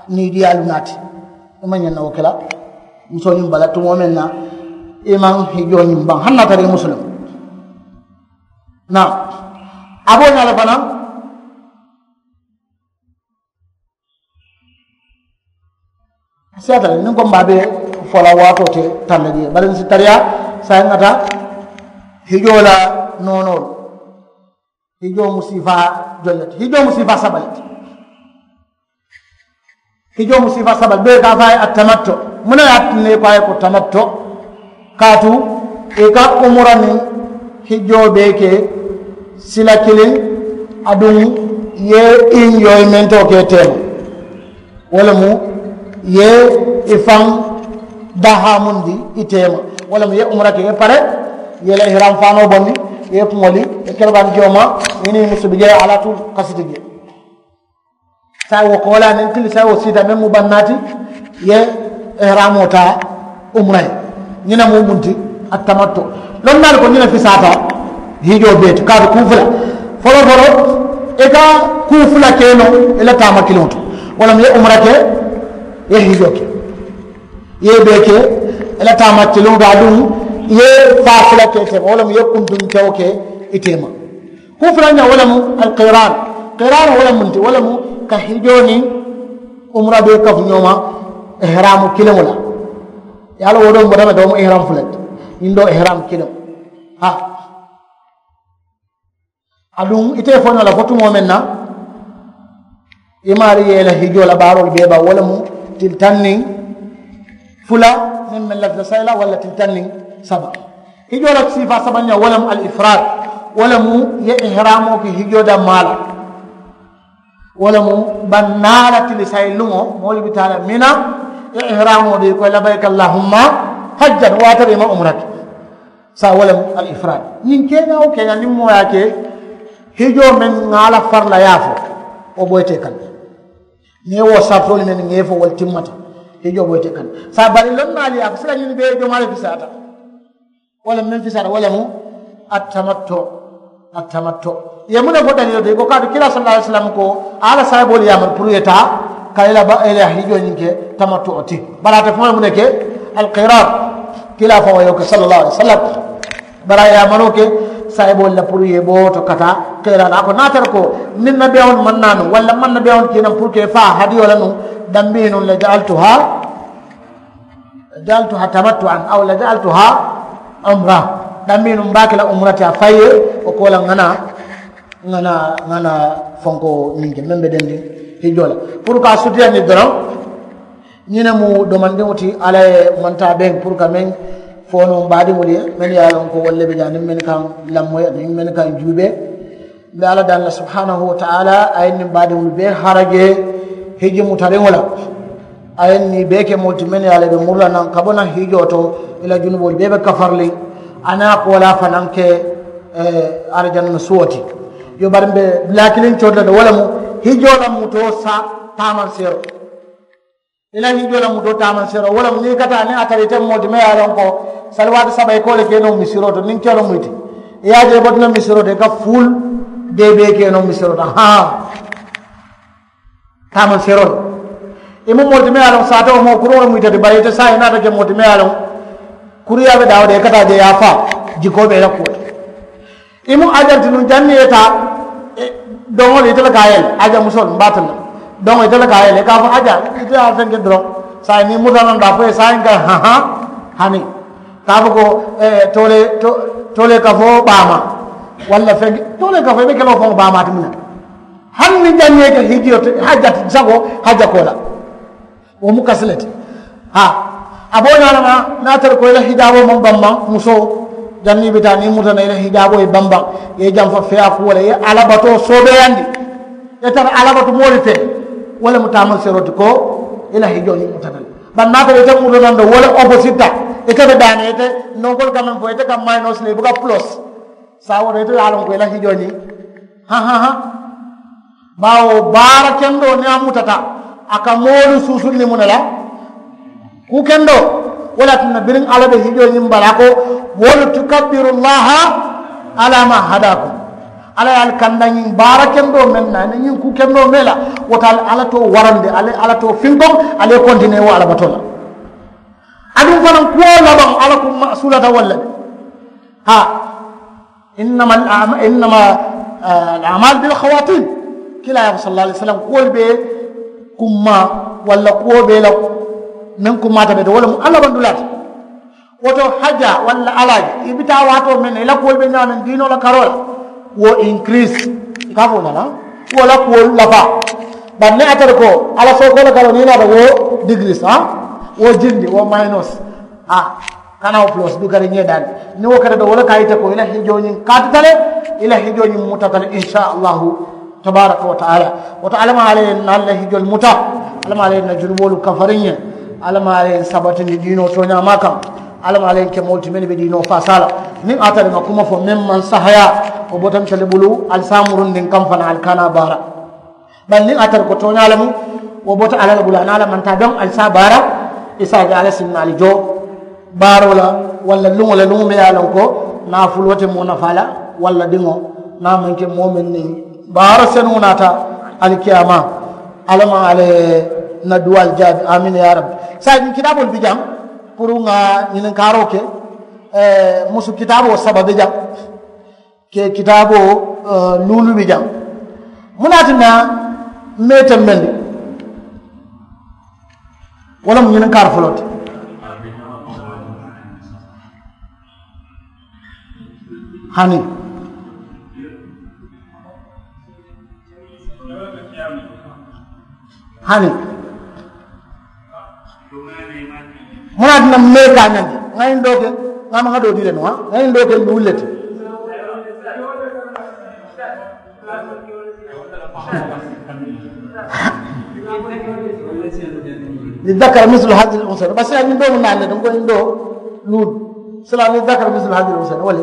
niidiyaalu naati. I maŋ ñaŋ na wo ke la musoo ñiŋ bala tumoo meŋ na i maŋ hijoo ñiŋ baŋ hani a tara i musulum. Naa a be wo ñaa le fanaŋ. Siyaata le niŋ ko mbe a be fo la waatoo te tanda jee bari n si tariyaa saayiŋ ŋa taa hijoo la noonoolu. Hijoo mu siifaa joŋ le ti hijoo mu siifaa saba le ti. Hijoo mu siifaa saba le doo ye ka a fo a ye a tamatto. Muŋ ne ye a tinna i ko a ye ko tamatto? Kaatu i ka umura niŋ hijjoo bee ke sila kiliŋ. Aduŋ ye injoyimentoo ke teema wo le mu ye i faŋ dahaamundi i teema. Wo le mu ye umura ke ye pare ye la ihiraŋ faanoo bondi ye kuŋo li ye kere baŋ jooma i niŋ musu bi jee alaatu kasiti jee. Saayiŋ wo koolaa niŋ kili saayiŋ wo siita meŋ mu bannaa ti ye ihiraamoo taa umura ye. Ñiŋ ne mu munti a tamatto. Lonnaalu ko ñiŋ ne fisaata hijoo bee ti kaatu kuu fula. Foloo foloo i ka kuu fula ke noo i la taama kiliŋo to. Wo le mu ye umura ke ye hijoo ke ye bee ke i la taama kiliŋo to aduŋ ye faa fula ke te wo le mu ye kuntuntewo ke i teema. Kuu fula ñaa wo le mu alkiraan. Kiraanoo wo le mu nti wo le mu ka hijoo niŋ umura bee kafu ñoo ma ihraamu kiliŋo la. Ye a la wo doo mu bota me doo mu ihraam fula ti ñiŋ doo ihraam kiliŋo. Haa aduŋ ite ye fo ñoo la fo tumoo meŋ na i maari ye i la hijoo la baaroolu bee ba wo le mu tili taŋ niŋ fula meŋ meŋ lafita sayi la walla tili taŋ niŋ saba. Hijoo la siifaa sabanjaŋ wo le mu al ifraad. Wo le mu ye ihraamoo ke hijoo dammaa la. Wo le mu bannaa la tili sayi luŋo moolu bi taa la mina ye ihraamoo dii ko labayka allahumma hajjan waatara i ma umura ke. Saa wo le mu al ifraad ñiŋ keeñaa wo keeñaa niŋ moo ye a ke hijoo meŋ ŋa a la fari la ye a fo wo boyitee kaŋ. Niŋ ye wo saritoolu meŋ ŋa ye fo wolu timmata hijoo boyitee kaŋ. Saa bari lonnaalu ye a fo sila ñiŋ bee jomaa le fisaata. Wo le meŋ fisaata wo le mu a tamatto. A tamatto ye muŋ ne fo daliiloo ti i ko kaatu kila sallallahu alaihi wasallam ko a la saayiboolu yaamari puru ye taa ka i la ba i la hijoo ñiŋ ke tamatto ti. Bari ate faŋo ye muŋ ne ke alkiraat. Kila faŋo ye wo ke sallallahu alaihi wasallam bari a ye yaamaroo ke saayiboolu la puru ye boo to ka taa kila la a ko naatara ko niŋ nabiyaŋolu maŋ naa nuŋ walla maŋ nabiyaŋolu kii naŋ puru ka i faa hadiyoo la nuŋ dambii nuŋ la jaaltuhaa. Jaaltuhaa tamattu an aw la jaaltuhaa umra. Dambii nuŋ mbe a ke la umura ti a fayi ye wo ko la ŋa naa ŋa naa ŋa naa fonkoo ñiŋ ke meŋ be dendiŋ hijjoo la puru ka a sutiyandi doroŋ. Ñiŋ ne mu domandiŋo ti alla ye mantaa beŋ puru ka meŋ fo noo mbaadiŋolu ye mennu ye a loŋ ko wolu le be jaa niŋ mennu kaŋ lammoyi aniŋ mennu kaŋ juubee. Mbe alla daŋ la subhanahu wa taala a ye niŋ mbaadiŋolu bee harajee hijji mutariŋo la. A ye niŋ bee ke moolu ti mennu ye a la i be muru la naŋ ka bo naŋ hijjoo to i la junuboolu bee be kafariliŋ. A niŋ a koolaa fanaŋ ke arijana suwo ti. Yo bari mbe dulaa kiliŋ coota le wo le mu hijjoo la mutoo sa taamanseeroo. I la hijjoo la mutoo taamanseeroo wo le mu niŋ i ka taa niŋ a tara ite moo ti meŋ ye a loŋ ko saliwaati saba i ka wo le ke noo misiroo to niŋ kero mu ite i ye a je i bota noo misiroo to i ka fuul dee bee ke noo misiroo to haa. Taamanseeroo le i mu moo ti meŋ ye a loŋ saata wo moo kuruŋo le mu ite ti bari ite saa i naata ke moo ti meŋ ye a loŋ kuruyaa be daawo de i ka taa je i ye a faa jikoo be i la kuwo to. I mu aja le ti nuŋ janniŋ i ye taa doŋolu ite le ka a yele aja musoolu mbe a telu la doŋo ite le ka a yele i ka a fo aja ite ye a fenke doroŋ. Saayiŋ niŋ i muta naŋ daa fo i ye saayiŋ ka haha hani ka a fo ko toolee toolee ka fo baamaa walla fenke toolee ka fo i be ke la wo faŋo baamaa ti muŋ na. Hani niŋ janniŋ i ye ke hijiyo ti hajja ti sago hajja ko la. Wo mu kasi le ti haa. A be wo ñaama niŋ a tara ko i la hijaaboo maŋ bambaŋ musoo janniŋ i be taa niŋ i muta na i la hijaaboo ye bambaŋ i ye jamfa feeyaa kuwo le i ye alabatoo soobeeyandi. I ye tara alabatu moolu fee wo le mu taamanseeroo ti ko i la hijoo ñiŋ mutata le. Bari niŋ a tara ite muta naŋ de wo le opposite ta ite be daana ite nonkolu ka meŋ fo ite ka maayinoo sila i buka pulosi. Saayiŋ wo to ite ye a loŋ ko i la hijoo ñiŋ ha ha ha. Baawo baara kendoo niŋ a mutata a ka moolu suusundi muŋ ne la. Kuu kendoo wo le ye a tinna biriŋ alla be hijoo ñiŋ bala a ko wolu tukabbiru llaha Ala ma hadakum, ala ye ali kanda ñiŋ baara kendoo meŋ na, niŋ ñiŋ kuu kendoo mee la, wo ta ali ala to warandi, ali ala to finkoŋ, ali ye kontinee wo alabatoo la. Aduŋ fanaŋ kuwo labaŋ ala kumma sulata walla de. Ha, innama al amal bil khawatim. Kila ya salla alai sallam kuwolu be kumma walla kuwo be la meŋ kumma ta be de walla mu alla bandulata. Woto hajja walla alaaji i bi taa waatoo meŋ na i la kuwolu be ñaameŋ diinoo la karoo la. Wo increase i ka fo nana wo la kuwolu lafa. Bari niŋ a tara ko ala sookoo la karoo niŋ i naata wo degrees ha, wo jindi wo minus. Ha, kana wo plus du kari ñee daani. Niŋ wo kata do wo le ka yite ko i la hijoo ñiŋ kaatita le, i la hijoo ñiŋ mutata le insha allahu. Tabaraka wa taala. Woto alama ala ye na alla hijol muta. Alama ala ye na junuboolu kafariŋ ye. Alama ala ye sabatindi diinoo tooñaama kaŋ. Alama ala ye ke moolu ti mennu be diinoo faasaa la. Niŋ a tara ŋa kuma fo meŋ maŋ sahaya, wo botanta le bulu ali se a murundiŋ kaŋ fana ali kana baara. Bari niŋ a tara ko tooñaa le mu, wo bota alla le bulu a niŋ alla maŋ taa doŋ ali se a baara. I se a je alla sinna ali joo baaroo la walla luŋo le luŋo meŋ ye a loŋ ko naafuloo te moo nafaa la walla diŋo. Niŋ a maŋ ke moo meŋ niŋ baara senuŋo naata alikiyaamaa. Alla maŋ alla ye n na duwaalu jaabi amiina yaa rabbi. Saayiŋ ñiŋ kitaaboolu bi jaŋ puru ŋa ñininkaaroo ke. Musu kitaaboo saba be jaŋ. Ke kitaaboo luulu bi jaŋ. Muŋ ne a tinna mee tembendi? Wo le mu ñininkaari foloo ti. Hani hani. Muŋ ne a tinna mee ka a ñandi ŋa ñiŋ doo ke ŋa maŋ ŋa doo dii le nuŋ ha ŋa ñiŋ doo ke luulu le ti. Li dakar mislu hadil unsa basi a ñiŋ doo mu naani le ti n ko ñiŋ doo luulu. Sila li dakar mislu hadil unsa wala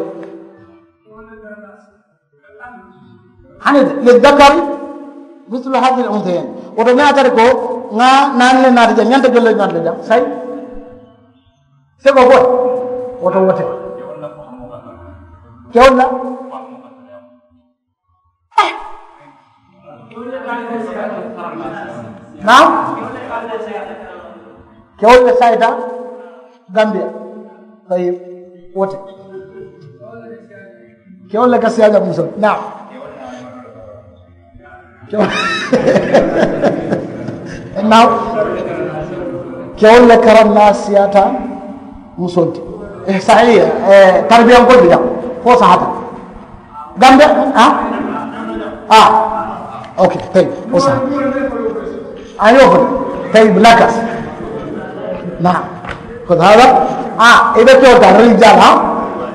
hani li dakar mislu hadil unsa yen. Woto niŋ a tari ko ŋa naani le naata jaŋ ñanta jolle ñanta le jaŋ sayi. Seko ko woto wote kewol la. Naam. Kewol le sayita gambia. Tayi wote kewol le ka siyaja musol naam. Naam. Kewol le karam na siyata musonti. Sahiya. Tarbiyankol bi jam fo sahata. Gambe ah ah. Ok. Tayi o sahata. Ayo fo. Tayi nakas. Naam. Ko hada ah ibe kewol ta rijal ha.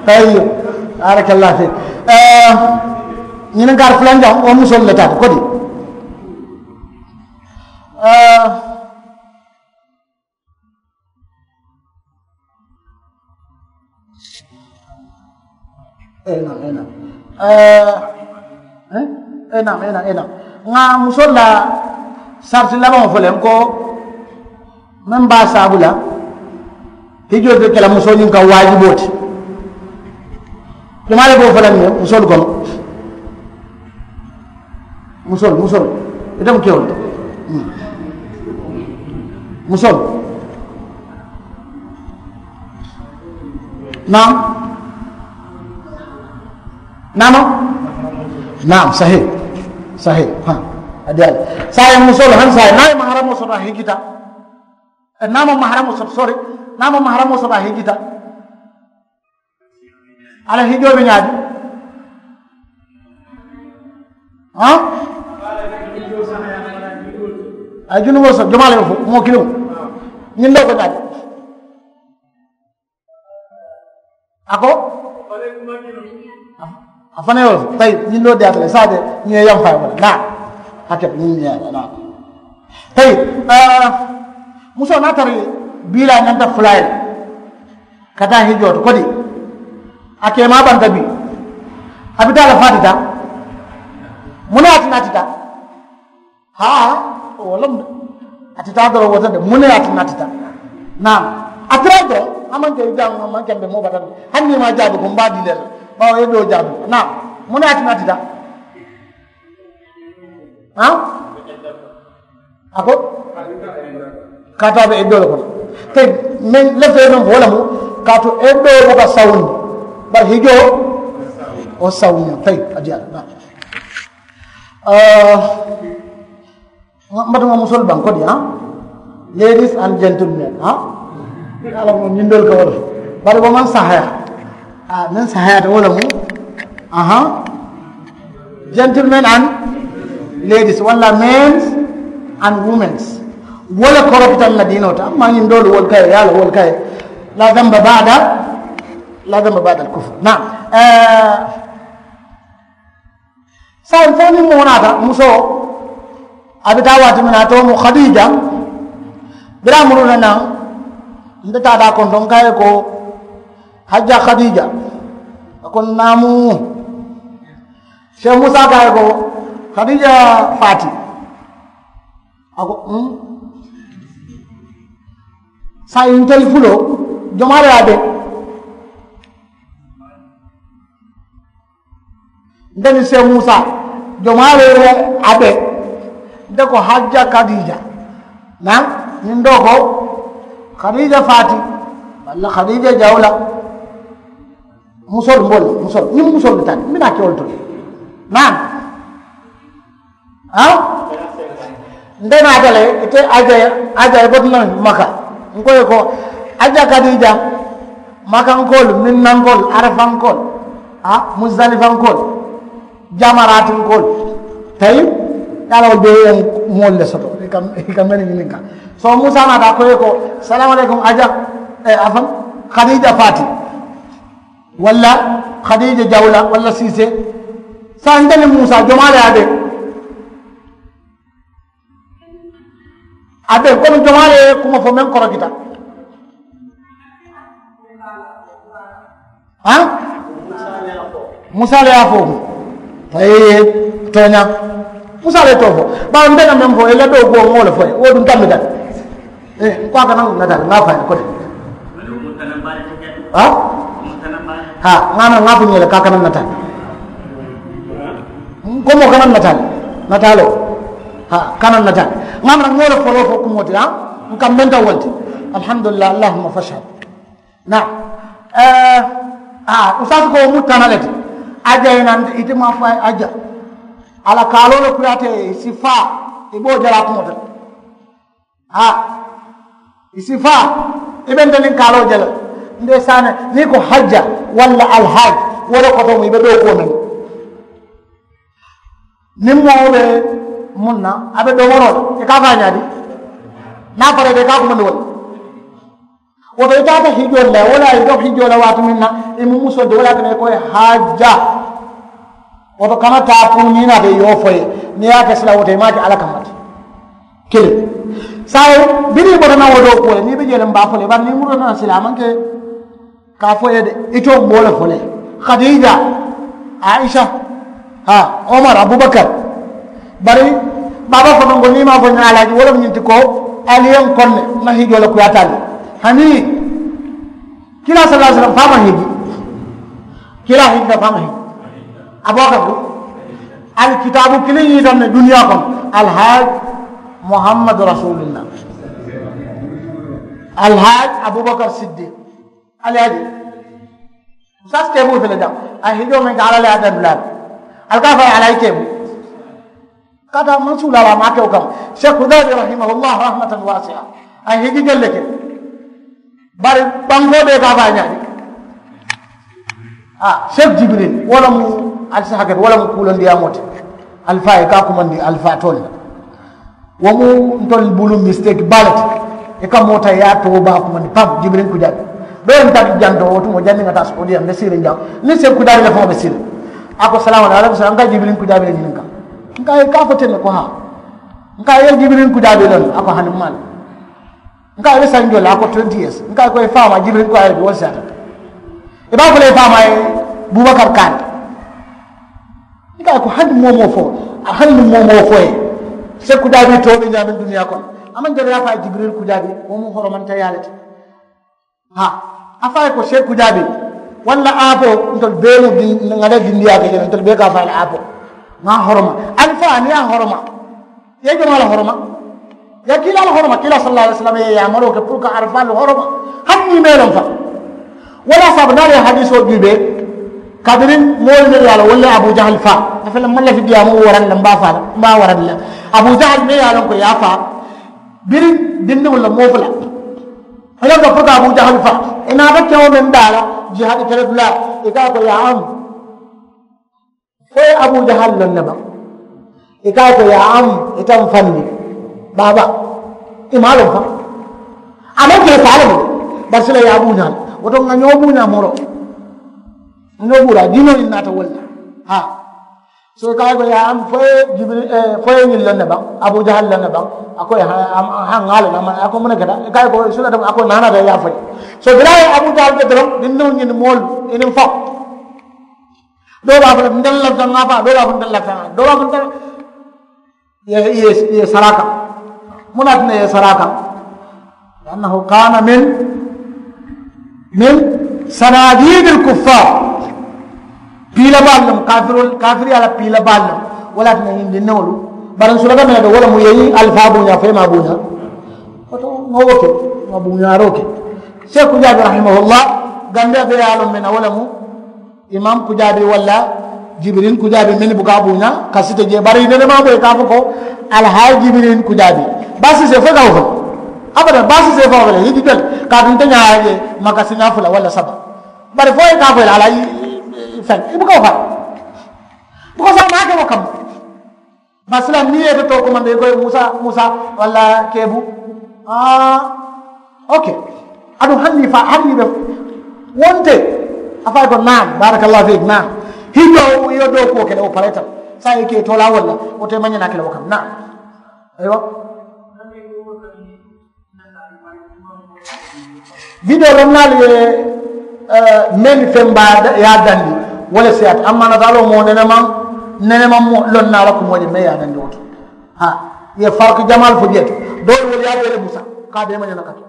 Tayi. Barakallah fik. Ñininkaari fulaŋ jaŋ wo musolu le taata kodi. Enam enam enam enam enam ŋa musolu la sariti labaŋo fo le n ko meŋ be a saabu la hijoo be ke la musoo ñiŋ ka waajiboo ti. Jamaa le be wo fo la ñiŋ musoolu kono. Musoolu musoolu ite mu kewolu musoolu. Naam. Naama. Naam sahi. Sahi. Ha. A diyaali saayiŋ musoolu hani saayiŋ niŋ a ye maharamoo soto a hijita. Niŋ a maŋ maharamoo soto sori niŋ a maŋ maharamoo soto a hijita. A la hijoo be ñaadi. Ha. A ye junuboo soto jomaa le be fo moo kiliŋo. Ñiŋ doo ko ñaadi. A ko a fanaŋ ye wo le fo tayi ñiŋ doo diyaata le saa de ñiŋ ye yamfaa ye wo le naa. Hake ñiŋ ñiŋ ye a la naa. Tayi musoo niŋ a tara bii la a ñanta fula ye le ka taa hijoo to kodi. A keemaa banta bii a bi taa le faa ti taa. Muŋ ne ye a tinaa ti taa? Haa. Wo le mu de. A ti taa doroŋ wo te de muŋ ne ye a tinaa ti taa? Naa a tara doroŋ a maŋ ke jaŋ a maŋ kembe moo batandi. Hani niŋ i maŋ a jaabi ko m be a dii le la. Bawo ye doo jaabi naa mu ne a ti naa ti daa. Haa a ko kaatu a be iddoo le kono. Tayi meŋ lafita ye meŋ fo wo le mu kaatu iddoo buka sawundi bari hijoo wo sawundi. Tayi a diyaa naa. Mbatu ŋa musolu baŋ kodi haa ladies and gentlemen haa. Ala mo ñindol ka wala bari wo maŋ sahaya. Haa meŋ sahaya te wo le mu aha. Gentlemen and ladies walla men's and women's. Wo le korokitan na diinoo ta amma ñindolu wolu kaye ye a la wolu kaye. La damba bada la damba bada al kufur naam. Saayiŋ fo niŋ moo naata musoo a be taa waati miŋ na a too mu khadiija. Biriŋ a muruuta naŋ nte taata a konto n ka a ye ko hajja khadiija. A ko naamu. Seeku musa ka a ye ko khadiija faati. A ko saayiŋ ntelu fuloo jomaa le ye a be. Nte niŋ seeku musa jomaa le ye a be. Nte ko hajja khadiija naŋ ñiŋ doo ko khadiija faati walla khadiija jawla. Musolu mbolu musolu ñiŋ musolu le taa mbi naa kewolu to le. Naŋ haa nte naata le ite aja aja i botuna maka. N ko ye ko aja khadiija makankoolu minnankoolu arafankoolu haa muzalifankoolu jamaratinkoolu. Tayi ye a la wolu be ye moolu le soto i ka meni ñininka. So musa naata a ko ye ko salaamu aleykum aja a faŋ khadiija faati walla khadiija jawla walla siisee. Saayiŋ nte niŋ musa jomaa le ye a be. A be komi jomaa le ye kuma fo meŋ korokita. Haa musa le ye a fo. Tooñaa musa le ye too fo. Baawo nte ka meŋ fo i la doo kuwo ŋo le fo ye wo duŋ tambita. N ko a kana ŋo nataali ŋa a fo a ye ko de. Haa ŋa a na ŋa a fo ñee le ka a kana nataali. N ko moo kana nataali nataaloo. Haa kana nataali ŋa a na ŋo le foloo fo kumoo ti haa n ka menta wo le ti. Alhamdulillahi allahumma fashhad. Naam. Haa usasi ko wo mu tana le ti. Aja i nanta ite maŋ a fo a ye aja. A la kaaloo le kuyaata i si faa i be wo jalaa kumoo ti le. Haa i si faa i be nte niŋ kaaloo je la. Mbe saana niŋ i ko hajja walla alhaaji wo le koto mu i be dookuwo mennu. Niŋ moo be muŋ na a be domoroo la i ka a fo a ñaadi. Niŋ a fara i be i ka a kumandi wo le. Wo to i taata hijoo le la wo le a ye i doki hijoo la waati meŋ na i mu musoo ti wo le a ye a tara i ko i ye hajja. Wo to kana taa puru niŋ i naata i ye wo fo i ye niŋ i ye a ke sila wo to i maŋ a ke alla kamma ti. Kiliŋ saayiŋ biriŋ i bota naŋ wo doo kuwo le niŋ i be jee le m be a fo le i bari niŋ i muruta naŋ sila a maŋ ke. Ka a fo i ye de i too m be wo le fo le khadiija, aisa, haa omar abubakar. Bari baaba fanonko niŋ i maŋ a fo ñaa alaaji wo le mu ñiŋ ti ko ali ye n koŋ ne n na hijoo le kuyaata ali. Hani kiilaa sallallaahu alayhi wasallam faama hiji. Kiilaa hiji ka faama hiji. Abubakar ko ali kitaabu kiliŋ ñiitam ne duniyaa kono. Alhaaj muhammadu rasuulillah. Alhaaj abubakar siddi. Ali ye a je. Saasi teeboo fele jaŋ a ye hijoo meŋ ke alla le ye a dandulaa le. Ali ka a fo a ye ali a ye teeboo. Ka taa mansuulaa la a maŋ a ke wo kamma. Seeku daabi rahimahullah rahmatan waasiya. A ye hiji jelle ke. Bari bankoo bee ka a fo a ye ñaadi. Haa seeku jibiril wo le mu ali si hakketu wo le mu kuulondiyaamoo ti. Alifaa ye ka a kumandi alifaa toolu la. Wo mu ntolu bulu misiteeki baa le ti. I ka moo taa i ye a too baa kumandi paŋ jibiriŋ kujaabi. Doo ye n tara jaŋ to wo tumoo janniŋ ŋa taa soodiyaŋ mbe siiriŋ jaŋ. Niŋ seeku kujaabi le faŋo be siiriŋ. A ko salaamu aleykum n ka jibiriŋ kujaabi le ñininka. N ka a ye ka a fo teŋ ne ko haa. N ka a ye jibiriŋ kujaabi le a ko hani m maa le. N ka a ye be sanjoo le a ko twenty years n ka a ye ko i faamaa jibiriŋ ko a ye le bi wo le siyaata. I be a fo la i faamaa ye bubakar kaani. N ka a ye ko hani moo moo fo a hani niŋ moo moo fo ye. Seeku kujaabi too be ñaamiŋ duniyaa kono a maŋ jari ye a fo a ye jibiriŋ kujaabi. Wo mu horomantayaa le ti. Haa a fo a ye ko seeku kujaabi. Walla aapoo ntolu bee mu ŋa le dindiyaa ke je le ntolu bee ka a faa la aapoo. Ŋa a horoma alifaa niŋ ye a horoma, i ye jomaa la horoma? Ye kiilaa la horoma kiilaa sallallaahu alayhi wasallam ye yaamaroo ke puru ka alifaalu horoma. Hani niŋ i mee loŋ fa walla saabu naa le ye hadiisoo juubee. Kabiriŋ moolu le ye a la walla abu jahali faa a fele maŋ lafi diyaamu waraŋ la mbe a faa la mbe a waraŋ la. Abu jahali mee ye a loŋ ko ye a faa biriŋ dindiŋolu la moo fula. I la ka fota abu jahali faa i naata kewo meŋ daa la jihadi kele dulaa i ka a ko ye a amu. Fo ye abu jahali loŋ ne baŋ i ka a ko ye a amu i taŋ fandi baaba. I maa loŋ fa a maŋ ke faa le mu. Bari sila ye a buuñaa le woto ŋa ñoo buuñaa moro. Ŋa buuraa diinoo ñiŋ naata wolu le haa. So i ka a ko ye a fo ye jibiri fo ye ñiŋ loŋ ne baŋ abu jahali loŋ ne baŋ. A ko ye haŋ ŋa a loŋ a ko mu ne keta i ka a ko sula dama a ko naanata ye a fo ye. So bira ye abu jahali ke doroŋ dindiŋo ñiŋ moolu i niŋ faŋ. Doo be a fo le nte le lafita ŋa faa doo be a fo nte le lafita ŋa doo be a fo nte le. Ye ye ye saraka. Mu naati ne ye saraka. Annahu kana min min sanadidil kuffar. Piila baalu lemu kafirol kafiriya la piila baalu lemu. Wala ti ne ñindi newolu bari n sulata mene do wala mu yeyi alfa buña fema buña. Oto ŋa wo ke ŋa buñaro ke. Seku jabi rahimahullah. Gambia be yalo mena wala mu imam kujaabi walla jibirin kujaabi meni buka buña kasite je bari nene ma boy ka fo ko alhaji jibirin kujaabi. Basi se fo ka fo abada basi se fo wala hiji jol ka dun tanya je makasina fula wala saba. Bari fo ka fo ala fen ibuka fa. Buka sa ma ke kam. Masila niŋ i ye ite too komandi i ko musa musa walla keebu. Aa. Oke. Aduŋ hani i fa hani i be wonte. A fa i ko naam barakallahu fiik naam. Hijoo i ye doo kuwo kele wo pareta. Saa i ke toola walla wo te mañana kele wo kam naam. Aywa. Video lonnaalu ye meŋ feŋ baa ye a dandi. Wo le siyaata amma nataaloo moo nenemaŋ nenemaŋ lonnaa la kumoo je meŋ ye a dandi wo to. Ha. Ye farki jamaalu fo jee to. Doolu wolu ye a bee le busa ka a bee mañana ka to.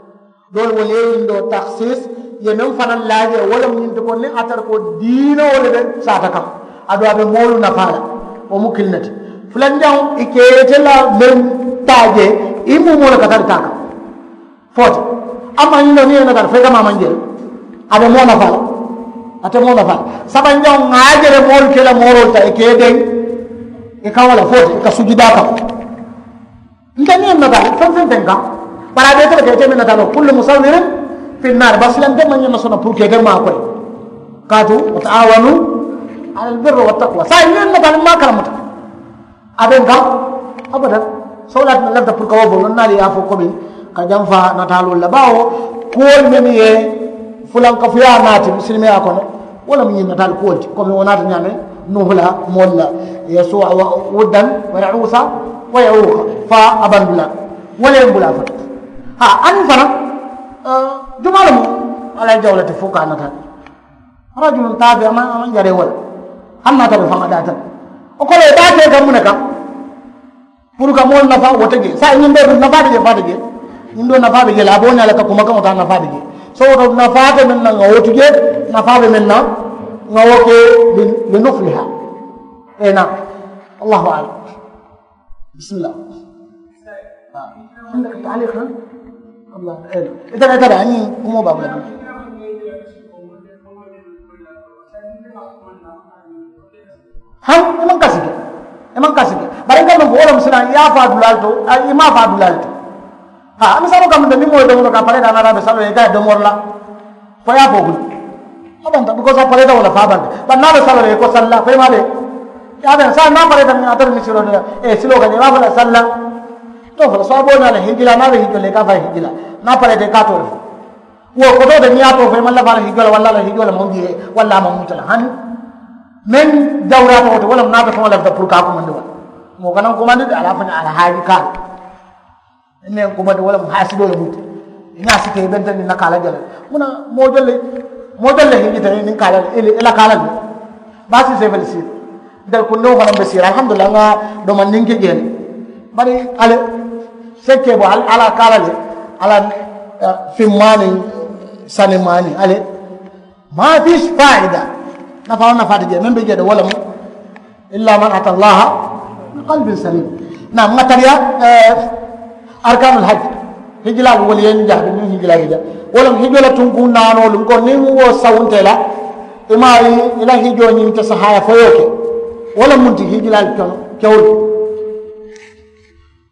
Doolu wolu ye ñiŋ doo taksiis. Ye meŋ fanaŋ laa jee wo le mu ñiŋ ti ko niŋ a tara ko diinoo wo le be saata kaŋ. Aduŋ a be moolu nafaa la. Wo mu kiliŋ ne ti fulanjaŋo i ka ite la meŋ taa jee i muumoo le ka tara taa kaŋ. Fo ti amma ñiŋ doo niŋ ye nata le fo i ka maa maŋ jee le. A be moo nafaa la. A te moo nafaa la. Sabanjaŋo ŋa a je le moolu ke la mooroolu taa i ka i deŋ. I kaŋo la fo ti i ka sujudaa kaŋ. Nte niŋ ye nata le feŋ feŋ feŋ kaŋ. Bari a be ite le ka ite meŋ nata le kullu musawirin fi nnaari bari silante maŋ ñaŋ na sona puru ka ite maa koyi. Kaatu wa taawanu ala albirri wa taqwa saa niŋ ye nata le maa karamuta. A be n kaŋ. Abadan. Sowlaati na lafita puru ka wo fo noŋ naalu ye a fo komi ka jamfa nataaloo la baawo kuwolu mennu ye fulankafuyaa naati misilimeyaa kono. Wo le mu ñiŋ nataalu kuwolu ti komi wo naata ñaameŋ nuuhu la moolu la. Yasuwa wuddan wa yausa wa yauka fa abandula. Wo le ye n bula fo. Ha aniŋ fanaŋ jumaa le mu. Alla ye jawo le ti fo ka a nata. Rajulun taabi a maŋ a maŋ jaree wo le. Hani naata be faŋa daata le. Wo kono i be a ke ka muŋ ne kaŋ. Puru ka moolu nafaa wo te jee saayiŋ ñiŋ doo duŋ nafaa be jee faa te jee. Ñiŋ doo nafaa be jee le a be wo ñaa le ka kumakaŋo taa nafaa be jee. So wo to nafaa be meŋ na ŋa wo tu jee. Nafaa be meŋ na ŋa wo ke. Li nufliha. Ee naa. Allahu alam. Bisimilla. Ita ita da ñiŋ kumoo baa bula. Haŋ i maŋ kasi ke. I maŋ kasi ke. Bari n ka meŋ fo wo le mu silaŋ i ye a faa dulaalu to. I maŋ a faa dulaalu to. Ha a misaaloo ka munta niŋ moo ye domoroo ka a paree daa naata a be saloo la i ka ye domori la. Fo i ye a fo bulu. A banta because a paree daa wo le faa banta. Bari niŋ a be saloo la i ko salla fo i maŋ a be. I ye a be saayiŋ niŋ a paree daa niŋ a tara misiroo de la. Ee siloo ka je i be a fo la salla. To fo la soo a be wo ñaa le hijila niŋ a be hijoo la i ka a fo a ye hijila. Niŋ a paree daa i ka a too le fo. Wo koto de niŋ ye a too fo i maŋ lafi a la hijoo la walla a la hijoo le maŋ jee walla a maŋ muta la hani. Meŋ jawuraata wo to wo le mu niŋ a be faŋo lafita puru ka a kumandi wo le. Moo kana kumandi de a la a fo ñaa a la haaji kaa le. Meŋ kumandi wo le mu haasidoo le mu ti. I niŋ a si ke i benta niŋ na kaa la je le. Muŋ na moo jolu le moo jolu le hijita niŋ kaa la le i la kaa la le. Baasi seefe le siiri. Ntelu kundiŋo fanaŋ be siiri alhamdulillahi ŋa. Domandiŋ ke jee le. Bari ali sekkee bo ali ala kaala le. Ala fimmaani sanimaani ali. Ma fis faida. Nafa nafa ti je men be je de wala mu illa man ata allaha bi qalbin salim. Na matariya arkanul hajj. Hijilal wali yen jahbi ni hijilal hija wala hijila tunku nano lum ko ni wo sawunte la. Imari ila hijo ni ta sahaya foyoke wala munti hijilal kono kewul.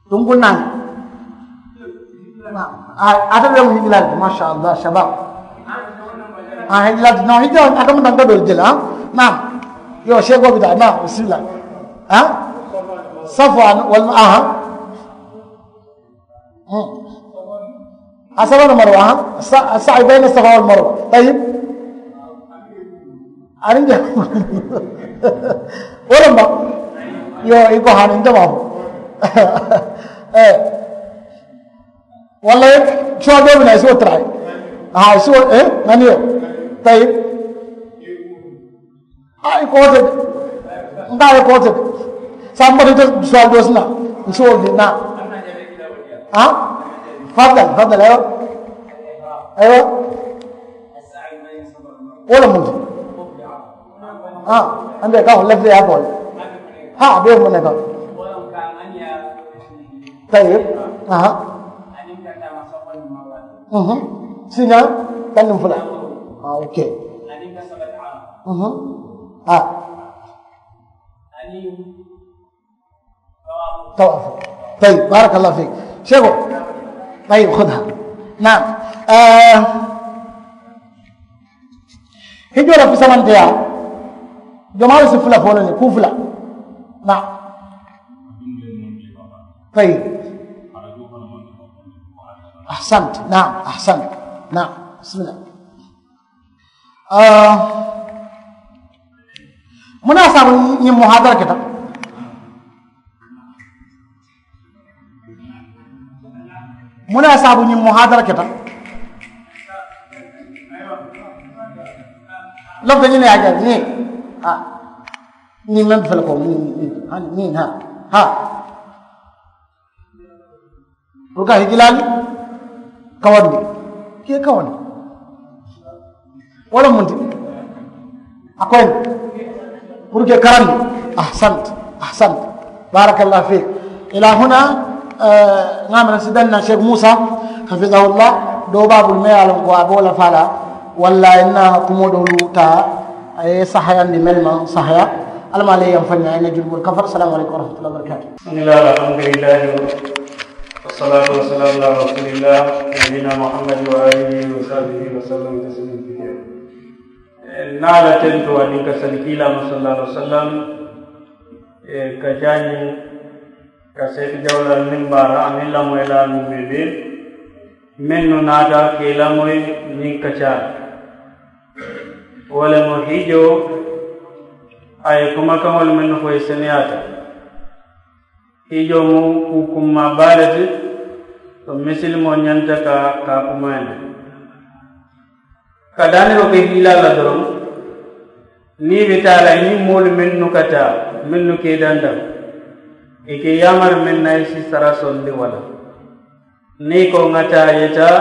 Tunku naani. Ate be mu hijilal de masha allah shabab. A hijilal de no hijilal ate mu nanga dol jela. Naam. Yo shego bida naam bismillah. Ha. Safwan wal aha. A saba no marwa ha. Sa sa bayna safa wal marwa tayyib. Arinja. Wala mba. Yo iko hanin jama. Eh. Wala suwa dobi na suwa try. Ha suwa eh nani yo. Tayyib. A iko te. Nda iko te. Samba de suwa dosna. Suwa dina. Ha. Fadal fadal ayo. Ayo. Wala mu. Ha. Ande ka wala fi abol. Ha be mu ne ka. Tayyib. Aha. Mhm. Sinya. Kan fula. Ah okay. Mhm. Ah. Tawafu. Tayyib barakallah fik. Shego. Tayyib khudha. Naam. Hijo la fisamanteya. Jomaalu si fula fo le ku fula. Naam. Tayyib. Ahsant. Naam ahsant. Naam. Bismillah. Muna sabu ñiŋ muhadara keta. Muna sabu ñiŋ muhadara keta. Lafta ñiŋ ne ye a jaabi ñiŋ. Ñiŋ meŋ fele ko ñiŋ ñiŋ ha ha. Puru ka hijilaali kawandi ke kawandi. Wala munti a koyin. Puru ke karandi. Ahsant. Ahsant. Barakallah fik. Ila huna. Ŋa mana sidanna sheikh musa hafidahullah. Do babul me ye a loŋ ko a be wo la fala. Walla inna kumo dolu ta a ye sahayandi mel maŋ sahaya. Alama le yam fanya ina julbul kafar. Assalamu alaikum warahmatullahi wabarakatuh. Bismillah, alhamdulillah, wassalatu wassalamu ala rasulillah, nabiyina Muhammad wa alihi wa sahbihi wa sallam taslima kathira. Niŋ a la tento aniŋ ka sali kiilaa ma sallallahu alaihi wasallam. Ka jaani ka seeti jawlal niŋ baara aniŋ lamoyilaa niŋ bebe mennu naata ka i lamoyi niŋ ka caari. Wo le mu hiijoo a ye kumakaŋolu mennu fo i seneyaata. Hiijoo mu kuu kummaa baa le ti. Ko misilimoo ñanta ka ka a kumayandi ka daaniroo ke hiilaa la doroŋ. Niŋ i be taa la i niŋ moolu mennu ka taa mennu ka i dandaŋ i ka i yaamari meŋ na i si sara sondi walla. Niŋ i ko ŋa taa i ye taa.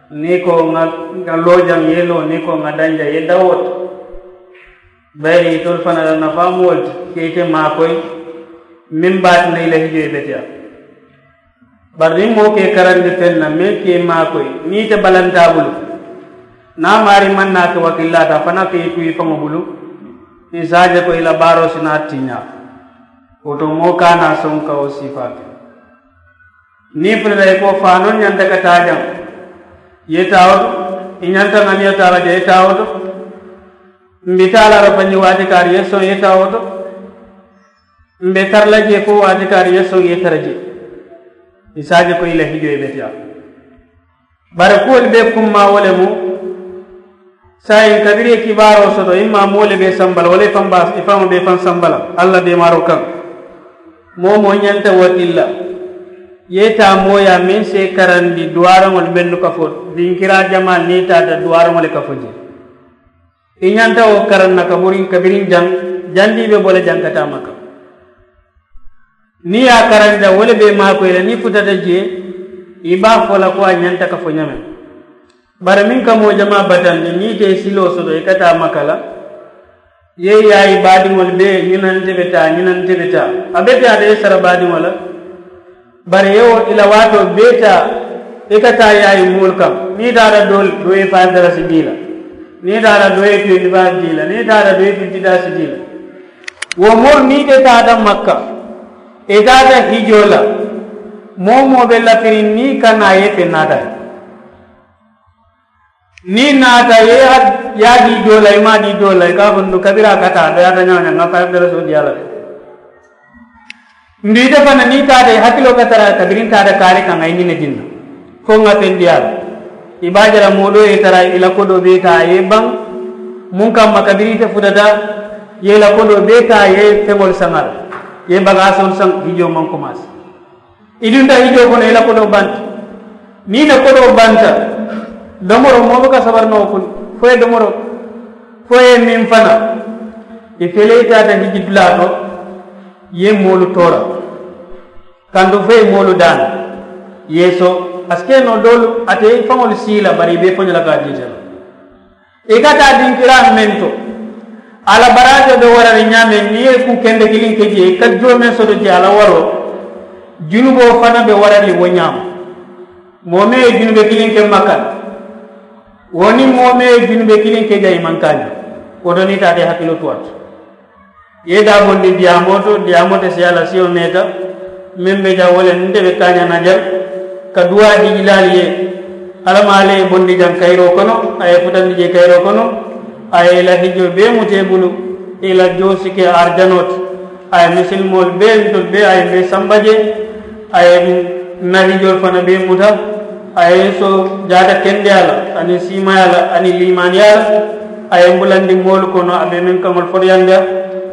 Niŋ i ko ŋa loo jaŋ i ye loo niŋ i ko ŋa daŋ jaŋ i ye dawoota. Bayiri itolu fanaa la nafaa mu wo le ti ka ite maakoyi. Meŋ be a tinna i la hijoo ye beteyaa. Bari niŋ moo ka i karandi feŋ na meŋ ka i maakoyi niŋ ite balanta a bulu. Niŋ a maarii maŋ naa ke wakillaata a fanaa ka i tuu i faŋo bulu. I si a je ko i la baaroo si naa tiñaa. Wo to moo ka a naa soŋ ka wo siifaa ke. Niŋ i futata i ko faanoo ñanta ka taa jaŋ. I ye taa wo to i ñanta ŋa niŋ i ye taa la jaŋ i ye taa wo to. Mbi taa la a la fanji waati kaari i ye soŋ i ye taa wo to. Mbe tara la jee fo waati kaari i ye soŋ i ye tara jee. I si a je ko i la hijoo ye beteyaa. Bari kuwolu bee kummaa wo le mu. Saayiŋ kabiriŋ i ye kibaaroo soto i maa moo le be i samba la walla i faŋ be i faŋo be i faŋ samba la alla deemaaroo kaŋ. Moo moo ñanta wo ti la. I ye taa mooyaa meŋ si i karandi duwaaraŋolu mennu ka fo dinkiraa jamaa niŋ i taata duwaaraŋo le ka fo jee. I ñanta wo karaŋ na kabiriŋ kabiriŋ jaŋ. Jandiŋ i be bo la jaŋ ka taa maka. Niŋ i ye a karandi la wo le be i maakoyi la niŋ i futata jee. I be a fo la ko a ñanta ka fo ñameŋ. Bari meŋ ka moo jamaa batandi niŋ i te i siloo soto i ka taa maka la, i ye yaayi baadiŋolu bee ñinante be taa ñinante be taa. A be taa de i sara baadiŋo la. Bari i ye wo i la waatoo bee taa i ka taa yaayi moolu kaŋ. Niŋ i taata doo doo ye faayi dara si dii la, niŋ i taata doo ye tuyendi faayi dii la, niŋ i taata doo ye tuyendi daa si dii la. Wo moolu niŋ i te taata makka, i taata hijoo la, moo moo be lafiriŋ niŋ i ka naa ye feŋ naata. Niŋ i naata i ye a dii doo la i maŋ a dii doo la i ka a fo ndu kabiriŋ a ka taa a doyaata ñaŋ ñaŋ ŋa fayiri dara soo diyaa la le. Ndu ite fanaŋ niŋ i taata i hakiloo ka tara kabiriŋ taata kaari kaŋ a ye ñiŋ ne dinna fo ŋa feŋ diyaa la. I be a je la moo doo ye i tara i la kodoo bee taa a ye i baŋ muŋ kamma kabiriŋ ite futata i ye i la kodoo bee taa i ye feŋolu saŋ a la i ye bagaasoolu saŋ hijoo maŋ komaasi. I dunta hijoo kono i la kodoo banta. Niŋ i la kodoo banta domoroo moo buka sabari noo kuni fo ye domoroo fo ye meŋ fana i fele i taata hiji dulaa to. I ye moolu toora kantu fo ye moolu daana i ye so a si ke noo doolu ate i faŋolu sii la bari i be i faño la ka a diita la. I ka taa dinkiraa meŋ to a la baraajo be warari ñaameŋ niŋ i ye kuu kende kiliŋ ke jee i ka joo meŋ soto jee a la waroo junuboo fanaŋ be warari wo ñaama. Moo meŋ ye junube kiliŋ ke makka la wo niŋ moo meŋ ye junube kiliŋ ke jee i maŋ kaaña. Wo to niŋ i taata i hakiloo tuwaata i ye i daabondi diyaamoo to diyaamoo te siyaa la siyo meeta. Meŋ be jaŋ wo le nte be kaañaŋ na jaŋ ka duwaa dii i laalu ye. Alla maa le ye i bondi jaŋ kayiroo kono a ye i futandi jee kayiroo kono. A ye i la hijoo bee muta i bulu i la joo si ke arijanoo ti. A ye misilimoolu bee ntolu bee a ye mbe samba jee. A ye n na hijoolu fanaŋ bee muta. A ye n so jaata kendeyaa la aniŋ siimayaa la aniŋ liimaaniyaa la. A ye n bulandi moolu kono a be meŋ kaŋolu fotuyandi a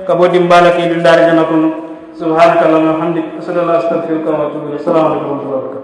ka bo dimbaa la ka i dundaari jana kono. Subhaanaka allahumma wa bihamdik, ashhadu an laa ilaaha illa anta, astagfiruka wa atuubu ilayk. Salaamu aleykum wa rahmatullahi wa barakaatuh.